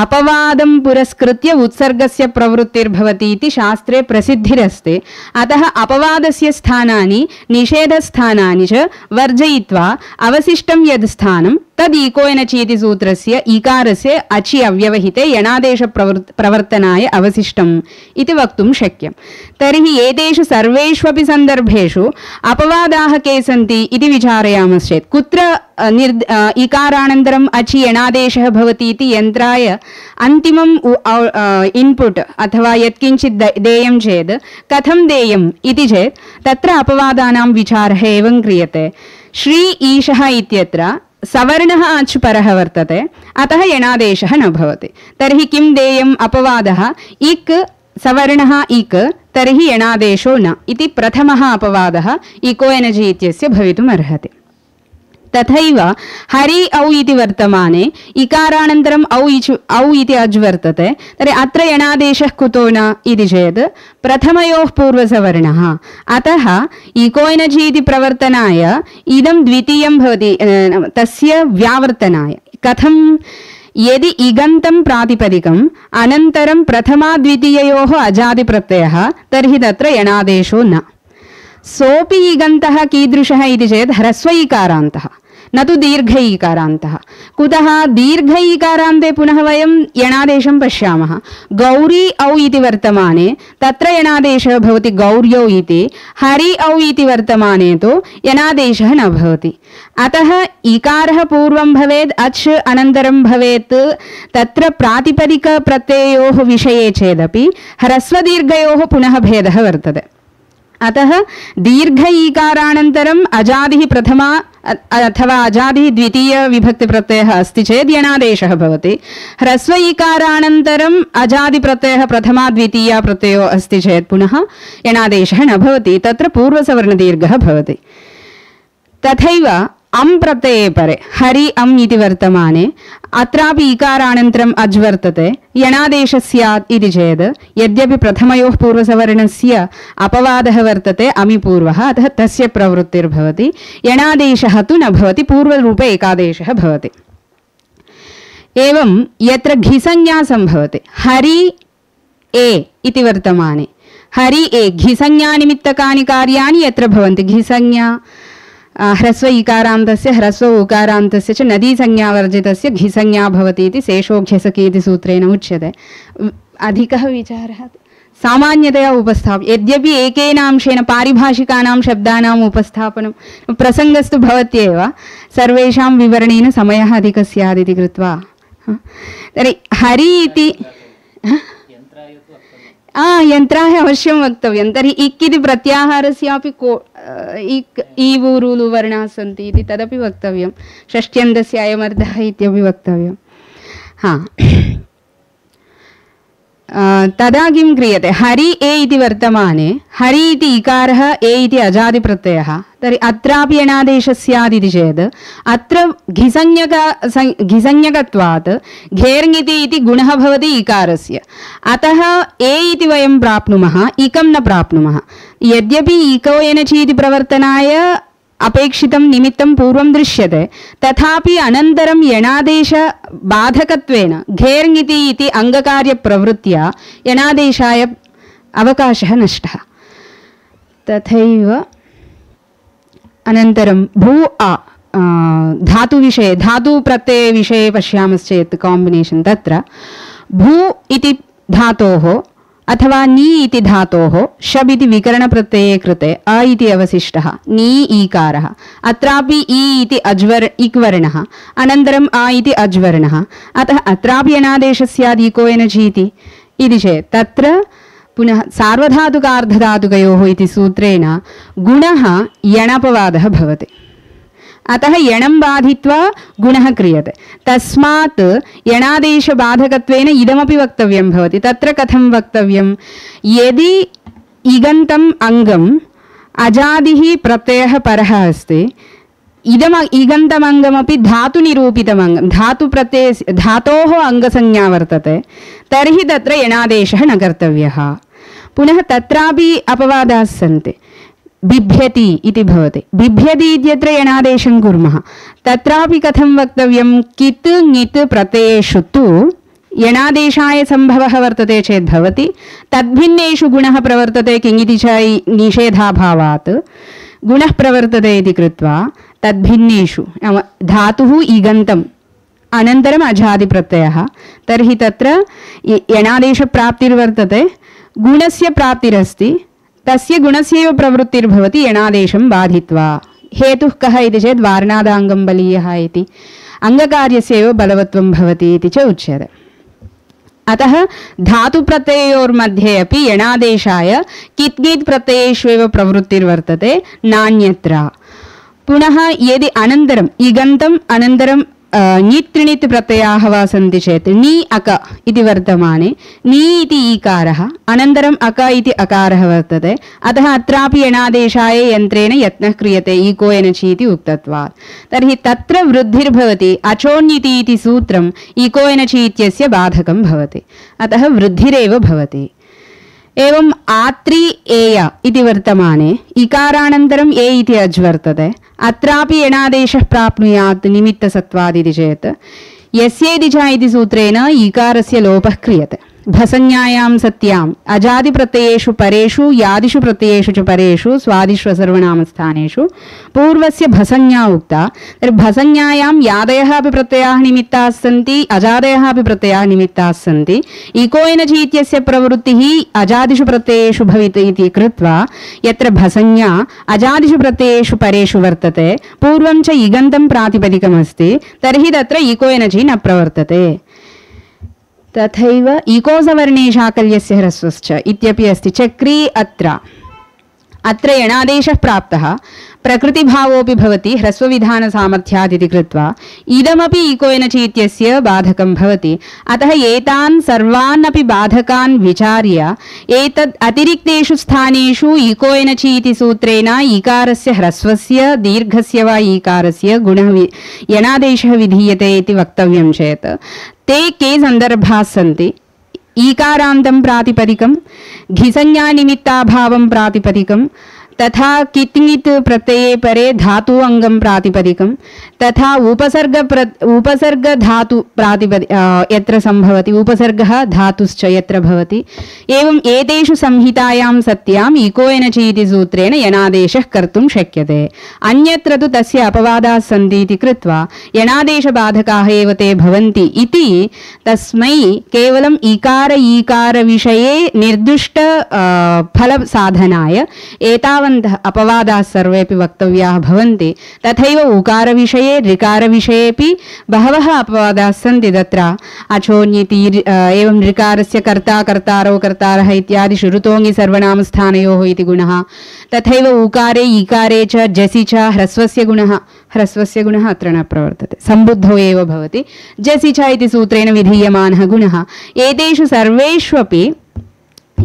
अपवादं पुरस्कृत्य उत्सर्गस्य प्रवृत्तिर्भवति इति शास्त्रे प्रसिद्धिरस्ति अतः अपवादस्य स्थानानि निषेधस्थानानि च वर्जयित्वा अवशिष्टं यद् स्थानं तद् इको एनचि इति सूत्रस्य इकारस्य अचि अव्यवहिते यणादेश प्रवर्तनाय अवशिष्टम् इति वक्तुं शक्यं तर्हि एतेषु सर्वेष्वपि सन्दर्भेषु अपवादाः के सन्ति इति विचारयामश्चेत् कुत्र निर् इकारानन्तरम् अचि यणादेशः भवति इति यन्त्राय अन्तिमम् इन्पुट् अथवा यत्किञ्चित् देयं चेत् कथं देयम् इति चेत् तत्र अपवादानां विचारः एवं क्रियते श्री ईशः इत्यत्र सवर्णः अच् परः वर्तते अतः यणादेशः न भवति तर्हि किं देयम् अपवादः इक् सवर्णः इक् तर्हि यणादेशो न इति प्रथमः अपवादः इको एनचि इत्यस्य भवितुम् अर्हति तथैव हरि औ इति वर्तमाने इकारानन्तरम् औ इचु औ इति अज् वर्तते तर्हि अत्र यणादेशः कुतो न इति चेत् प्रथमयोः पूर्वसवर्णः अतः इको एनचि इति प्रवर्तनाय इदं द्वितीयं भवति तस्य व्यावर्तनाय कथं यदि इगन्तं प्रातिपदिकम् अनन्तरं प्रथमाद्वितीययोः अजादिप्रत्ययः तर्हि तत्र यणादेशो न सोऽपि इगन्तः कीदृशः इति चेत् ह्रस्व इकारान्तः न तु दीर्घ इकारान्तः कुतः दीर्घ इकारान्ते पुनः वयं यणादेशं पश्यामः गौरी औ इति वर्तमाने तत्र यणादेशः भवति गौर्यौ इति हरि औ इति वर्तमाने तु यणादेशः न भवति अतः इकारः पूर्वं भवेत् अच् अनन्तरं भवेत् तत्र प्रातिपदिकप्रत्ययोः विषये चेदपि ह्रस्वदीर्घयोः पुनः भेदः वर्तते अतः दीर्घ ईकारानन्तरम् अजादिः प्रथमा अथवा अजादिः द्वितीय विभक्तिप्रत्ययः अस्ति चेत् यणादेशः भवति ह्रस्व ईकारानन्तरम् अजादिप्रत्ययः प्रथमा द्वितीया प्रत्ययो अस्ति चेत् पुनः यणादेशः न भवति तत्र पूर्वसवर्णदीर्घः भवति तथैव अम् प्रत्यये परे हरि अम् इति वर्तमाने अत्रापि इकारानन्तरम् अज् वर्तते यणादेशः स्यात् इति चेत् यद्यपि प्रथमयोः पूर्वसवर्णस्य अपवादः वर्तते अमि पूर्वः अतः तस्य प्रवृत्तिर्भवति यणादेशः तु न भवति पूर्वरूपे एकादेशः भवति एवं यत्र घिसंज्ञा सम्भवति हरि ए इति वर्तमाने हरि ए घिसंज्ञानिमित्तकानि कार्याणि यत्र भवन्ति घिसंज्ञा ह्रस्व इकारान्तस्य ह्रस्व उकारान्तस्य च नदीसंज्ञावर्जितस्य घिसंज्ञा भवति इति शेषोघ्यसकी इति सूत्रेण उच्यते अधिकः विचारः सामान्यतया उपस्थाप्य यद्यपि एकेन अंशेन पारिभाषिकानां शब्दानाम् उपस्थापनं प्रसङ्गस्तु भवत्येव सर्वेषां विवरणेन समयः अधिकः स्यात् इति कृत्वा तर्हि हरि इति यन्त्राय अवश्यं वक्तव्यं तर्हि इक् इति प्रत्याहारस्यापि को इक् ईवु रुलु वर्णाः सन्ति इति तदपि वक्तव्यं षष्ट्यन्तस्य अयमर्थः इत्यपि वक्तव्यं हा तदा किं क्रियते हरि ए इति वर्तमाने हरि इति इकारः ए इति अजादिप्रत्ययः तर्हि अत्रापि यणादेशः स्यात् इति चेत् अत्र घिसंज्ञक घिसंज्ञकत्वात् घेर्ङिति इति गुणः भवति इकारस्य अतः ए इति वयं प्राप्नुमः इकं न प्राप्नुमः यद्यपि इको एनचि इति प्रवर्तनाय अपेक्षितं निमित्तं पूर्वं दृश्यते तथापि अनन्तरं यणादेश बाधकत्वेन घेर्ङिति इति अङ्गकार्यप्रवृत्त्या यणादेशाय अवकाशः नष्टः तथैव अनन्तरं भू आ धातुविषये धातुप्रत्ययविषये पश्यामश्चेत् काम्बिनेशन् तत्र भू इति धातोः अथवा नी इति धातोः शब् इति विकरणप्रत्यये कृते अ इति अवशिष्टः नी ईकारः अत्रापि इ इति अज्वर इक्वर्णः अनन्तरम् अ इति अज्वर्णः अतः अत्रापि यणादेशः स्यात् इको एनचि इति चेत् तत्र पुनः सार्वधातुकार्धधातुकयोः इति सूत्रेण गुणः यणपवादः भवति अतः यणं बाधित्वा गुणः क्रियते तस्मात् यणादेशबाधकत्वेन इदमपि वक्तव्यं भवति तत्र कथं वक्तव्यं यदि इगन्तम् अङ्गम् अजादिः प्रत्ययः परः अस्ति इदम् इगन्तमङ्गमपि धातुनिरूपितमङ्गं धातुप्रत्ययस्य धातोः अङ्गसंज्ञा वर्तते तर्हि तत्र यणादेशः न कर्तव्यः पुनः तत्रापि अपवादाः सन्ति बिभ्यति इति भवति बिभ्यति इत्यत्र यणादेशं कुर्मः तत्रापि कथं वक्तव्यं कित् ङित् प्रत्ययेषु तु यणादेशाय सम्भवः वर्तते चेत् भवति तद्भिन्नेषु गुणः प्रवर्तते किङिति च निषेधाभावात् गुणः प्रवर्तते इति कृत्वा तद्भिन्नेषु नाम धातुः इगन्तम् अनन्तरम् अजादिप्रत्ययः तर्हि तत्र यणादेशप्राप्तिर्वर्तते गुणस्य प्राप्तिरस्ति तस्य गुणस्यैव प्रवृत्तिर्भवति यणादेशं बाधित्वा हेतुः कः इति चेत् वार्णादाङ्गं बलीयः इति अङ्गकार्यस्यैव बलवत्वं भवति इति च उच्यते अतः धातुप्रत्ययोर्मध्ये अपि यणादेशाय कित्ङित् प्रत्ययेष्वेव प्रवृत्तिर्वर्तते नान्यत्र पुनः यदि अनन्तरम् इगन्तम् अनन्तरं ङित् त्रिणित् प्रत्ययाः वा सन्ति चेत् नी अक इति वर्तमाने नी इति ईकारः अनन्तरम् अक इति अकारः वर्तते अतः अत्रापि यणादेशाय यन्त्रेण यत्नः क्रियते इको एनचि इति उक्तत्वात् तर्हि तत्र वृद्धिर्भवति अचोण्यति इति सूत्रम् इको एनचि इत्यस्य बाधकं भवति अतः वृद्धिरेव भवति एवम् आत्रि एय इति वर्तमाने इकारानन्तरम् ए इति अज् वर्तते अत्रापि यणादेशः प्राप्नुयात् निमित्तसत्त्वादिति चेत् यस्येति च इति सूत्रेण इकारस्य लोपः क्रियते भसंज्ञायां सत्याम् अजादिप्रत्ययेषु परेषु यादिषु प्रत्ययेषु च परेषु स्वादिषु सर्वनामस्थानेषु पूर्वस्य भसंज्ञा उक्ता तर्हि भसंज्ञायां यादयः अपि प्रत्ययाः निमित्ताः सन्ति अजादयः अपि प्रत्ययाः निमित्ताः सन्ति इको एनचि इत्यस्य प्रवृत्तिः अजादिषु प्रत्ययेषु भविति इति कृत्वा यत्र भसंज्ञा अजादिषु प्रत्ययेषु परेषु वर्तते पूर्वं च इगन्तं प्रातिपदिकमस्ति तर्हि तत्र इको एनचि न प्रवर्तते तथैव इकोसवर्णे शाकल्यस्य ह्रस्वश्च इत्यपि अस्ति चक्री अत्र अत्र यणादेशः प्राप्तः प्रकृतिभावोऽपि भवति ह्रस्वविधानसामर्थ्यात् इति कृत्वा इदमपि इको एनचि इत्यस्य बाधकं भवति अतः एतान् सर्वान् अपि बाधकान् विचार्य एतद् अतिरिक्तेषु स्थानेषु इको एनचि इति सूत्रेण इकारस्य ह्रस्वस्य दीर्घस्य वा इकारस्य गुणः यणादेशः विधीयते इति वक्तव्यं चेत् ते के सन्दर्भाः सन्ति ईकारान्तं प्रातिपदिकं घिसंज्ञानिमित्ताभावं प्रातिपदिकं तथा कित्ङित् प्रत्यये परे धातु अङ्गं प्रातिपदिकं तथा उपसर्ग प्र उपसर्ग धातु प्रातिपदि यत्र सम्भवति उपसर्गः धातुश्च यत्र भवति एवम् एतेषु संहितायां सत्याम् इको एनचि इति सूत्रेण यणादेशः कर्तुं शक्यते अन्यत्र तु तस्य अपवादाः सन्ति इति कृत्वा यणादेशबाधकाः एव ते भवन्ति इति तस्मै केवलम् इकार ईकार विषये निर्दिष्ट फलसाधनाय एतावत् अपवादाः सर्वेपि वक्तव्याः भवन्ति तथैव उकारविषये ऋकारविषयेपि बहवः अपवादाः सन्ति तत्र अचोन्यति एवं ऋकारस्य कर्ता कर्तारौ कर्तारः इत्यादि ऋतोङि सर्वनामस्थानयोः इति गुणः तथैव उकारे ईकारे च जसि च ह्रस्वस्य गुणः ह्रस्वस्य गुणः अत्र न प्रवर्तते, सम्बुद्धौ एव भवति। जसि च इति सूत्रेण विधीयमानः गुणः। एतेषु सर्वेष्वपि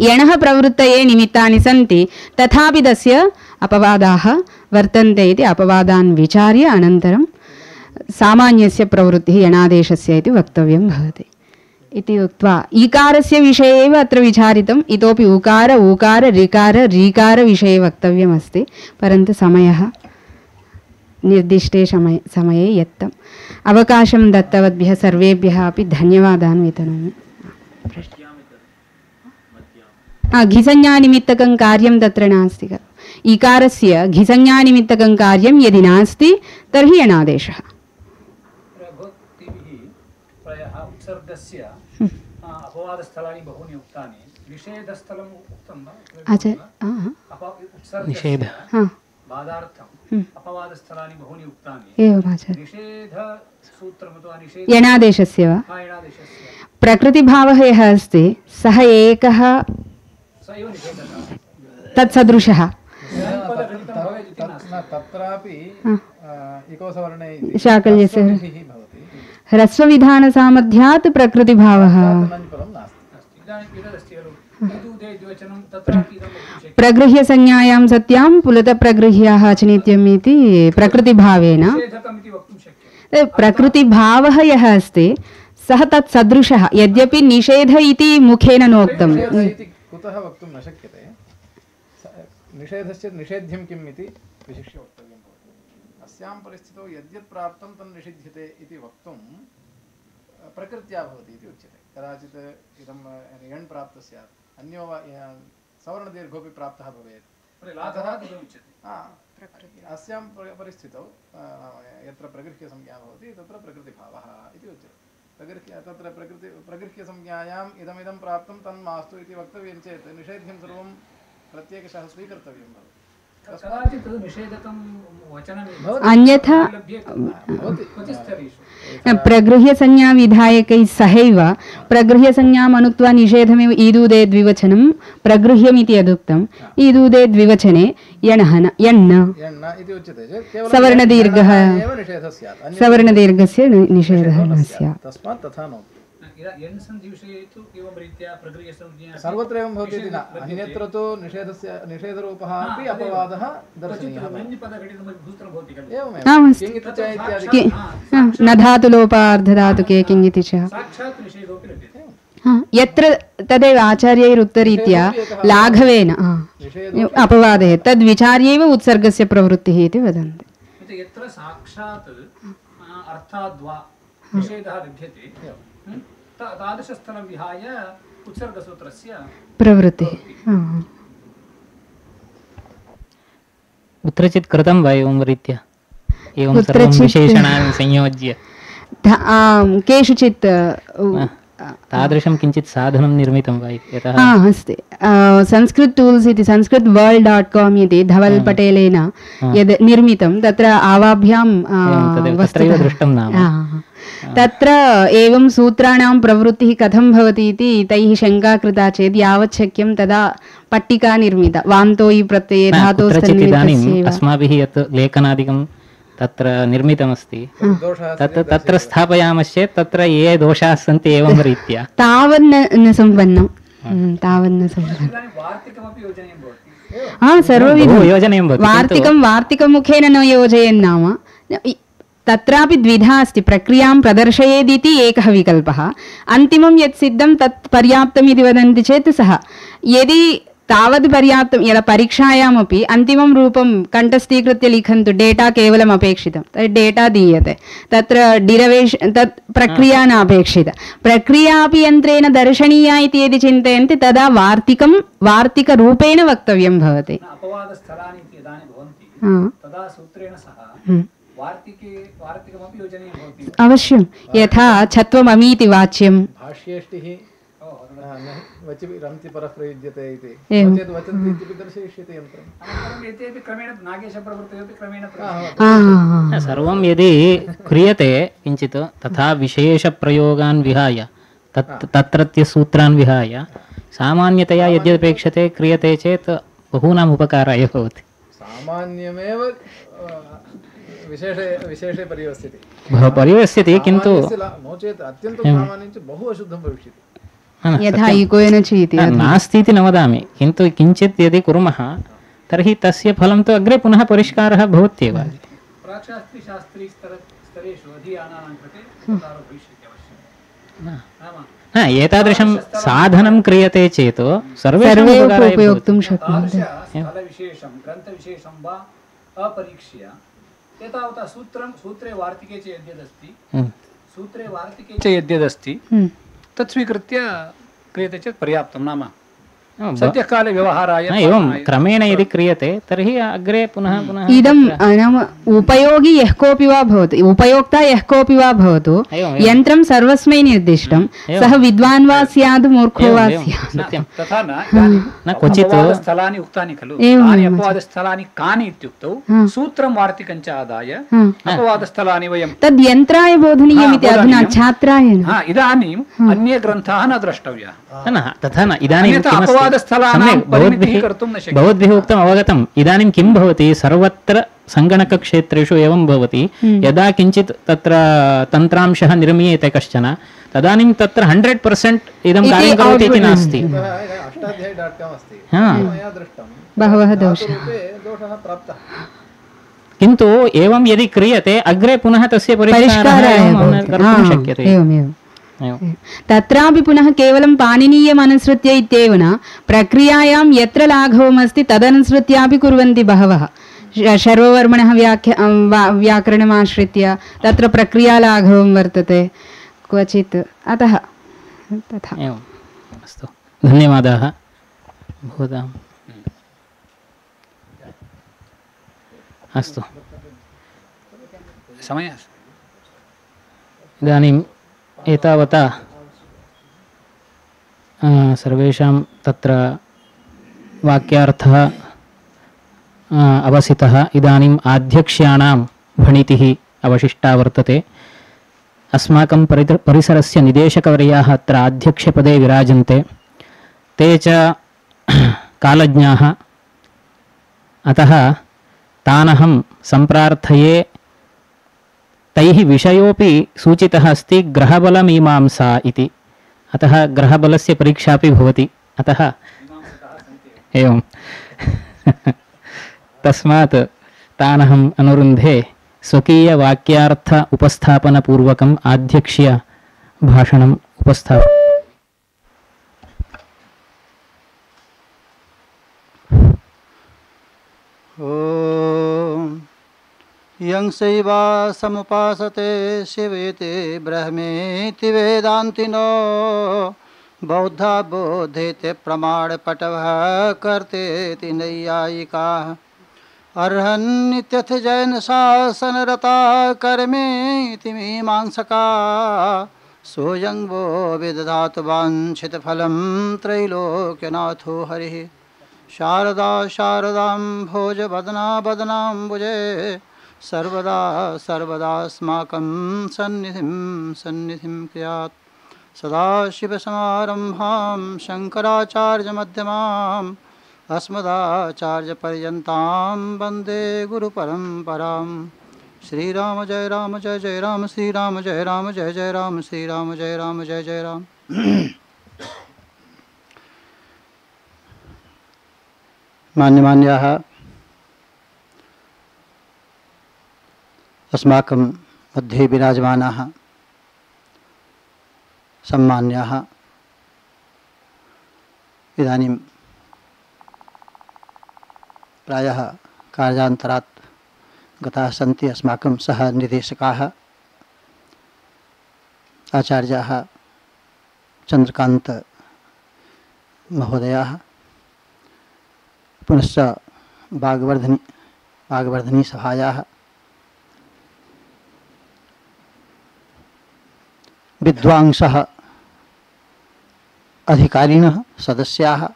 यणः प्रवृत्तये निमित्तानि सन्ति, तथापि तस्य अपवादाः वर्तन्ते इति अपवादान् विचार्य अनन्तरं सामान्यस्य प्रवृत्तिः यणादेशस्य इति वक्तव्यं भवति इति उक्त्वा ईकारस्य विषये एव अत्र विचारितम्। इतोपि उकार ऊकार ऋकार रीकार विषये वक्तव्यमस्ति, परन्तु समयः निर्दिष्टे समय समये यत्तम्। अवकाशं दत्तवद्भ्यः सर्वेभ्यः अपि धन्यवादान् वितनोमि। घिसंज्ञानिमित्तकं कार्यं तत्र नास्ति खलु। ईकारस्य घिसंज्ञानिमित्तकं कार्यं यदि नास्ति तर्हि यणादेशः। प्रायः उत्सर्गस्य अपवादस्थलानि बहूनि उक्तानि, निषेधस्थलम् उक्तं वा? निषेध बाधार्थम् अपवादस्थलानि बहूनि उक्तानि। एवम् आचार्य। निषेधसूत्रम् अथवा निषेध यणादेशस्य वा? प्रकृतिभावः यः अस्ति सः एकः तत्सदृशः। तत्रापि शाकल्यस्य ह्रस्वविधानसामर्थ्यात् प्रकृतिभावः। प्रगृह्यसंज्ञायां सत्यां पुलतप्रगृह्याः अचिनित्यम् इति प्रकृतिभावेन प्रकृतिभावः यः अस्ति सः तत्सदृशः, यद्यपि निषेध इति मुखेन नोक्तम्। कुतः वक्तुं न शक्यते? निषेधस्य निषेध्यं किम् इति विशिष्य वक्तव्यं भवति। अस्यां परिस्थितौ यद्यत् प्राप्तं तन्निषिध्यते इति वक्तुं प्रकृत्या भवति इति उच्यते। कदाचित् इदं यण् प्राप्तः स्यात्, अन्यो वा सवर्णदीर्घोऽपि प्राप्तः भवेत्। अस्यां परिस्थितौ यत्र प्रगृह्यसंज्ञा भवति तत्र प्रकृतिभावः इति उच्यते। प्रगृह्य तत्र प्रकृति प्रगृह्यसंज्ञायाम् इदमिदं प्राप्तं तन्मास्तु इति वक्तव्यं चेत् निषेध्यं सर्वं प्रत्येकशः स्वीकर्तव्यं भवति। अन्यथा प्रगृह्यसंज्ञा विधायकैः सहैव प्रगृह्यसंज्ञाम् अनुक्त्वा निषेधमेव ईदूदे द्विवचनं प्रगृह्यमिति यदुक्तम्। ईदूदे द्विवचने यणः यण् सवर्णदीर्घः सवर्णदीर्घस्य निषेधः न स्यात्। सर्वत्र एवं भवति इति न, अन्यत्र तु निषेधस्य निषेधरूपः अपि अपवादः दर्शनीयः। न धातुलोपार्धधातुके किञ्चित् च यत्र तदेव आचार्यैरुक्तरीत्या लाघवेन अपवादे तद्विचार्यैव उत्सर्गस्य प्रवृत्तिः इति वदन्ति। यत्र साक्षात् अर्थाद्वा निषेधः विद्यते तादृशस्थलं विहाय उत्सर्गसूत्रस्य प्रवृत्तिः कुत्रचित् कृतं वा एवं रीत्या एवं सर्वं विशेषणानि संयोज्य केषुचित् तादृशं किञ्चित् साधनं निर्मितं वा? यतः अस्ति संस्कृत टूल्स् इति संस्कृत वर्ल्ड डाट् काम् इति धवल् पटेलेन यद् निर्मितं तत्र आवाभ्यां दृष्टं नाम तत्र एवं सूत्राणां प्रवृत्तिः कथं भवति इति तैः शङ्का कृता चेत् यावत् शक्यं तदा पट्टिका निर्मिता वान्तोयि प्रत्यये धातोः अस्माभिः यत् लेखनादिकं तत्र निर्मितमस्ति तत् तत्र स्थापयामश्चेत् तत्र ये दोषाः सन्ति एवं रीत्या तावन्न न सम्पन्नं तावन्न सम्पन्नं हा सर्वविधं वार्तिकं वार्तिकमुखेन न योजयन्नाम तत्रापि द्विधा अस्ति। प्रक्रियां प्रदर्शयेदिति एकः विकल्पः, अन्तिमं यत् सिद्धं तत् पर्याप्तम् इति वदन्ति चेत् सः यदि तावद् पर्याप्तं यदा परीक्षायामपि अन्तिमं रूपं कण्ठस्थीकृत्य लिखन्तु डेटा केवलम् अपेक्षितं तत् डेटा दीयते तत्र डिरवेशन् तत् प्रक्रिया न अपेक्षिता प्रक्रिया अपि यन्त्रेण दर्शनीया इति यदि चिन्तयन्ति तदा वार्तिकं वार्तिकरूपेण वक्तव्यं भवति। अवश्यं यथा छत्वममीति वाच्यं सर्वं यदि क्रियते किञ्चित् तथा विशेषप्रयोगान् विहाय तत् तत्रत्य सूत्रान् विहाय सामान्यतया यद्यपेक्षते क्रियते चेत् बहूनाम् उपकाराय भवति। सामान्यमेव विशेषे विशेषे परिवस्थिति परिवस्थिति किन्तु नो चेत् अत्यन्तं सामान्यं च बहु अशुद्धं भविष्यति यथा इकोयन चेति नास्ति इति न वदामि किन्तु किञ्चित् यदि कुर्मः तर्हि तस्य फलं तु अग्रे पुनः परिष्कारः भवत्येव न एतादृशं साधनं क्रियते चेत् सर्वेषाम् उपयोक्तुं शक्नुवन्ति स्थलविशेषं ग्रन्थविशेषं वा अपरीक्ष्य एतावता सूत्रं सूत्रे वार्तिके च यद्यदस्ति सूत्रे वार्तिके च यद्यदस्ति तत् स्वीकृत्य क्रियते चेत् पर्याप्तं नाम सद्यकाले व्यवहाराय एवं क्रमेण यदि क्रियते तर्हि अग्रे पुनः पुनः इदं नाम उपयोगी यः कोऽपि वा भवतु उपयोक्ता यः कोऽपि वा भवतु यन्त्रं सर्वस्मै निर्दिष्टं सः विद्वान् वा स्यात् मूर्खो वा स्यात् तथा न क्वचित् स्थलानि उक्तानि खलु तानि अपवादस्थलानि कानि इत्युक्तौ सूत्रं वार्तिकं च आदाय अपवादस्थलानि वयं तद् यन्त्राय बोधनीयमिति अधुना छात्राय इदानीम् अन्ये ग्रन्थाः न द्रष्टव्याः तथा न इदानीं भवद्भिः उक्तम् अवगतम् इदानीं किं भवति सर्वत्र सङ्गणकक्षेत्रेषु एवं भवति यदा किञ्चित् तत्र तन्त्रांशः निर्मीयते कश्चन तदानीं तत्र हण्ड्रेड् पर्सेण्ट् इदं कार्यं करोति इति नास्ति बहवः दोषाः किन्तु एवं यदि क्रियते अग्रे पुनः तस्य परिष्कारः कर्तुं शक्यते तत्रापि पुनः केवलं पाणिनीयम् अनुसृत्य इत्येव न प्रक्रियायां यत्र लाघवमस्ति तदनुसृत्यापि कुर्वन्ति बहवः शर्ववर्मणः व्याख्या व्याकरणमाश्रित्य तत्र प्रक्रियालाघवं वर्तते क्वचित् अतः तथा अस्तु धन्यवादाः भवताम् अस्तु समयः इदानीम् एतावता सर्वेषां तत्र वाक्यार्थः अवसितः इदानीम् आध्यक्ष्याणां भणितिः अवशिष्टा वर्तते अस्माकं परिसरस्य निदेशकवर्याः अत्र आध्यक्ष्यपदे विराजन्ते ते च कालज्ञाः अतः तानहं सम्प्रार्थये तैः विषयोपि सूचितः अस्ति ग्रहबलमीमांसा इति अतः ग्रहबलस्य परीक्षा अपि भवति अतः एवं तस्मात् तानहम् अनुरुन्धे स्वकीयवाक्यार्थ उपस्थापनपूर्वकम् आध्यक्ष्य भाषणम् उपस्थाप यं शैवा समुपासते शिवेति ब्रह्मेति वेदान्तिनो बौद्धा बोधेते प्रमाणपटवः कर्तेति नैयायिकाः अर्हन्नित्यथ जैन शासनरता कर्मेति मीमांसका सोऽयं वो विदधातु वाञ्छितफलं त्रैलोक्यनाथो हरिः शारदा शारदां भोज बदना बदनाम्बुजे सर्वदा सर्वदास्माकं सन्निधिं सन्निधिं क्रियात् सदाशिवसमारम्भां शङ्कराचार्यमध्यमाम् अस्मदाचार्यपर्यन्तां वन्दे गुरुपरम्परां श्रीराम जय राम जय जय राम श्रीराम जय राम जय जय राम श्रीराम जय राम जय जय राम। मान्यमान्याः अस्माकं मध्ये विराजमानाः सम्मान्याः इदानीं प्रायः कार्यान्तरात् गताः सन्ति अस्माकं सह निर्देशकाः आचार्याः चन्द्रकान्त महोदयाः पुनश्च वाग्वर्धनी वाग्वर्धनी सभायाः विद्वांसः अधिकारिणः सदस्याः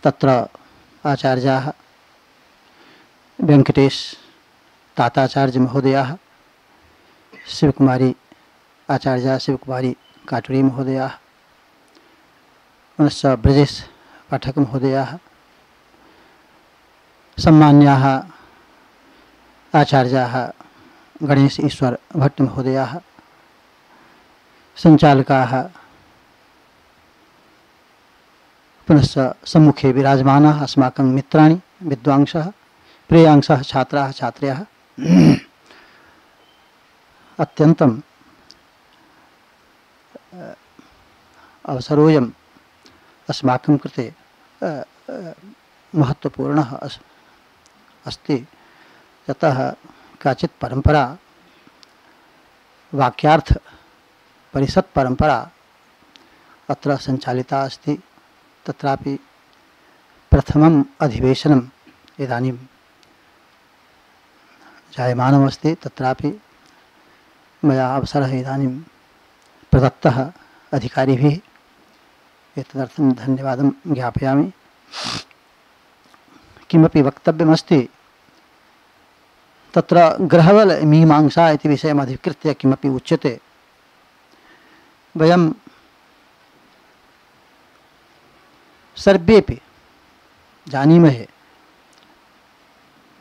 तत्र आचार्याः वेंकटेश ताताचार्य महोदयाः शिवकुमारी आचार्या शिवकुमारी काटुरी महोदयाः पुनश्च ब्रजेश पाठक महोदयाः सम्मान्याः आचार्याः गणेश ईश्वर भट्ट महोदयाः, सञ्चालकाः, पुनश्च सम्मुखे विराजमानाः अस्माकं मित्राणि विद्वांसः, प्रेयांसः, छात्राः छात्र्याः, अत्यन्तम् अवसरोऽयम् अस्माकं कृते महत्त्वपूर्णः अस्ति। यतः काचित् परम्परा, वाक्यार्थ परिषत् परम्परा अत्र सञ्चालिता अस्ति। तत्रापि प्रथमम् अधिवेशनम् इदानीं जायमानमस्ति। तत्रापि मया अवसरः इदानीं प्रदत्तः अधिकारिभिः, एतदर्थं धन्यवादं ज्ञापयामि। किमपि वक्तव्यमस्ति तत्र ग्रहवल मीमांसा इति विषयम् अधिकृत्य किमपि उच्यते। वयं सर्वेपि जानीमहे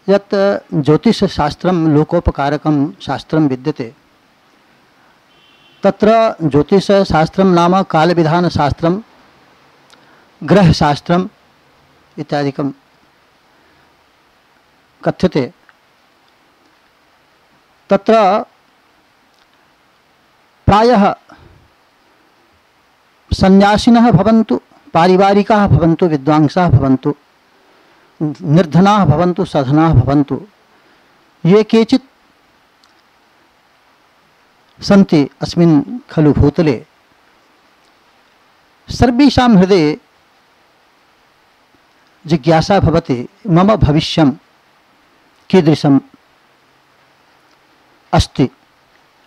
यत् ज्योतिषशास्त्रं लोकोपकारकं शास्त्रं विद्यते। तत्र ज्योतिषशास्त्रं नाम कालविधानशास्त्रं, ग्रहशास्त्रम् इत्यादिकं कथ्यते। तत्र प्रायः सन्यासिनः भवन्तु, पारिवारिकाः भवन्तु, विद्वांसाः भवन्तु, निर्धनाः भवन्तु, सधनाः भवन्तु, ये केचित् सन्ति अस्मिन् खलु भूतले, सर्वेषां हृदये जिज्ञासा भवति, मम भविष्यं कीदृशम् अस्ति,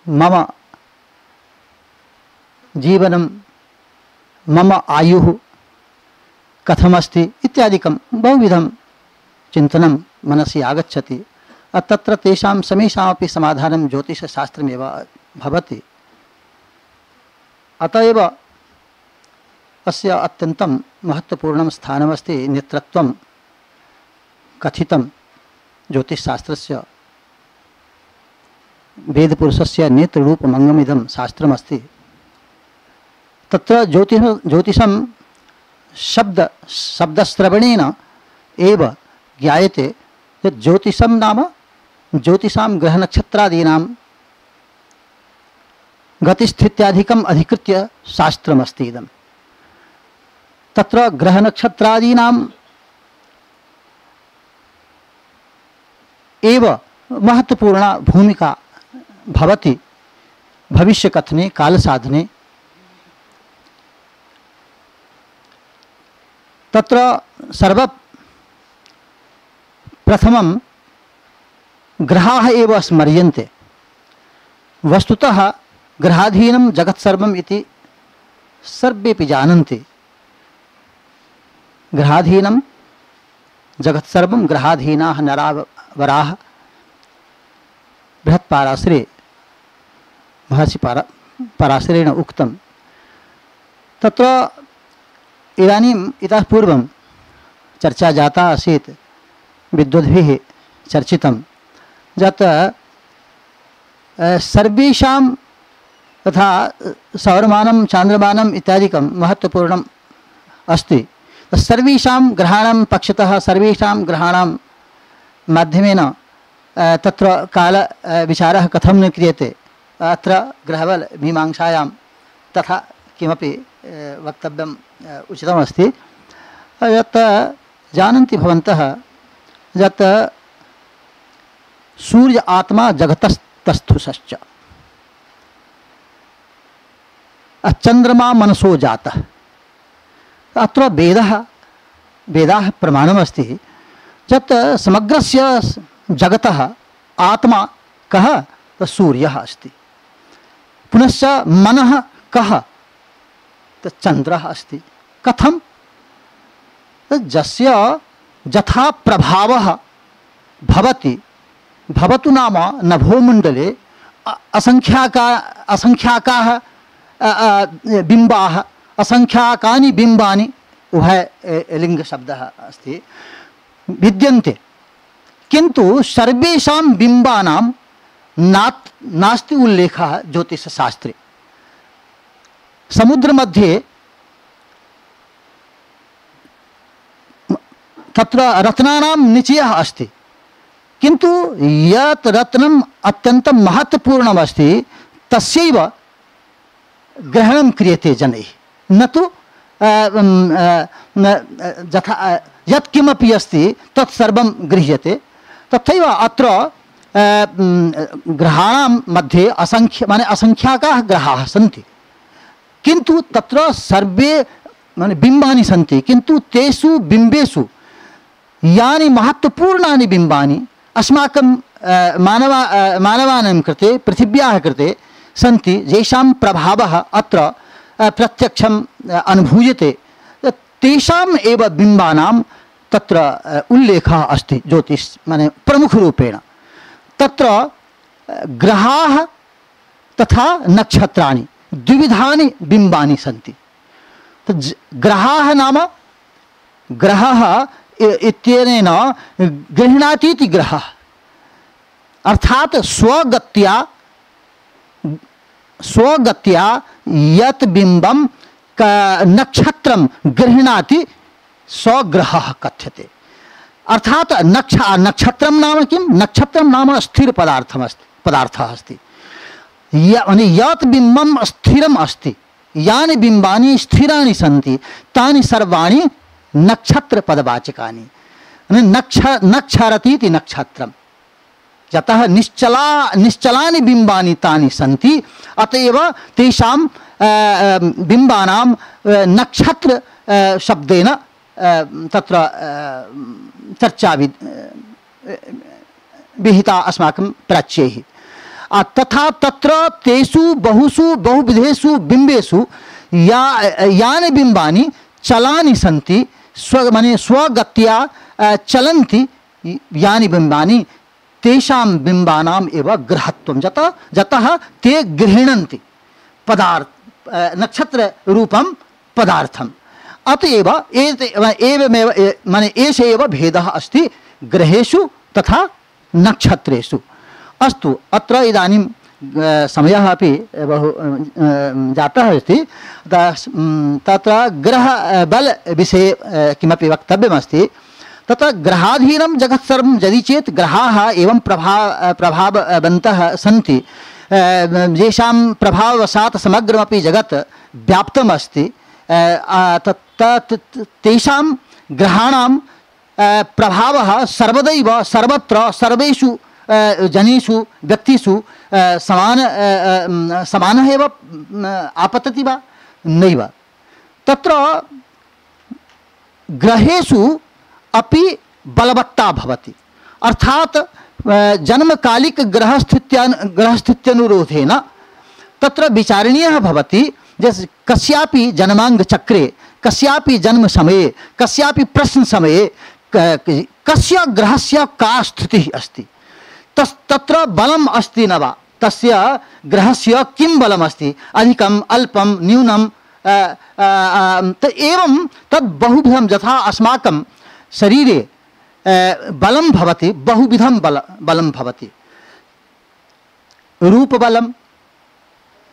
मम जीवनं, मम आयुः कथमस्ति इत्यादिकं बहुविधं चिन्तनं मनसि आगच्छति। तत्र तेषां समेषामपि समाधानं ज्योतिषशास्त्रमेव भवति। अत एव अस्य अत्यन्तं महत्त्वपूर्णं स्थानमस्ति। नेतृत्वं कथितं ज्योतिषशास्त्रस्य, वेदपुरुषस्य नेत्ररूपमङ्गमिदं शास्त्रमस्ति। तत्र ज्योतिष ज्योतिषं शब्द शब्दश्रवणेन एव ज्ञायते यत् ज्योतिषं नाम ज्योतिषां ग्रहनक्षत्रादीनां गतिस्थित्यादिकम् अधिकृत्य शास्त्रमस्ति इदं। तत्र ग्रहनक्षत्रादीनां एव महत्वपूर्णा भूमिका भवति भविष्यकथने, कालसाधने। तत्र सर्वप्रथमं ग्रहाः एव स्मर्यन्ते। वस्तुतः ग्रहाधीनं जगत्सर्वम् इति सर्वेपि जानन्ति। ग्रहाधीनं जगत्सर्वं, ग्रहाधीनाः नरावराः। बृहत्पाराशरे महर्षि पारा पराशरेण उक्तं। तत्र इदानीम् इतः पूर्वं चर्चा जाता आसीत्, विद्वद्भिः चर्चितं यत् सर्वेषां तथा सौरमानं, चान्द्रमानम् इत्यादिकं महत्त्वपूर्णम् अस्ति। सर्वेषां ग्रहाणां पक्षतः, सर्वेषां ग्रहाणां माध्यमेन तत्र काल विचारः कथं न क्रियते। अत्र ग्रहवल मीमांसायां तथा किमपि वक्तव्यम् उचितमस्ति। यत् जानन्ति भवन्तः यत् सूर्य आत्मा जगतस्तस्थुषश्च, चन्द्रमा मनसो जातः। अत्र वेदः वेदाः प्रमाणमस्ति यत् समग्रस्य जगतः आत्मा कः? सूर्यः अस्ति। पुनश्च मनः कः? चन्द्रः अस्ति। कथं? जस्य यथा प्रभावः भवति, भवतु नाम नभोमण्डले असंख्याका असंख्याकाः बिम्बाः, असंख्याकानि बिम्बानि, उभय लिङ्गशब्दः अस्ति, विद्यन्ते। किंतु सर्वेषां बिंबानां नात् नास्ति उल्लेखः ज्योतिषशास्त्रे। समुद्र मध्ये तत्र रत्नानां निचयः अस्ति, किंतु यत् रत्नम् अत्यन्तं महत्वपूर्णम् अस्ति तस्यैव ग्रहणं क्रियते जनैः, न तु यथा यत् किमपि अस्ति तत् सर्वं गृह्यते। तथैव अत्र ग्रहाणां मध्ये असंख्य माने असंख्याकाः ग्रहाः सन्ति, किंतु तत्र सर्वे माने बिम्बानि सन्ति, किंतु तेषु बिम्बेषु यानि महत्वपूर्णानि बिम्बानि अस्माकं मानवा मानवानां कृते पृथिव्याः कृते सन्ति, येषां प्रभावः अत्र प्रत्यक्षम् अनुभूयते, तेषाम् एव बिम्बानां तत्र उल्लेखः अस्ति ज्योतिष माने प्रमुखरूपेण। तत्र ग्रहाः तथा नक्षत्राणि द्विविधानि बिम्बानि सन्ति। ग्रहाः नाम ग्रहः इत्यनेन गृह्णातीति ग्रहः, अर्थात स्वगत्या स्वगत्या यत् बिम्बं नक्षत्रं गृह्णाति स्वग्रहः कथ्यते। अर्थात नक्ष नक्षत्रं नाम किं? नक्षत्रं नाम स्थिर पदार्थम् अस्ति पदार्थः अस्ति। यत् बिम्बं स्थिरम् अस्ति, यानि बिम्बानि स्थिराणि सन्ति तानि सर्वाणि नक्षत्रपदवाचकानि। नक्ष नक्षरतीति नक्षत्रम्, यतः निश्चला निश्चलानि बिम्बानि तानि सन्ति, अतएव तेषां बिम्बानां नक्षत्र शब्देन तत्र चर्चा विहिता अस्माकं प्राच्यैः। तथा तत्र तेषु बहुषु बहुविधेषु बिम्बेषु या यानि बिम्बानि चलानि सन्ति, स्व माने स्वगत्या चलन्ति यानि बिम्बानि, तेषां बिम्बानाम् एव ग्रहत्वं, जतः जतः ते गृह्णन्ति पदार्थ नक्षत्र रूपं पदार्थम्। अतएव एवमेव माने एष एव भेदः अस्ति ग्रहेषु तथा नक्षत्रेषु। अस्तु, अत्र इदानीं समयः अपि बहु जातः अस्ति, तत्र ग्रह बल विषये किमपि वक्तव्यमस्ति। तत्र ग्रहाधीनं जगत् सर्वं यदि चेत् ग्रहाः एवं प्रभाव प्रभाववन्तः सन्ति, येषां प्रभाववशात् समग्रमपि जगत् व्याप्तम् अस्ति। तेषां ग्रहाणां प्रभावः सर्वदैव सर्वत्र सर्वेषु जनेषु व्यक्तिषु समान समानः एव आपतति वा? नैव। तत्र ग्रहेषु अपि बलवत्ता भवति, अर्थात जन्मकालिक ग्रहस्थित्या ग्रहस्थित्यनुरोधेन तत्र विचारणीयः भवति, जैसे कस्यापि जन्मांग चक्रे, कस्यापि जन्म समये, कस्यापि प्रश्न समये कस्य ग्रहस्य का स्थितिः अस्ति, तस् तत्र बलम् अस्ति न वा, तस्य ग्रहस्य किं बलम् अस्ति, अधिकम् अल्पं न्यूनं, त एवं तद् बहुविधं, यथा अस्माकं शरीरे बलं भवति, बहुविधं बल बलं भवति। रूपबलं,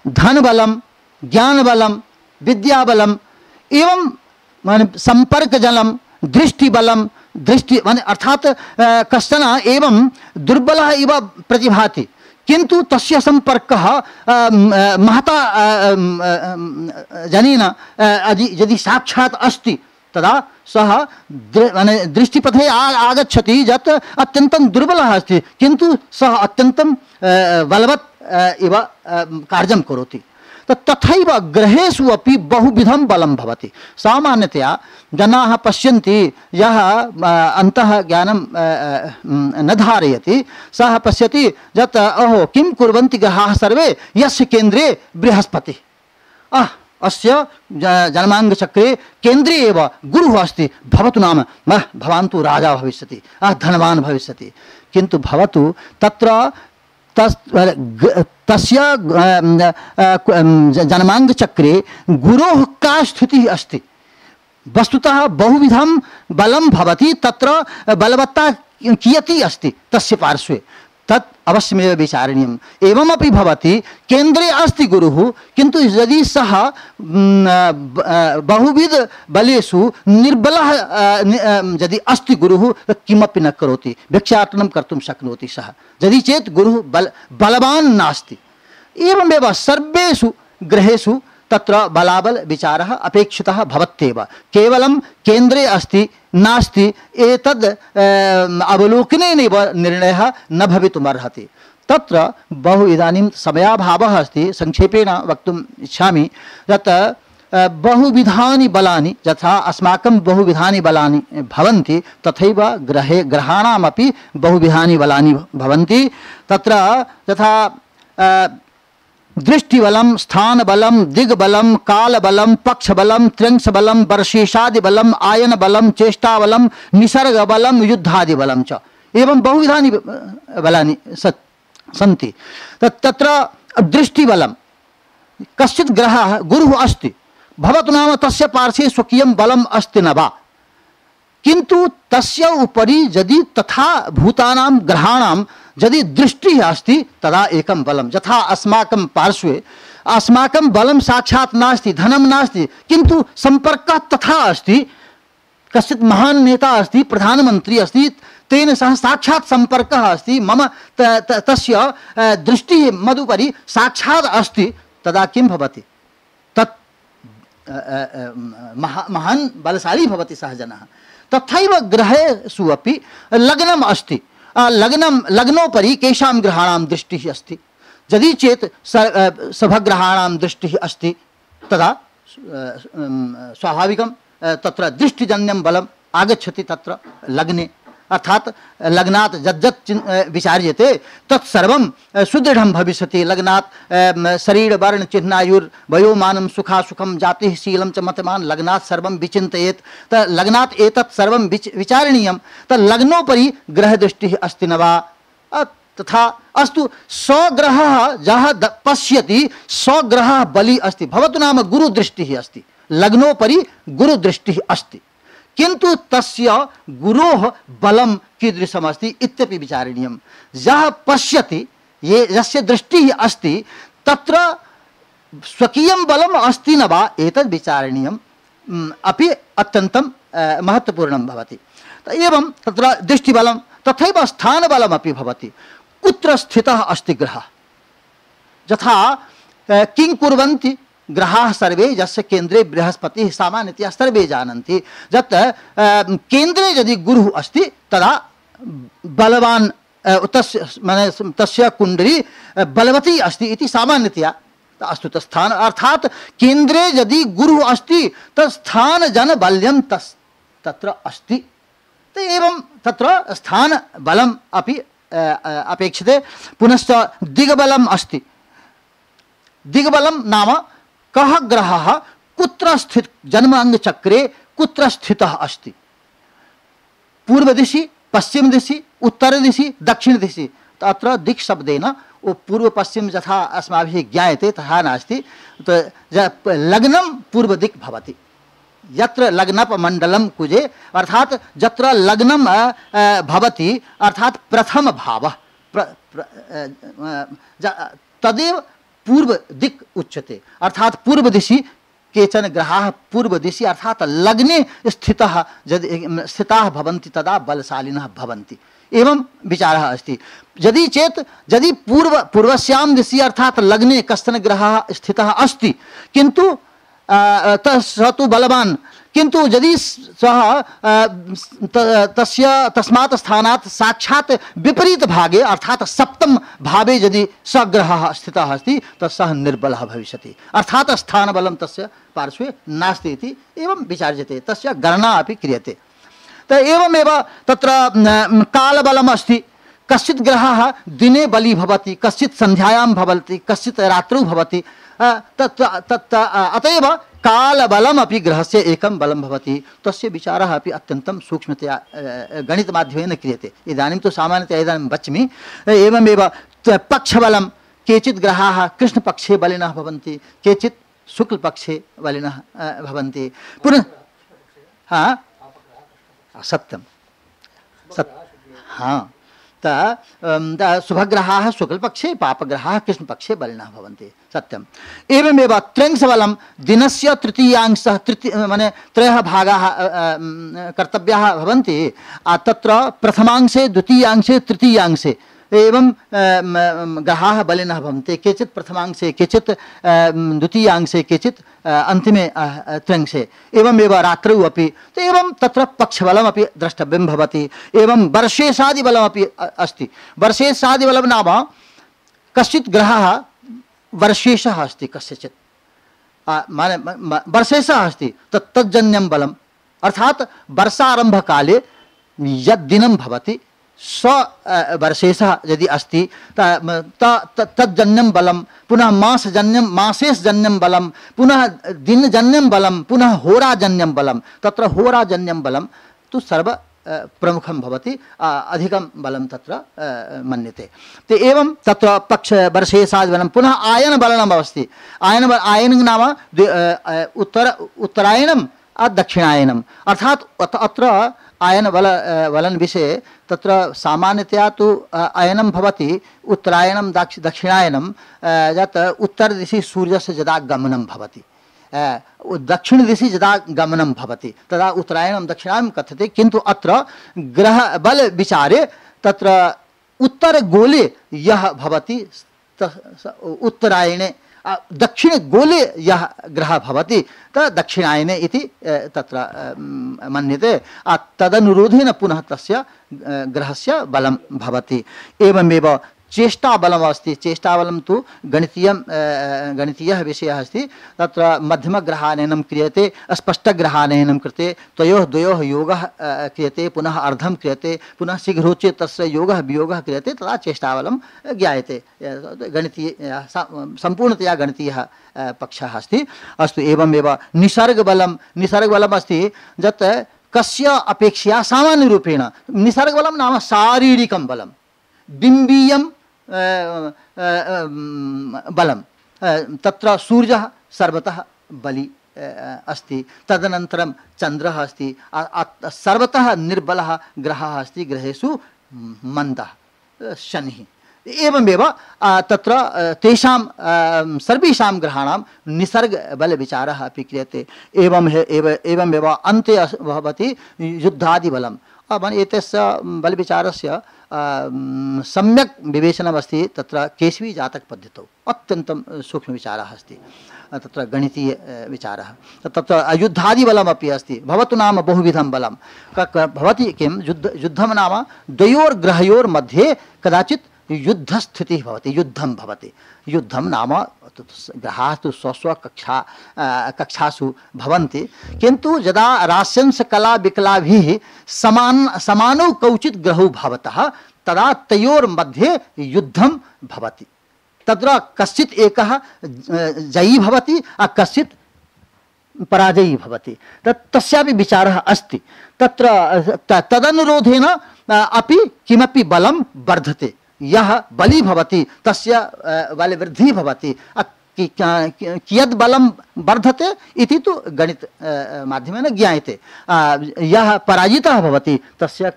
धनबलं, ज्ञानबलं, विद्याबलं, एवं माने संपर्कजलं, दृष्टिबलं, दृष्टि माने अर्थात कश्चन एवं दुर्बलः इव प्रतिभाति, किंतु तस्य संपर्कः महता जनेन यदि साक्षात् अस्ति तदा सः माने दृष्टिपथे आगच्छति, यत् अत्यन्तं दुर्बलः अस्ति, किंतु सः अत्यन्तं बलवत् इव कार्यं करोति। तथैव ग्रहेषु अपि बहुविधं बलं भवति। सामान्यतया जनाः पश्यन्ति, यः अन्तः ज्ञानं न धारयति सः पश्यति यत् अहो किं कुर्वन्ति ग्रहाः सर्वे, यस्य केन्द्रे बृहस्पतिः, अह अस्य जन्माङ्गचक्रे केन्द्रे एव गुरुः अस्ति, भवतु नाम मह भवान् तु राजा भविष्यति, अह धनवान् भविष्यति। किन्तु भवतु तत्र तस् तस्य जन्माङ्गचक्रे गुरोः का स्थितिः अस्ति, वस्तुतः बहुविधं बलं भवति, तत्र बलवत्ता कियती अस्ति तस्य पार्श्वे, तत् अवश्यमेव विचारणीयम्। एवमपि भवति केन्द्रे अस्ति गुरुः, किन्तु यदि सः बहुविध बलेषु निर्बलः यदि अस्ति गुरुः तत् किमपि न करोति, भिक्षाटनं कर्तुं शक्नोति सः, यदि चेत् गुरुः बल बलवान् नास्ति। एवमेव सर्वेषु गृहेषु तत्र बलाबल विचारः अपेक्षितः भवत्येव। केवलं केन्द्रे अस्ति नास्ति एतद् अवलोकनेनैव निर्णयः न भवितुमर्हति। तत्र बहु इदानीं समयाभावः अस्ति, संक्षेपेण वक्तुम् इच्छामि यत् बहुविधानि बलानि, यथा अस्माकं बहुविधानि बलानि भवन्ति तथैव ग्रहे ग्रहाणामपि बहुविधानि बलानि भवन्ति। तत्र यथा दृष्टिबलं, स्थानबलं, दिग्बलं, कालबलं, पक्षबलं, त्र्यंशबलं, वर्षेशादिबलं, आयनबलं, चेष्टाबलं, निसर्गबलं, युद्धादिबलं च, एवं बहुविधानि बलानि सन्ति। तत्र दृष्टिबलं, कश्चित् ग्रहः गुरुः अस्ति, भवतु नाम तस्य पार्श्वे स्वकीयं बलम् अस्ति न वा, किन्तु तस्य उपरि यदि तथा भूतानां ग्रहाणां यदि दृष्टिः अस्ति तदा एकं बलं। यथा अस्माकं पार्श्वे अस्माकं बलं साक्षात् नास्ति, धनं नास्ति, किन्तु सम्पर्कः तथा अस्ति, कश्चित् महान् नेता अस्ति, प्रधानमन्त्री अस्ति, तेन सह साक्षात् सम्पर्कः अस्ति, मम त, त, तस्य दृष्टिः मदुपरि साक्षात् अस्ति, तदा किं भवति, तत् महा महान् बलशाली भवति सः जनः। तथैव ग्रहेषु अपि लग्नम् अस्ति, लग्नं लग्नोपरि केषां ग्रहाणां दृष्टिः अस्ति, यदि चेत् सभग्रहाणां दृष्टिः अस्ति तदा स्वाभाविकं तत्र दृष्टिजन्यं बलम् आगच्छति तत्र लग्ने, अर्थात लग्नात् यज्जत् विचार्यते तत्सर्वं सुदृढं भविष्यति। लग्नात् शरीर वर्ण चिह्नायुर्वयोमानं सुखासुखं जातिः शीलं च मतमान, लग्नात् सर्वं विचिन्तयेत्। त लग्नात् एतत् सर्वं विचारणीयं। त लग्नोपरि ग्रहदृष्टिः अस्ति न वा, तथा अस्तु स्वग्रहः यः पश्यति स्वग्रहः बली अस्ति, भवतु नाम गुरुदृष्टिः अस्ति, लग्नोपरि गुरुदृष्टिः अस्ति, किन्तु तस्य गुरोः बलं कीदृशमस्ति इत्यपि विचारणीयं। यः पश्यति, ये यस्य दृष्टिः अस्ति तत्र स्वकीयं बलम् अस्ति न वा एतद् विचारणीयम् अपि अत्यन्तं महत्त्वपूर्णं भवति। एवं तत्र दृष्टिबलं तथैव स्थानबलमपि भवति, कुत्र स्थितः अस्ति ग्रहः। यथा किं कुर्वन्ति ग्रहाः सर्वे, यस्य केन्द्रे बृहस्पतिः सामान्यतया सर्वे जानन्ति, यत् केन्द्रे यदि गुरुः अस्ति तदा बलवान् तस्य माने तस्य कुण्डली बलवती अस्ति इति सामान्यतया। अस्तु तस्थान अर्थात केन्द्रे यदि गुरुः अस्ति तत् स्थानजनबल्यं तस् तत्र अस्ति, तो एवं तत्र स्थानबलम् अपि अपेक्षते। पुनश्च दिग्बलम् अस्ति। दिग्बलं नाम कः ग्रहः कुत्र स्थित जन्म अंग चक्रे कुत्र स्थितः अस्ति, पूर्व दिशि, पश्चिम दिशि, उत्तर दिशि, दक्षिण दिशि। तत्र दिक् शब्देन वो पूर्व पश्चिम यथा अस्माभिः ज्ञायते तथा नास्ति। तो लग्नं पूर्व दिक् भवति, यत्र लग्नपमण्डलं कुजे, अर्थात यत्र लग्नं भवति अर्थात प्रथम भावः तदेव पूर्व दिक् उच्यते। अर्थात पूर्व दिशि केचन ग्रहाः पूर्व दिशि अर्थात लग्ने स्थितः यदि स्थिताः भवन्ति तदा बलशालिनः भवन्ति, एवं विचारः अस्ति। यदि चेत् यदि पूर्व पूर्वस्यां दिशि अर्थात लग्ने कश्चन ग्रहः स्थितः अस्ति किन्तु स तु बलवान्, किन्तु यदि सः तस्य तस्मात् स्थानात् साक्षात् विपरीत भागे अर्थात सप्तम भावे यदि स ग्रहः स्थितः अस्ति तत् सः निर्बलः भविष्यति, अर्थात स्थानबलं तस्य पार्श्वे नास्ति इति एवं विचार्यते, तस्य गणना अपि क्रियते। तो एवमेव तत्र कालबलम् अस्ति। कश्चित् ग्रहः दिने बली भवति, कश्चित् सन्ध्यायां भवति, कश्चित् रात्रौ भवति। तत् तत् अतएव कालबलमपि ग्रहस्य एकं बलं भवति। तस्य विचारः अपि अत्यन्तं सूक्ष्मतया गणितमाध्यमेन क्रियते। इदानीं तु सामान्यतया इदानीं वच्मि। एवमेव पक्षबलं, केचित् ग्रहाः कृष्णपक्षे बलिनः भवन्ति, केचित् शुक्लपक्षे बलिनः भवन्ति। पुनः हाँ सत्यं सत् हाँ त शुभग्रहाः शुक्लपक्षे पापग्रहाः कृष्णपक्षे बलिनः भवन्ति सत्यम् एवमेव त्र्यंशबलं दिनस्य तृतीयांशः तृतीय माने त्रयः भागाः कर्तव्याः भवन्ति तत्र प्रथमांशे द्वितीयांशे तृतीयांशे एवं ग्रहाः बलिनः भवन्ति केचित् प्रथमांशे केचित् द्वितीयांशे केचित् अन्तिमे त्र्यंशे एवमेव रात्रौ अपि एवं तत्र पक्षबलमपि द्रष्टव्यं भवति एवं वर्षेशादिबलमपि अस्ति वर्षेशादिबलं नाम कश्चित् ग्रहः वर्षेशः अस्ति कस्यचित् माने वर्षेशः अस्ति तत् तज्जन्यं बलम् अर्थात् वर्षारम्भकाले यद्दिनं भवति स्व वर्षेशः यदि अस्ति तज्जन्यं बलं पुनः मासजन्यं मासेशजन्यं बलं पुनः दिनजन्यं बलं पुनः होराजन्यं बलं तत्र होराजन्यं बलं तु सर्व प्रमुखं भवति अधिकं बलं तत्र मन्यते ते एवं तत्र पक्ष वर्षेशादिबलं पुनः आयनबलम् अस्ति आयन आयनं नाम उत्तर उत्तरायणं दक्षिणायनम् अर्थात् अत्र आयन बल बलन विषये तत्र सामान्यतया तु आयनं भवति उत्तरायणं दक्ष दक्षिणायनं यत् उत्तरदिशि सूर्यस्य यदा गमनं भवति दक्षिणदिशि यदा गमनं भवति तदा उत्तरायणं दक्षिणायनं कथ्यते किन्तु अत्र ग्रह बल विचारे तत्र उत्तरगोले यः भवति उत्तरायणे दक्षिणगोले यः ग्रहः भवति तद् दक्षिणायने इति तत्र मन्यते तदनुरोधेन पुनः तस्य ग्रहस्य बलं भवति एवमेव चेष्टाबलम् अस्ति चेष्टाबलं तु गणितीयं गणितीयः विषयः अस्ति तत्र मध्यमग्रहानयनं क्रियते अस्पष्टग्रहानयनं कृते तयोः द्वयोः योगः क्रियते पुनः अर्धं क्रियते पुनः शीघ्रोच्चे तस्य योगः वियोगः क्रियते तदा चेष्टाबलं ज्ञायते गणितीय सम्पूर्णतया गणितीयः पक्षः अस्ति अस्तु एवमेव निसर्गबलं निसर्गबलम् अस्ति यत् कस्य अपेक्षया सामान्यरूपेण निसर्गबलं नाम शारीरिकं बलं बिम्बीयं बलं तत्र सूर्यः सर्वतः बली अस्ति तदनन्तरं चन्द्रः अस्ति सर्वतः निर्बलः ग्रहः अस्ति ग्रहेषु मन्दः शनिः एवमेव तत्र तेषां सर्वेषां ग्रहाणां निसर्गबलविचारः अपि क्रियते एवं एवमेव अन्ते भवति युद्धादिबलं एतस्य बलविचारस्य सम्यक् विवेचनमस्ति तत्र केशवी जातकपद्धतौ अत्यन्तं सूक्ष्मविचारः अस्ति तत्र गणितीय विचारः तत्र युद्धादिबलमपि अस्ति भवतु नाम बहुविधं बलं भवति किं युद्ध युद्धं नाम द्वयोर्ग्रहयोर्मध्ये कदाचित् युद्धस्थितिः भवति युद्धं भवति युद्धं नाम ग्रहाः तु स्वस्व कक्षा कक्षासु भवन्ति किन्तु यदा रास्यंश कला विकलाभिः समान समानौ कौचित् ग्रहौ भवतः तदा तयोर्मध्ये युद्धं भवति तत्र कश्चित् एकः जयी भवति कश्चित् पराजयी भवति तत् तस्यापि विचारः अस्ति तत्र तदनुरोधेन अपि किमपि बलं वर्धते यः बली भवति तस्य बलवृद्धिः भवति कियत् बलं वर्धते इति तु गणित माध्यमेन ज्ञायते यः पराजितः भवति तस्य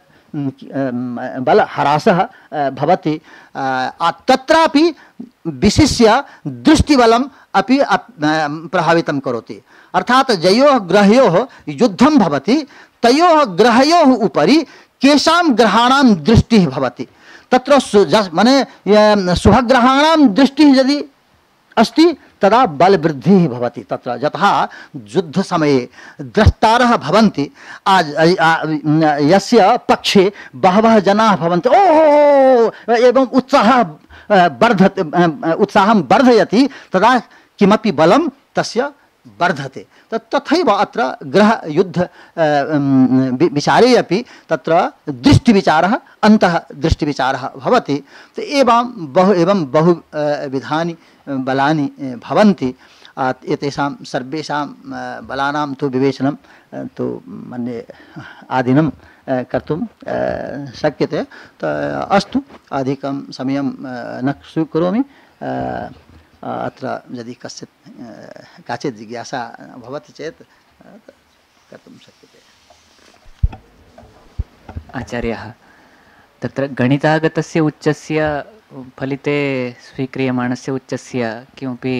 बलह्रासः भवति तत्रापि विशिष्य दृष्टिबलम् अपि प्रभावितं करोति अर्थात् ययोः ग्रहयोः युद्धं भवति तयोः ग्रहयोः उपरि केषां ग्रहाणां दृष्टिः भवति तत्र माने शुभग्रहाणां दृष्टिः यदि अस्ति तदा बलवृद्धिः भवति तत्र यतः युद्धसमये द्रष्टारः भवन्ति यस्य पक्षे बहवः जनाः भवन्ति ओहो एवं उत्साहः वर्धते उत्साहं वर्धयति तदा किमपि बलं तस्य वर्धते तथैव अत्र ग्रह युद्ध विचारे अपि तत्र दृष्टिविचारः अन्तः दृष्टिविचारः भवति एवं बहु एवं बहु विधानि बलानि भवन्ति एतेषां सर्वेषां बलानां तु विवेचनं तु मन्ये आदिनं कर्तुं शक्यते अस्तु अधिकं समयं न स्वीकरोमि अत्र यदि कश्चित् काचित् जिज्ञासा भवति चेत् कर्तुं शक्यते आचार्यः तत्र गणितागतस्य उच्चस्य फलिते स्वीक्रियमाणस्य उच्चस्य किमपि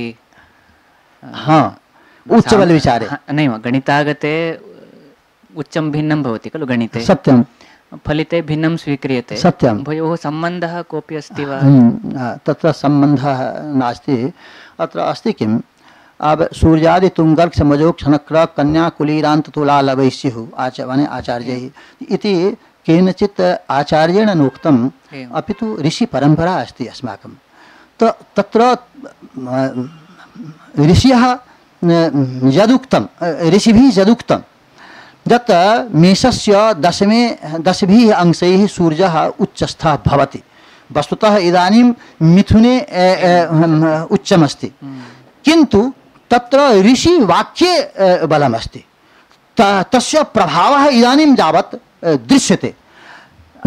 हाँ उच्चबलविचारे नैव गणितागते उच्चं भिन्नं भवति खलु गणिते सत्यं फलिते भिन्नं स्वीक्रियते सत्यं उभयोः सम्बन्धः कोऽपि अस्ति वा तत्र सम्बन्धः नास्ति अत्र अस्ति किम् अब सूर्यादि तुंगर्क समजो क्षणक्र कन्या कुलीरांत तुला लवैस्युः आचार्य आचार्यैः इति केनचित् आचार्येण नोक्तम् अपितु ऋषि परंपरा अस्ति अस्माकं त तत्र ऋषयः यदुक्तं ऋषिभिः यदुक्तं यत् मेषस्य दशमे दशभिः अंशैः सूर्यः उच्चस्थः भवति वस्तुतः इदानीं मिथुने उच्चमस्ति किन्तु तत्र ऋषि वाक्ये बलमस्ति तस्य प्रभावः इदानीं यावत् दृश्यते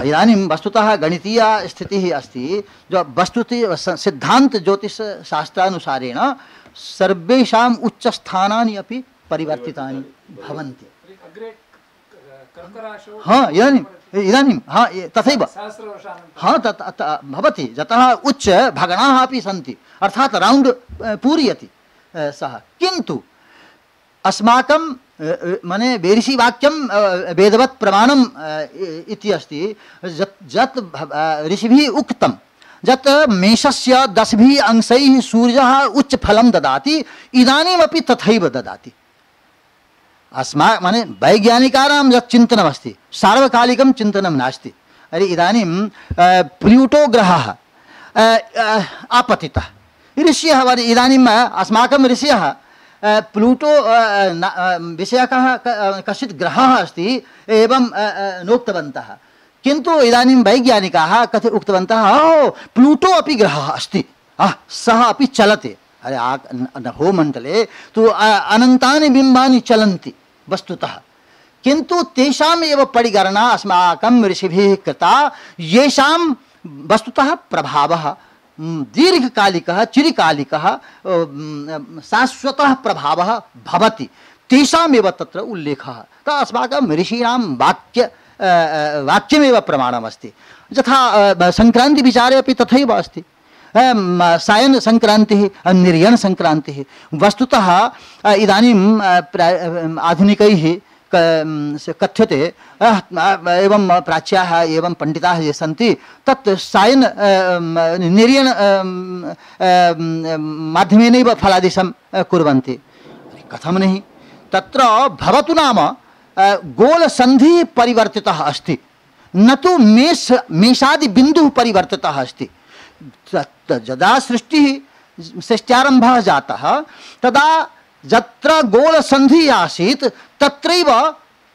इदानीं वस्तुतः गणितीय स्थितिः अस्ति जो वस्तुतः सिद्धांत ज्योतिष शास्त्रानुसारेण सर्वेषाम् उच्चस्थानानि अपि परिवर्तितानि भवन्ति हाँ इदानीं इदानीं हाँ तथैव हाँ तत् भवति यतः उच्च भगणाः अपि सन्ति अर्थात् रौण्ड् पूरयति सः किन्तु अस्माकं माने ऋषि वाक्यं वेदवत् प्रमाणम् इति अस्ति यत् ऋषिभिः उक्तं यत् मेषस्य दशभिः अंशैः सूर्यः उच्च फलं ददाति इदानीमपि तथैव ददाति अस्मा माने वैज्ञानिकानां यत् चिन्तनमस्ति सार्वकालिकं चिन्तनं नास्ति अरे इदानीं प्लूटो ग्रहः आपतितः ऋषयः इदानीम् अस्माकं ऋषयः प्लूटो विषयकः कश्चित् ग्रहः अस्ति एवं नोक्तवन्तः किन्तु इदानीं वैज्ञानिकाः कथं उक्तवन्तः ओ प्लूटो अपि ग्रहः अस्ति सः अपि चलति अरे नभोमण्डले तु अनन्तानि बिम्बानि चलन्ति वस्तुतः किन्तु तेषाम् एव परिगणना अस्माकं ऋषिभिः कृता येषां वस्तुतः प्रभावः दीर्घकालिकः चिरकालिकः शाश्वतः प्रभावः भवति तेषामेव तत्र उल्लेखः त अस्माकं ऋषीणां वाक्य वाक्यमेव प्रमाणमस्ति यथा संक्रान्तिविचारे अपि तथैव अस्ति सायन संक्रांतिः निर्यण संक्रांतिः वस्तुतः इदानीं आधुनिकैः कथ्यते एवं प्राच्याः एवं पंडिताः ये सन्ति तत् सायन निर्यण माध्यमेनैव फलादेशं कुर्वन्ति कथं नहि तत्र भवतु नाम गोलसन्धिः परिवर्तितः अस्ति न तु मेष मेषादि बिन्दुः परिवर्तितः अस्ति यदा सृष्टिः सृष्ट्यारम्भः जातः तदा यत्र गोलसन्धिः आसीत् तत्रैव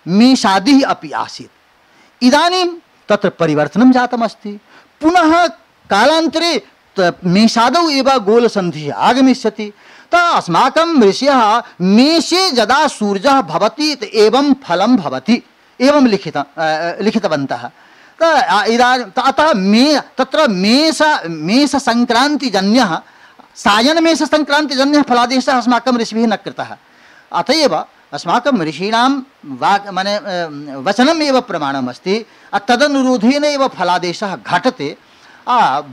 मेषादिः अपि आसीत् इदानीं तत्र परिवर्तनं जातमस्ति पुनः कालान्तरे मेषादौ एव गोलसन्धिः आगमिष्यति त अस्माकं ऋषयः मेषे यदा सूर्यः भवति एवं फलं भवति एवं लिखित लिखितवन्तः अतः मे तत्र मेष मेष संक्रांतिजन्यः सायन मेष संक्रांतिजन्यः फलादेशः अस्माकं ऋषिभिः न कृतः अतएव अस्माकं ऋषीणां वाक् माने वचनम् एव प्रमाणमस्ति तदनुरोधेन एव फलादेशः घटते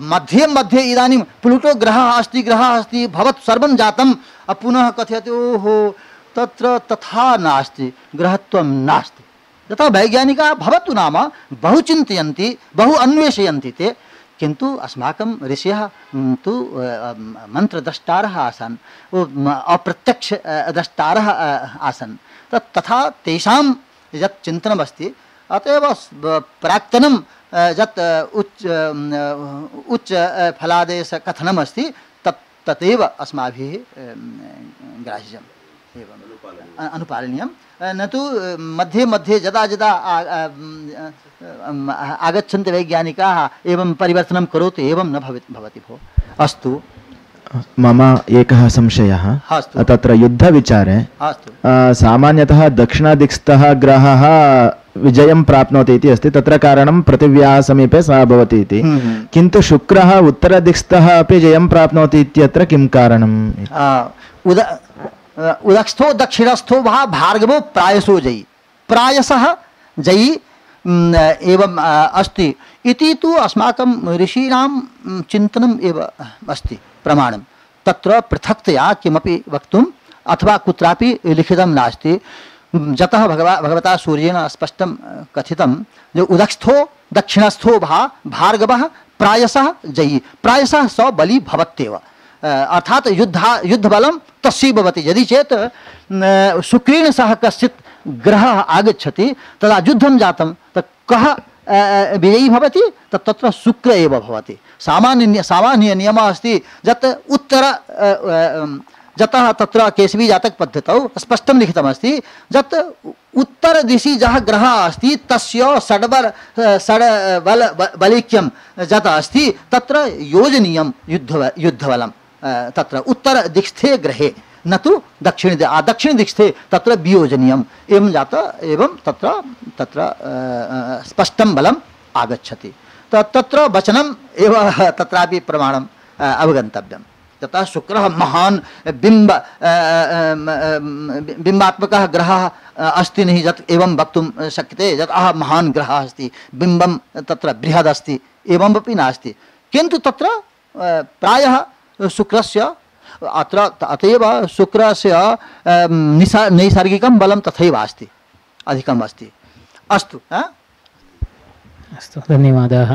मध्ये मध्ये इदानीं प्लूटो ग्रहः अस्ति ग्रहः अस्ति भवत् सर्वं जातं पुनः कथयति ओहो तत्र तथा नास्ति ग्रहत्वं नास्ति यथा वैज्ञानिकाः भवतु नाम बहु चिन्तयन्ति बहु अन्वेषयन्ति ते किन्तु अस्माकं ऋषयः तु मन्त्रद्रष्टारः आसन् अप्रत्यक्ष द्रष्टारः आसन् तत् तथा तेषां यत् चिन्तनमस्ति अत एव प्राक्तनं यत् उच्च उच्च फलादेश कथनमस्ति तत् तदेव अस्माभिः ग्राह्यम् एवम् अनुपालनीयं न तु मध्ये मध्ये यदा यदा आगच्छन्ति वैज्ञानिकाः एवं परिवर्तनं करोतु एवं न भवति भवति भो अस्तु मम एकः संशयः तत्र युद्धविचारे सामान्यतः दक्षिणादिक्स्थः ग्रहः विजयं प्राप्नोति इति अस्ति तत्र कारणं पृथिव्याः समीपे सः भवति इति किन्तु शुक्रः उत्तरदिक्स्थः अपि जयं प्राप्नोति इत्यत्र किं कारणम् उद उदक्षस्थो दक्षिणस्थो वा भार्गवो प्रायसो जयी प्रायसः जयी एवं अस्ति इति तु अस्माकं ऋषीणां चिन्तनम् एव अस्ति प्रमाणं। तत्र पृथक्तया किमपि वक्तुम् अथवा कुत्रापि लिखितं नास्ति। जतः भगवा भगवता सूर्येण स्पष्टं कथितं जो उदक्षस्थो दक्षिणस्थो भा भार्गवः प्रायशः जयी प्रायशः स बली भवत्येव। अर्थात युद्धा युद्धबलं तस्य भवति। यदि चेत् शुक्रेण सह कश्चित् ग्रहः आगच्छति तदा युद्धं जातं तत् कः विजयी भवति तत् तत्र शुक्र एव भवति। सामान्य सामान्य नियमः अस्ति यत् उत्तर जतः तत्र केसरी जातक पद्धतौ स्पष्टं लिखितमस्ति यत् उत्तरदिशि यः ग्रहः अस्ति तस्य षड्बल षड्बल बलैक्यं यत् अस्ति तत्र योजनीयं युद्ध युद्धबलं तत्र उत्तरदिक्स्थे ग्रहे न तु दक्षिण दक्षिणदिक्स्थे तत्र वियोजनीयम् एवं जात एवं तत्र तत्र स्पष्टं बलम् आगच्छति। तत्र वचनम् एव तत्रापि प्रमाणम् अवगन्तव्यम्। तथा शुक्रः महान् बिम्ब बिम्बात्मकः ग्रहः अस्ति नहीं यत् एवं वक्तुं शक्यते यत् अह महान् ग्रहः अस्ति बिम्बं तत्र बृहद् अस्ति एवमपि नास्ति। किन्तु तत्र प्रायः शुक्रस्य अत्र अतएव शुक्रस्य निसा नैसर्गिकं बलं तथैव अस्ति अधिकम् अस्ति। अस्तु अस्तु धन्यवादाः।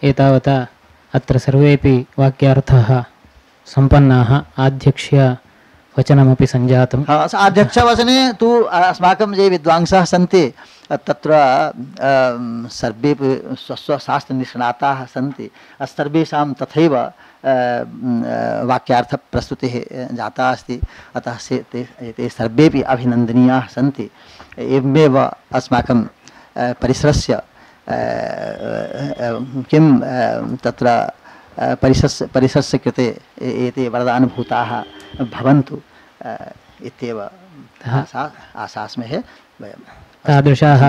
एतावता अत्र सर्वेपि वाक्यार्थाः सम्पन्नाः। आध्यक्ष्य वचनमपि सञ्जातम्। आध्यक्षवचने तु अस्माकं ये विद्वांसः सन्ति तत्र सर्वेपि स्वस्वशास्त्रनिष्णाताः सन्ति। सर्वेषां तथैव वाक्यार्थप्रस्तुतिः जाता अस्ति। अतः से ते, ते सर्वेपि अभिनन्दनीयाः सन्ति। एवमेव अस्माकं परिसरस्य किं तत्र परिसरस्य परिसरस्य कृते एते वरदानुभूताः भवन्तु इत्येव आशा आशास्महे वयं। तादृशाः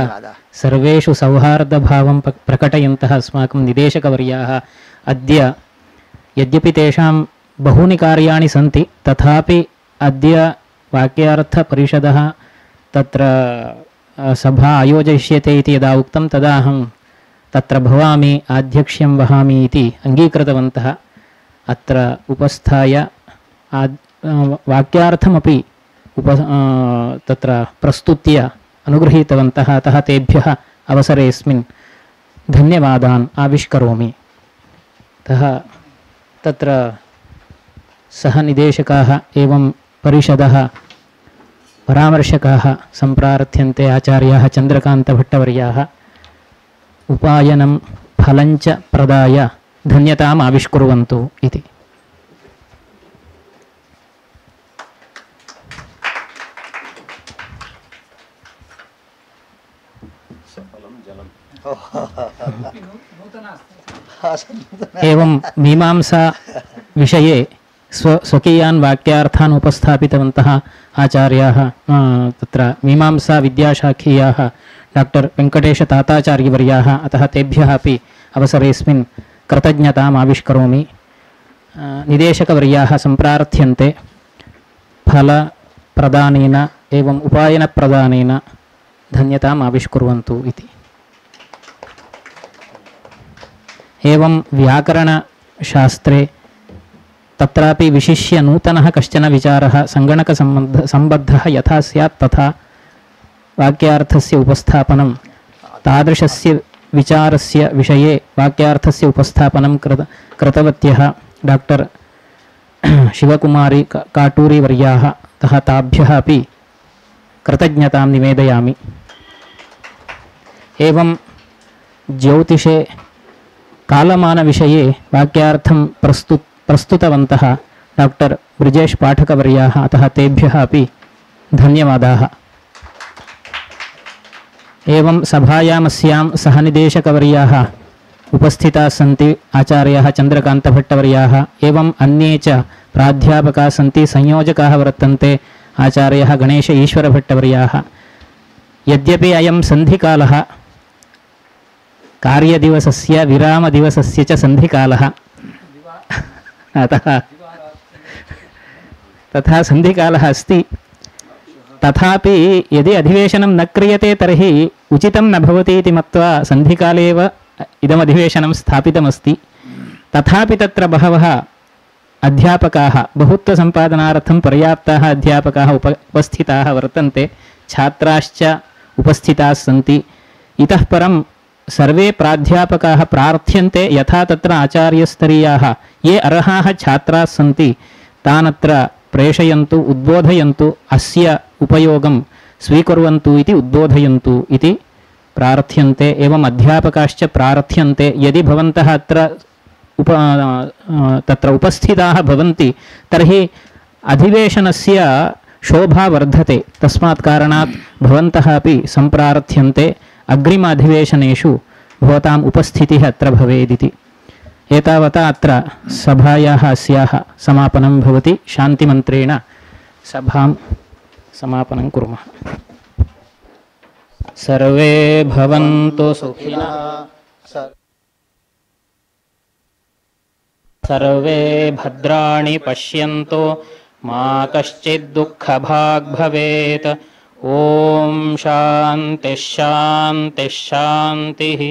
सर्वेषु सौहार्दभावं प्रकटयन्तः अस्माकं निदेशकवर्याः अद्य यद्यपि तेषां बहूनि कार्याणि सन्ति तथापि अद्य वाक्यार्थपरिषदः तत्र सभा आयोजयिष्यते इति यदा उक्तं तदा अहं तत्र भवामि आध्यक्ष्यं वहामि इति अङ्गीकृतवन्तः। अत्र उपस्थाय आद् वाक्यार्थमपि उप तत्र प्रस्तुत्य अनुगृहीतवन्तः। अतः तेभ्यः अवसरेऽस्मिन् धन्यवादान् आविष्करोमि। अतः तत्र सह निदेशकाः एवं परिषदः परामर्शकाः सम्प्रार्थ्यन्ते आचार्याः चन्द्रकान्तभट्टवर्याः उपायनं फलञ्च प्रदाय धन्यताम् आविष्कुर्वन्तु इति। एवं मीमांसा विषये स्व स्वकीयान् वाक्यार्थान् उपस्थापितवन्तः आचार्याः तत्र मीमांसा विद्याशाखीयाः डॉक्टर वेंकटेश ताताचार्यवर्याः। अतः तेभ्यः अपि अवसरेऽस्मिन् कृतज्ञताम् आविष्करोमि। निदेशकवर्याः सम्प्रार्थ्यन्ते फलप्रदानेन एवं उपायनप्रदानेन धन्यताम् आविष्कुर्वन्तु इति। एवं व्याकरणशास्त्रे तत्रापि विशिष्य नूतनः कश्चन विचारः सङ्गणकसम्बन्ध सम्बद्धः यथा स्यात् तथा वाक्यार्थस्य उपस्थापनं तादृशस्य विचारस्य विषये वाक्यार्थस्य उपस्थापनं कृत कृतवत्यः डॉक्टर शिवकुमारी काटूरीवर्याः। अतः ताभ्यः अपि कृतज्ञतां निवेदयामि। एवं ज्योतिषे कालमानविषये वाक्यार्थं प्रस्तु प्रस्तुतवन्तः डॉक्टर ब्रिजेश पाठकवर्याः। अतः तेभ्यः अपि धन्यवादाः। एवं सभायामस्यां सहनिदेशकवर्याः उपस्थिताः सन्ति आचार्याः चन्द्रकान्तभट्टवर्याः एवं अन्ये च प्राध्यापकाः सन्ति संयोजकाः वर्तन्ते आचार्यः गणेश ईश्वरभट्टवर्याः। यद्यपि अयं सन्धिकालः कार्यदिवसस्य विरामदिवसस्य च सन्धिकालः अतः तथा सन्धिकालः अस्ति। तथापि यदि अधिवेशनं न क्रियते तर्हि उचितं न भवति इति मत्वा सन्धिकाले एव इदम् अधिवेशनं स्थापितमस्ति। तथापि तत्र बहवः अध्यापकाः बहुत्वसम्पादनार्थं पर्याप्ताः अध्यापकाः उप उपस्थिताः वर्तन्ते, छात्राश्च उपस्थिताः सन्ति। इतः परं सर्वे प्राध्यापकाः प्रार्थ्यन्ते यथा तत्र आचार्यस्तरीयाः ये अर्हाः छात्राः सन्ति तानत्र प्रेषयन्तु, उद्बोधयन्तु, अस्य उपयोगं स्वीकुर्वन्तु इति उद्बोधयन्तु इति प्रार्थ्यन्ते। एवम् अध्यापकाश्च प्रार्थ्यन्ते यदि भवन्तः अत्र उप तत्र उपस्थिताः भवन्ति तर्हि अधिवेशनस्य शोभा वर्धते। तस्मात् कारणात् भवन्तः अपि सम्प्रार्थ्यन्ते अग्रिम अधिवेशनेषु भवताम् उपस्थितिः अत्र भवेदिति। एतावता अत्र सभायाः अस्याः समापनं भवति। शान्तिमन्त्रेण सभां समापनं कुर्मः। सर्वे भवन्तु सुखिनः, सर्वे भद्राणि पश्यन्तु, मा कश्चित् दुःखभाग् भवेत्। ॐ शान्तिः शान्तिः शान्तिः।